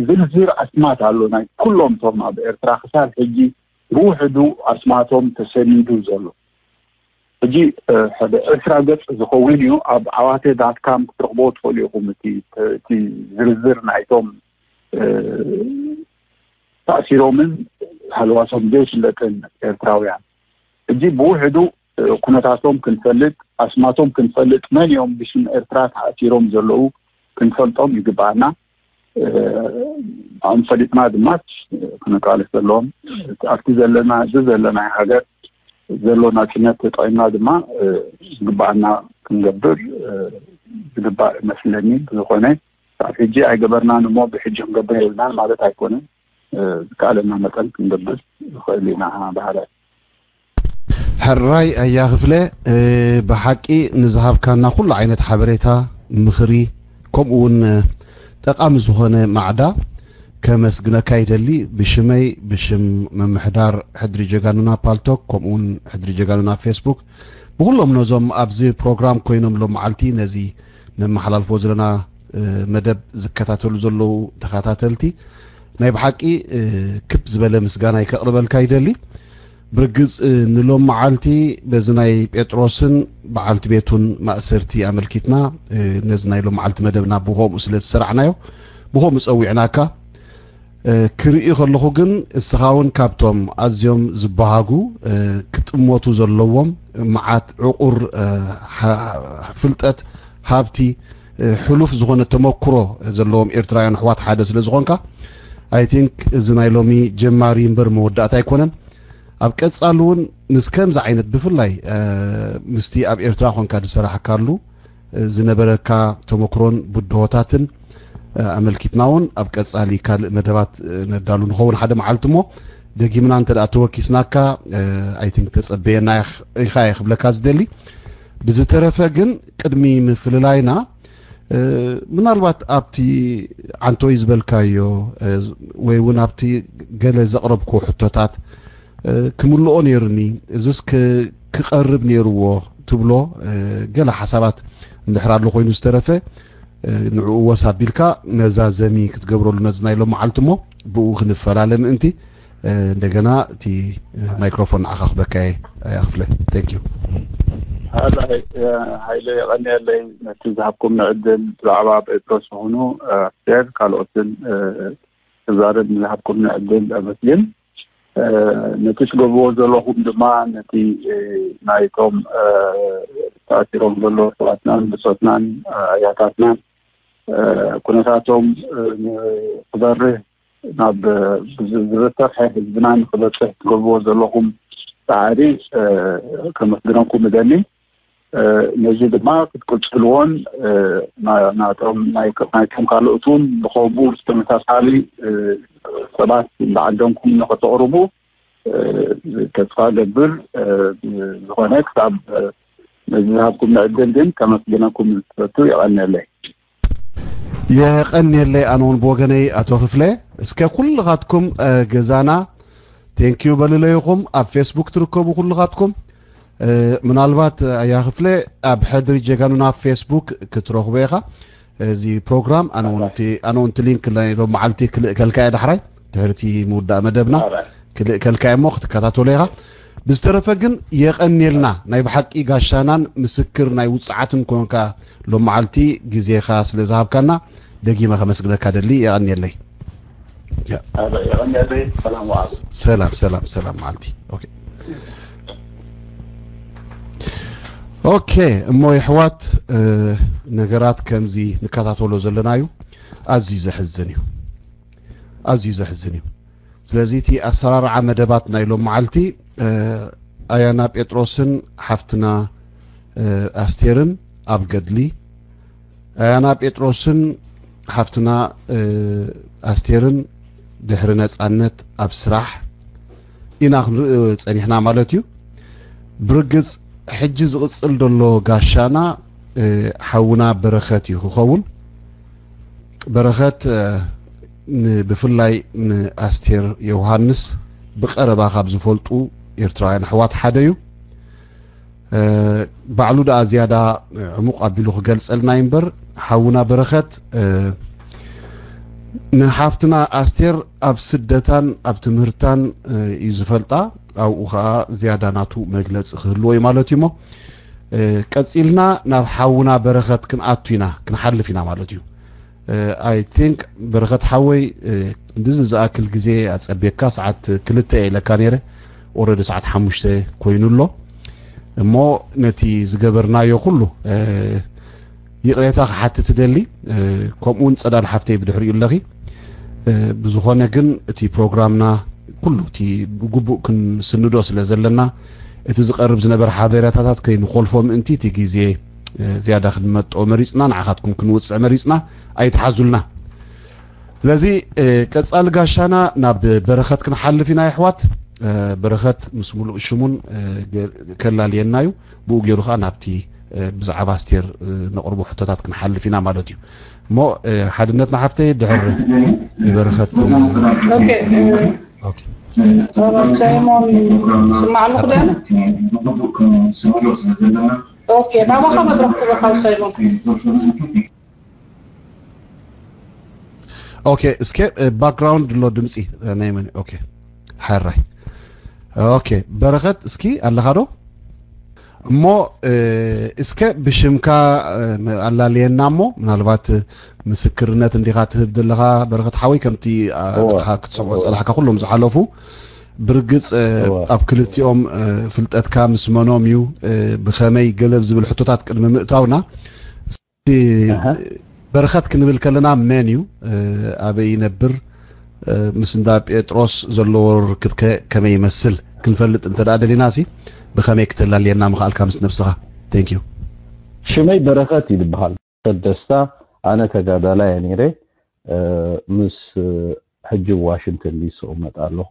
ዝርዝር ኣስማት ኣሎ ናይ ኩሎም እቶም ኣብ ኤርትራ ክሳብ ሕጂ ብውሕዱ ኣስማቶም ተሰኒዱ ዘሎ። ሕጂ ሓደ ዕስራ ገጽ ዝኸውን እዩ። ኣብ ዓዋተ ዳትካም ክትረኽቦ ትኽእሉ ኢኹም። እቲ ዝርዝር ናይቶም ተኣሲሮምን ሃልዋሶም ዘይፍለጥን ኤርትራውያን ሕጂ ብውሕዱ ኩነታቶም ክንፈልጥ ኣስማቶም ክንፈልጥ መን እዮም ብሽም ኤርትራ ተኣሲሮም ዘለዉ ክንፈልጦም ይግባኣና። ኣም ፈሊጥና ድማ ክነቃለስ ዘለዎም ኣብቲ ዘለና እዚ ዘለና ሃገር ዘሎ ናፅነት ተጠቂምና ድማ ዝግባኣና ክንገብር ዝግባእ መስለኒ። ብዝኾነ ኣብ ሕጂ ኣይገበርናን እሞ ብሕጂ ክንገብር የብልናን ማለት ኣይኮነን። ዝከኣለና መጠን ክንገብር ንኽእል ኢና። ባህረ ሕራይ ኣያ ክፍለ፣ ብሓቂ ንዝሃብካና ኩሉ ዓይነት ሓበሬታ፣ ምኽሪ፣ ከምኡ እውን ጠቓሚ ዝኾነ ማዕዳ ከመስግነካ ይደሊ። ብሽመይ፣ ብሽም ምምሕዳር ሕድሪ ጀጋኑና ፓልቶክ፣ ከምኡ እውን ሕድሪ ጀጋኑና ፌስቡክ፣ ብኩሎም ነዞም ኣብዚ ፕሮግራም ኮይኖም ሎም መዓልቲ ነዚ ነመሓላልፎ ዘለና መደብ ዝከታተሉ ዘለዉ ተኸታተልቲ ናይ ብሓቂ ክብ ዝበለ ምስጋና ከቕርበልካ ይደሊ። ብርግጽ ንሎም መዓልቲ በዚ ናይ ጴጥሮስን በዓልቲ ቤቱን ማእሰርቲ ኣመልኪትና ነዚ ናይ ሎም መዓልቲ መደብና ብኸምኡ ስለ ዝሰራዕናዮ ብኸምኡ ጸዊዕናካ ክርኢ ከለኹ ግን እስኻ እውን ካብቶም ኣዝዮም ዝበሃጉ ክጥመቱ ዘለዎም መዓት ዕቑር ፍልጠት ሃብቲ ሕሉፍ ዝኾነ ተመክሮ ዘለዎም ኤርትራውያን ኣሕዋት ሓደ ስለ ዝኾንካ I think እዚ ናይ ሎሚ ጀማሪ እምበር መወዳእታ ኣይኮነን። ኣብ ቀጻሊ እውን ምስ ከምዚ ዓይነት ብፍላይ ምስቲ ኣብ ኤርትራ ኮንካ ዝሰራሕካሉ ዝነበረካ ተመክሮን ብድሆታትን ኣመልኪትና እውን ኣብ ቀጻሊ ካልእ መደባት ነዳሉ ንኸውን ሓደ መዓልቲ እሞ ደጊምና እንተ ተወኪስናካ I think ተጸበየና ኢኻ እየ ክብለካ ዝደሊ። ብዝተረፈ ግን ቅድሚ ምፍልላይና ምናልባት ኣብቲ ዓንቶይ ዝበልካዮ ወይ እውን ኣብቲ ገለ ዘቕረብኩ ሕቶታት ክምልኦ ነይሩኒ፣ እዚስ ክቀርብ ነይርዎ ትብሎ ገለ ሓሳባት እንድሕር ኣሎ ኮይኑ ዝተረፈ ንዕኡ ወስ ኣቢልካ መዛዘሚ ክትገብረሉ ነዚ ናይ ሎም መዓልቲ እሞ ብኡ ክንፈላለ ምእንቲ እንደገና እቲ ማይክሮፎን ንዓኻ ክበካ እየ። ኣያ ክፍለ። Thank you። ሃላይ ሃይለ፣ የቐንየለይ ነቲ ዝሃብኩም ዕድል። ብዛዕባ ጴጥሮስ ይኹኑ ኣስቴር ካልኦትን ክዛረብ ንዝሃብኩም ዕድል ኣመስግን። ነቲ ትገብርዎ ዘለኹም ድማ ነቲ ናይቶም ተኣሲሮም ዘለዉ ኣሕዋትናን ብጾትናን ኣያታትናን ኩነታቶም ክበርህ ናብ ዝበርትዕ ህዝብና ንክበፅሕ ትገብርዎ ዘለኹም ፃዕሪ ከመስግነኩም እደሊ። ነዚ ድማ ክትቅፅልዎን ናቶም ናይቶም ካልኦት እውን ብከምኡ ዝተመሳሳሊ ሰባት እንዳዓደምኩም ንክተቕርቡ ተስፋ ገብር። ዝኾነ ክሳብ ነዚ ዝሃብኩም ዕድል ግን ከመስግነኩም ዝፈቱ። የቐንየለይ። የቐንየለይ። ኣነ እውን ብወገነይ ኣቶ ክፍለ እስከ ኩልኻትኩም ገዛና ቴንኪዩ በልለይኹም ኣብ ፌስቡክ ትርከቡ ኩልኻትኩም። ምናልባት ኣያ ክፍለ ኣብ ሕድሪ ጀጋኑና ፌስቡክ ክትረኽቦ ኢኻ። እዚ ፕሮግራም ኣነ እውን እቲ ሊንክ ናይ ሎም መዓልቲ ክልእከልካ እየ ዳሕራይ ድሕርቲ ምውዳእ መደብና ክልእከልካ እየ እሞ ክትከታተሎ ኢኻ። ብዝተረፈ ግን የቐንየልና ናይ ብሓቂ ጋሻናን ምስክር ናይ ውፅዓትን ኮንካ ሎም መዓልቲ ግዜኻ ስለ ዝሃብካና ደጊመ ከመስግነካ ደሊ። የቐንየለይ። የቐንየለይ። ሰላም ወዓሉ። ሰላም ሰላም ሰላም መዓልቲ። ኦኬ ኦኬ እሞ የሕዋት ነገራት ከምዚ ንከታተሎ ዘለና እዩ። ኣዝዩ ዘሕዝን እዩ። ኣዝዩ ዘሕዝን እዩ። ስለዚ እቲ ኣሰራርዓ መደባት ናይ ሎም መዓልቲ ኣያና ጴጥሮስን ሓፍትና ኣስቴርን ኣብ ገድሊ፣ ኣያና ጴጥሮስን ሓፍትና ኣስቴርን ድሕሪ ነፃነት ኣብ ስራሕ ኢና ክንርኢ ፀኒሕና ማለት እዩ። ብርግፅ ሕጂ ዝቕፅል ዘሎ ጋሻና ሓውና በረኸት እዩ ክኸውን። በረኸት ብፍላይ ንኣስቴር ዮውሃንስ ብቐረባ ካብ ዝፈልጡ ኤርትራውያን ኣሕዋት ሓደ እዩ። ባዕሉ ደኣ ዝያዳ ዕሙቕ ኣቢሉ ክገልጸልና እዩ እምበር ሓውና በረኸት ንሓፍትና ኣስቴር ኣብ ስደታን ኣብ ትምህርታን እዩ ዝፈልጣ። ኣብኡ ኸኣ ዝያዳ ናቱ መግለጺ ክህልዎ እዩ ማለት እዩ እሞ ቀጺልና ናብ ሓውና በረኸት ክንኣቱ ኢና ክንሓልፍ ኢና ማለት እዩ። I think በረኸት ሓወይ ክንድዚ ዝኣክል ግዜ ኣጸቤካ ሰዓት ክልተ እየ ኢለካ ነይረ። Already ሰዓት ሓሙሽተ ኮይኑ ኣሎ እሞ ነቲ ዝገበርናዮ ኩሉ ይቕሬታ ክሓትት እደሊ። ከምኡ እውን ጸዳል ሓፍተይ ብድሕሪኡ ኣለኺ። ብዝኾነ ግን እቲ ፕሮግራምና ኩሉ እቲ ብግቡእ ክንስንዶ ስለ ዘለና እቲ ዝቐርብ ዝነበረ ሓበሬታታት ከይንኾልፎ ምእንቲ እቲ ግዜ ዝያዳ ክንመጦ መሪፅና ንዓኻትኩም ክንውፅዕ መሪፅና ኣይትሓዙልና። ስለዚ ቀፃሊ ጋሻና ናብ በረኸት ክንሓልፍ ኢና የሕዋት። በረኸት ምስ ሙሉእ ሽሙን ከላልየና እዩ። ብኡ ገይሩ ከዓ ናብቲ ብዛዕባ ኣስቴር ነቕርቦ ሕቶታት ክንሓልፍ ኢና ማለት እዩ። እሞ ሓድነት ንሓፍተይ ድሕር ንበረኸት ሳይሞን ስማዕ ኣለኹ ዶ? ኦኬ ናባኻ መድረክ ትበካል ሳይሞን። ኦኬ እስከ ባክግራውንድ ኣሎ ድምፂ ናይ መን? ኦኬ ሓራይ ኦኬ በረኸት እስኪ ኣለኻ ዶ? እሞ እስከ ብሽምካ ኣላልየና እሞ ምናልባት ምስክርነት እንዲኻ ትህብ ዘለኻ በረኸት ሓወይ ከምቲ ኣኻ ክትሰምዖ ዝጸናሕካ ኩሎም ዝሓለፉ ብርግጽ ኣብ ክልቲኦም ፍልጠትካ ምስ መኖም እዩ ብኸመይ ገለብ ዝብል ሕቶታት ቅድሚ ምእታውና በረኸት ክንብል ከለና መን እዩ ኣበይ ይነብር ምስ እንዳ ጴጥሮስ ዘለዎ ርክብ ከ ከመይ ይመስል ክንፈልጥ እንተ ደኣ ደሊና ሲ ብኸመይ ክተላልየና ምኽኣልካ ምስ ነብስኻ thank you ሽመይ በረኸት እዩ ዝበሃል ደስታ ኣነ ተጋዳላይ እየ ነይረ ምስ ሕጂ ዋሽንግተን ዲሲ እቕመጥ ኣለኹ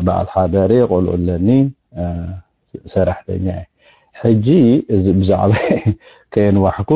በዓል ሓዳር እየ ቆልዑ ኣለኒ ሰራሕተኛ እየ ሕጂ እዚ ብዛዕባ ከየንዋሕኩ